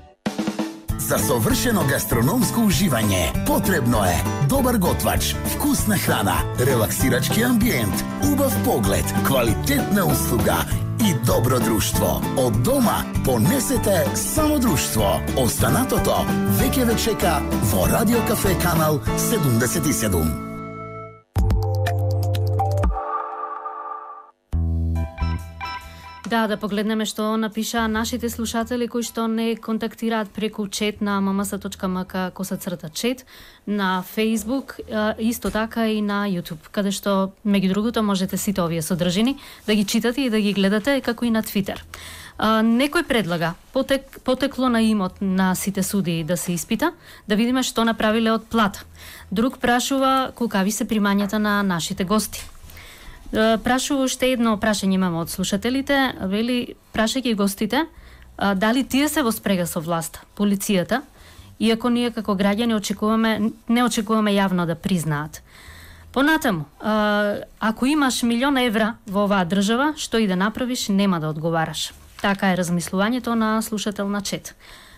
S11: За совршено гастрономско уживање потребно е добар готвач, вкусна храна, релаксирачки амбиент, убав поглед, квалитетна услуга и добро друштво. Од дома понесете само друштво. Останатото веќе ве чека во Радио Кафе Канал 77.
S5: Да погледнеме што напиша нашите слушатели кои што не контактираат преку чет на mms.mk/chat на Facebook, исто така и на YouTube, каде што меѓу другото можете сите овие содржини да ги читате и да ги гледате, како и на Twitter. Некој предлага потекло на имот на сите судии да се испита, да видиме што направиле од плата. Друг прашува колкави се примањата на нашите гости. Прашува уште едно прашање имаме од слушателите, вели прашајќи гостите дали тие се во спрега со власта, полицијата, иако ние како граѓани не очекуваме јавно да признаат. Понатаму, ако имаш 1.000.000 евра во оваа држава, што и да направиш, нема да одговараш. Така е размислувањето на слушател на чет.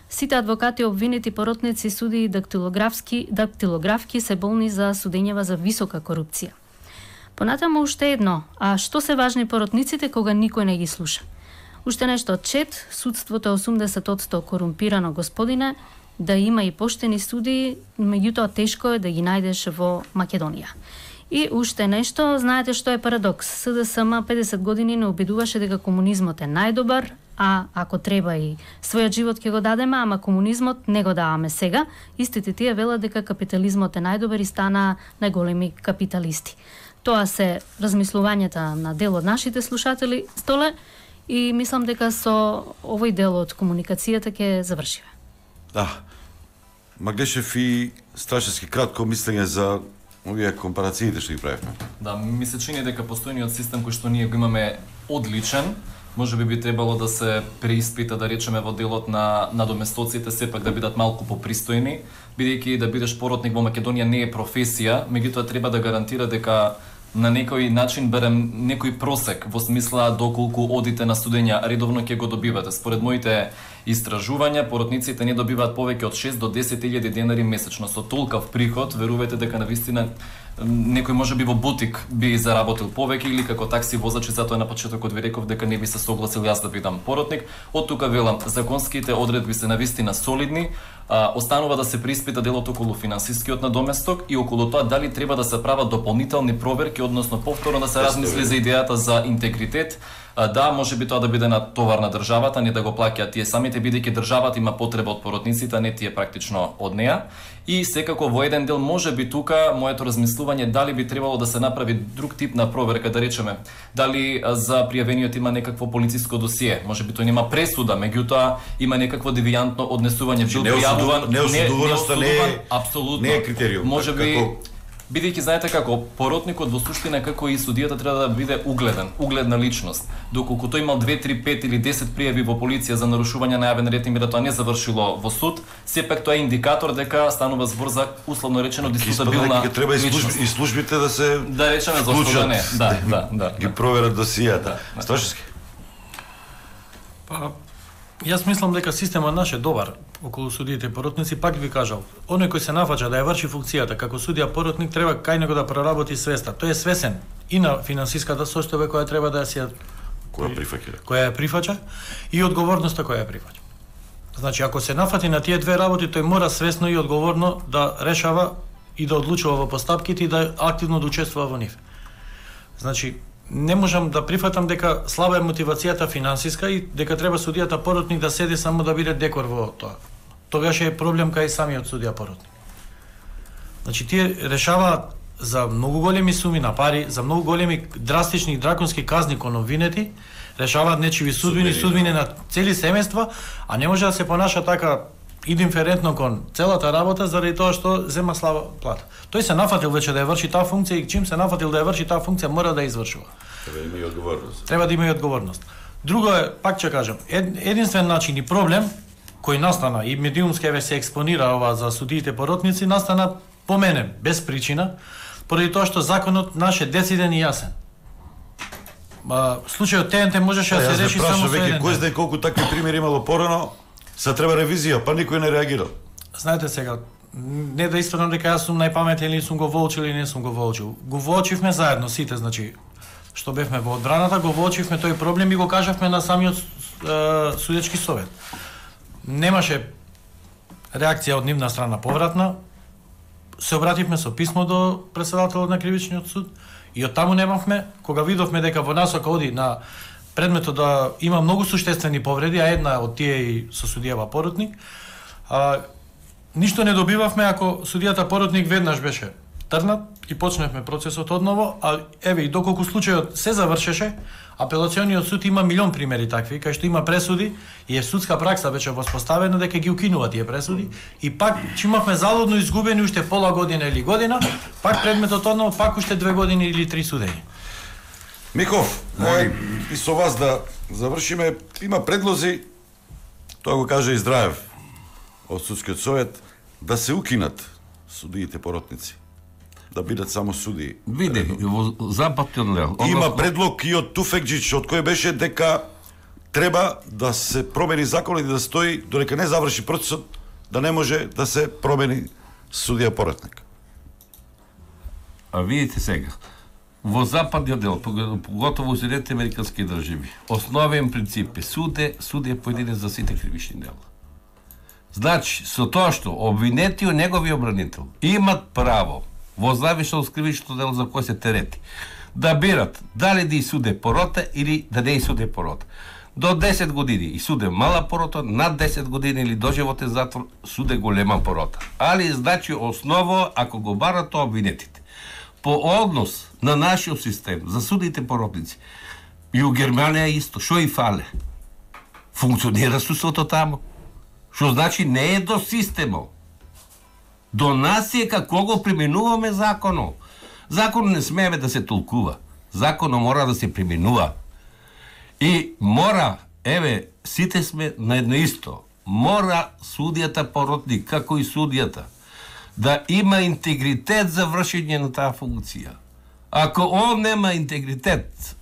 S5: Сите адвокати, обвинети, поротници, суди и дактилографки се болни за судењева за висока корупција. Понатаму уште едно, а што се важни поротниците кога никој не ги слуша? Уште нешто од чет, судството е 80% корумпирано, господине, да има и поштени суди, меѓутоа тешко е да ги најдеш во Македонија. И уште нешто, знаете што е парадокс? СДСМ 50 години не обидуваше дека комунизмот е најдобар, а ако треба и својот живот ќе го дадеме, ама комунизмот не го даваме сега. Истите тие велат дека капитализмот е најдобар и стана најголеми капиталисти. Тоа се размислувањата на дел од нашите слушатели, Столе, и мислам дека со овој дел од комуникацијата ќе завршиме.
S2: Да. Маглешев и Страшевски кратко мислење за овие компарациите што ги правевме.
S4: Да, ми се чини дека постојниот систем кој што ние го имаме одличен, може би требало да се преиспита, да речеме, во делот на доместоците сепак да бидат малку попристојни, бидејќи да бидеш поротник во Македонија не е професија, меѓутоа треба да гарантира дека на некој начин берем некој просек во смисла доколку одите на студења редовно ќе го добивате. Според моите истражувања, поротниците не добиваат повеќе од 6 до 10.000 денари месечно. Со толкав приход, верувате дека навистина некој може би во бутик би заработил повеќе или како такси возач, и затоа на почетокот ви реков дека не би се согласил јас да бидам поротник. Од тука велам, законските одредби се навистина солидни, останува да се преиспита делот околу финансискиот надоместок и околу тоа дали треба да се прават дополнителни проверки, односно повторно да се размисли за идејата за интегритет. Да, може би тоа да биде на товар на државата, не да го плаќаат тие самите, бидејќи државата има потреба од поротниците, а не тие практично од неа. И секако во еден дел може би тука моето размислување дали би требало да се направи друг тип на проверка, да речеме, дали за пријавениот има некакво полициско досие, може би тој нема пресуда, меѓутоа има некакво девијантно однесување, бил пријавуван,
S2: неосудуваноста
S4: апсолутно
S2: не е критериум.
S4: Може би бидејќи знаете како поротникот во суштина како и судијата треба да биде угледна личност. Доколку тој имал 2, 3, 5 или 10 пријави во полиција за нарушување на јавен ред и мир, тоа не завршило во суд, сепак тоа е индикатор дека станува збор за условно речено дискутабилна личност.
S2: Треба и службите да се
S4: речеме зашто да не. Да.
S2: Ги проверат досијата. Страшевски.
S3: Јас мислам дека системот наш е добар околу судиите и поротници, пак ви кажал. Оној кој се нафаќа да ја врши функцијата како судија поротник треба кај него да проработи свеста. Тој е свесен и на финансиската состојба која треба да ја која ја прифаќа и одговорноста која ја прифаќа. Значи, ако се нафати на тие две работи, тој мора свесно и одговорно да решава и да одлучува во постапките и да активно да учествува во нив. Значи, не можам да прифатам дека слаба е мотивацијата финансиска и дека треба судијата поротник да седи само да биде декор во тоа. Тогаш е проблем кај самиот судија поротник. Значи, тие решаваат за многу големи суми на пари, за многу големи драстични и драконски казни кон обвинети, решаваат нечиви судбини на цели семејства, а не може да се понаша така индиферентно кон целата работа заради тоа што зема слаба плата. Тој се нафатил веќе да ја врши таа функција и чим се нафатил да ја врши таа функција мора да ја извршува.
S2: Треба да има и одговорност.
S3: Треба да има и одговорност. Друго е, пак ќе кажам, единствен начин и проблем кој настана и медиумски се експонира ова за судиите поротници настана по мене без причина, поради тоа што законот наш е дециден и јасен. Случајот ТНТ можеше да се реши само со еден.
S2: Кој знае колку такви примери имало порано, се треба ревизија, па никој не реагирал.
S3: Знаете сега, не да испадам дека јас сум најпаметен или сум го волчил или не сум го волчил. Го волчивме заедно сите, значи што бевме во одбраната, го волчивме тој проблем и го кажавме на самиот судечки совет. Немаше реакција од нивна страна повратна. Се обративме со писмо до претседателот на кривичниот суд и од таму немавме, кога видовме дека во насока оди на предметот да има многу суштествени повреди, а една од тие и со судијава поротник, ништо не добивавме ако судијата поротник веднаш беше трнат и почневме процесот одново, а еве и доколку случајот се завршеше, апелациониот суд има милион примери такви, кај што има пресуди и е судска пракса беше воспоставена дека ги укинува тие пресуди и пак че имавме залудно изгубени уште пола година или година, пак предметот одново, пак уште 2 години или 3 судења.
S2: Миков, и со вас да завршиме, има предлози, тоа го кажа и Здраев од судскиот совет, да се укинат судиите поротници, да бидат само судии.
S12: Види, во западен дел.
S2: Има предлог и од Туфекџич, од кој беше дека треба да се промени законот и да стои, додека не заврши процесот, да не може да се промени судија поротник.
S12: А видите сега, во западниот дел, поготово во Соединетите американски држави, основен принцип е суд е поединец за сите кривични дела. Значи, со тоа што обвинетиот негови обранител имат право во зависност од кривичното дело за кој се терети, да бират дали да исуде порота или да не исуде порота. До 10 години исуде мала порота, над 10 години или доживотен затвор суде голема порота. Али значи осново ако го барат тоа обвинетите. По однос на нашиот систем за судите поротници и у Германија исто, што и фале. Функционира судството таму. Што значи не е до системот. До нас е како го применуваме законот. Законот не смееме да се толкува. Законот мора да се применува. И мора, еве, сите сме на едно исто. Мора судијата поротник, како и судијата, да има интегритет за вршење на таа функција. Ако он нема интегритет,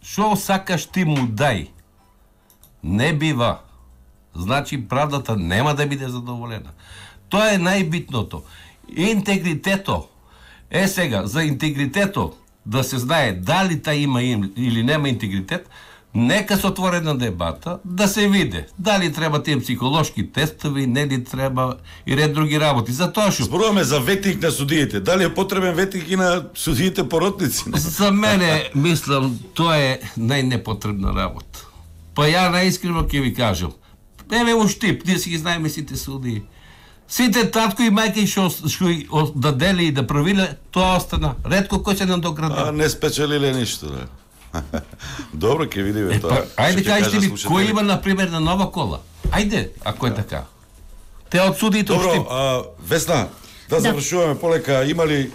S12: што сакаш ти му дај? Не бива. Значи правдата нема да биде задоволена. Тоа е најбитното. Интегритето. Сега, за интегритето да се знае дали тај има или нема интегритет, нека се отворена дебата да се види дали треба тие психолошки тестови, не ли треба и ред други работи. Затоа што
S2: зборуваме за ветник на судиите. Дали е потребен ветник и на судиите поротници?
S12: За мене, мислам, тоа е најнепотребна работа. Па ја најискрено ќе ви кажам. Еве уштип, ние си ги знаеме сите судии. Сите татко и мајка што да дели и да правиле, тоа остана. Ретко кој се надоградил.
S2: Не спечелиле ништо, да. Добро, ќе видиме тоа.
S12: Ајде кажете ми, кој има, например, на нова кола? Ајде, ако е така. Те од судиите уштип.
S2: Добро, Весна, да завршуваме полека. Има ли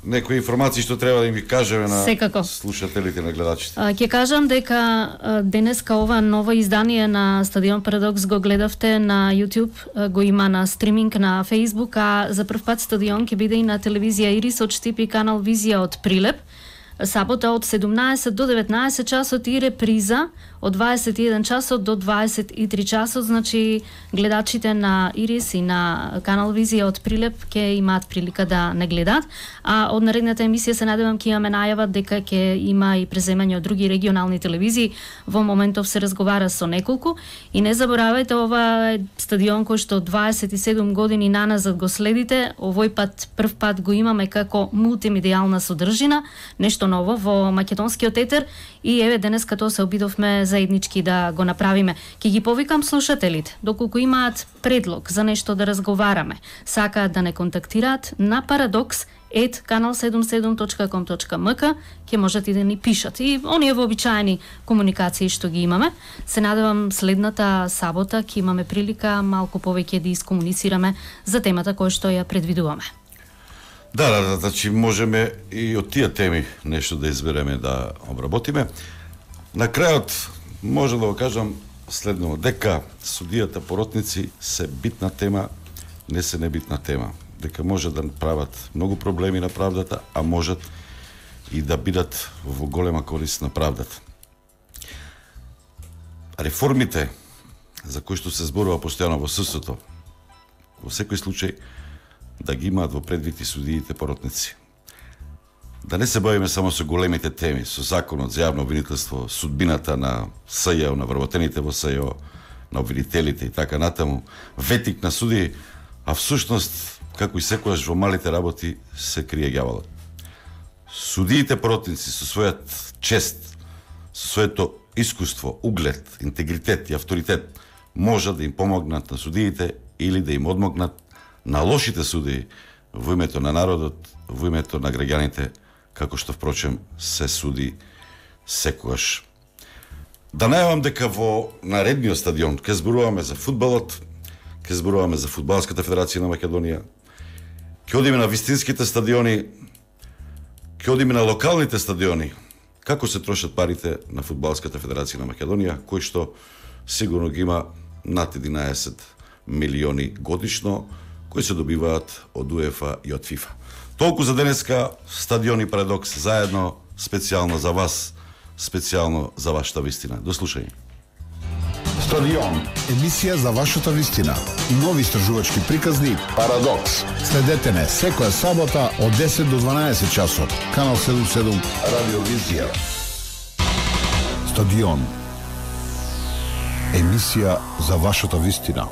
S2: некои информации што треба да им ги кажеме на слушателите, на гледачите?
S5: Ќе кажам дека денеска ова ново издание на Стадион Парадокс го гледавте на YouTube, го има на стриминг на Facebook, а за прв пат Стадион ќе биде и на телевизија Ирис од Штип и канал Визија од Прилеп. Сабота од 17 до 19 часот и реприза од 21 часот до 23 часот, значи гледачите на Ирис и на канал Визија од Прилеп ќе имаат прилика да не гледат, а од наредната емисија се надевам ќе имаме најава дека ќе има и преземање од други регионални телевизии. Во моментов се разговара со неколку и не заборавајте, ова е стадион кој што 27 години наназад го следите. Овој пат прв пат го имаме како мултимедијална содржина, нешто ново во македонскиот етер и еве денеска тоа се обидовме заеднички да го направиме. Ќе ги повикам слушателите, доколку имаат предлог за нешто да разговараме, сакаат да не контактираат на Парадокс kanal77.com.mk ќе можете да ни пишат. И оние вообичаени комуникации што ги имаме, се надевам следната сабота ќе имаме прилика малку повеќе да искомуницираме за темата која што ја предвидуваме.
S2: Да, значи можеме и од тие теми нешто да избереме да обработиме. На крајот може да го кажам следно, дека судијата поротници се битна тема, не се небитна тема. Дека може да прават многу проблеми на правдата, а можат и да бидат во голема корист на правдата. Реформите за кои што се зборува постојано во судството, во секој случај да ги имаат во предвид и судиите поротници. Да не се бавиме само со големите теми, со законот за јавно обвинителство, судбината на СЈО, на вработените во СЈО, на обвинителите и така натаму, ветик на суди, а всушност, како и секојаш во малите работи, се крие ѓаволот. Судиите поротници со својот чест, со своето искуство, углед, интегритет и авторитет можат да им помогнат на судиите или да им одмогнат на лошите судии во името на народот, во името на граѓаните, како што впрочем се суди секогаш. Да најавам дека во наредниот стадион ќе зборуваме за фудбалот, ќе зборуваме за Фудбалската федерација на Македонија, ќе одиме на вистинските стадиони, ќе одиме на локалните стадиони, како се трошат парите на Фудбалската федерација на Македонија, кој што сигурно ги има над 11 милиони годишно, кои се добиваат од УЕФА и од ФИФА. Толку за денеска, Стадион и Парадокс заедно, специјално за вас, специјално за вашата вистина. До слушање.
S1: Стадион, емисија за вашата вистина. Нови истражувачки приказни Парадокс. Следете не секоја сабота од 10 до 12 часот. Канал 77 Радиовизија. Стадион, емисија за вашата вистина.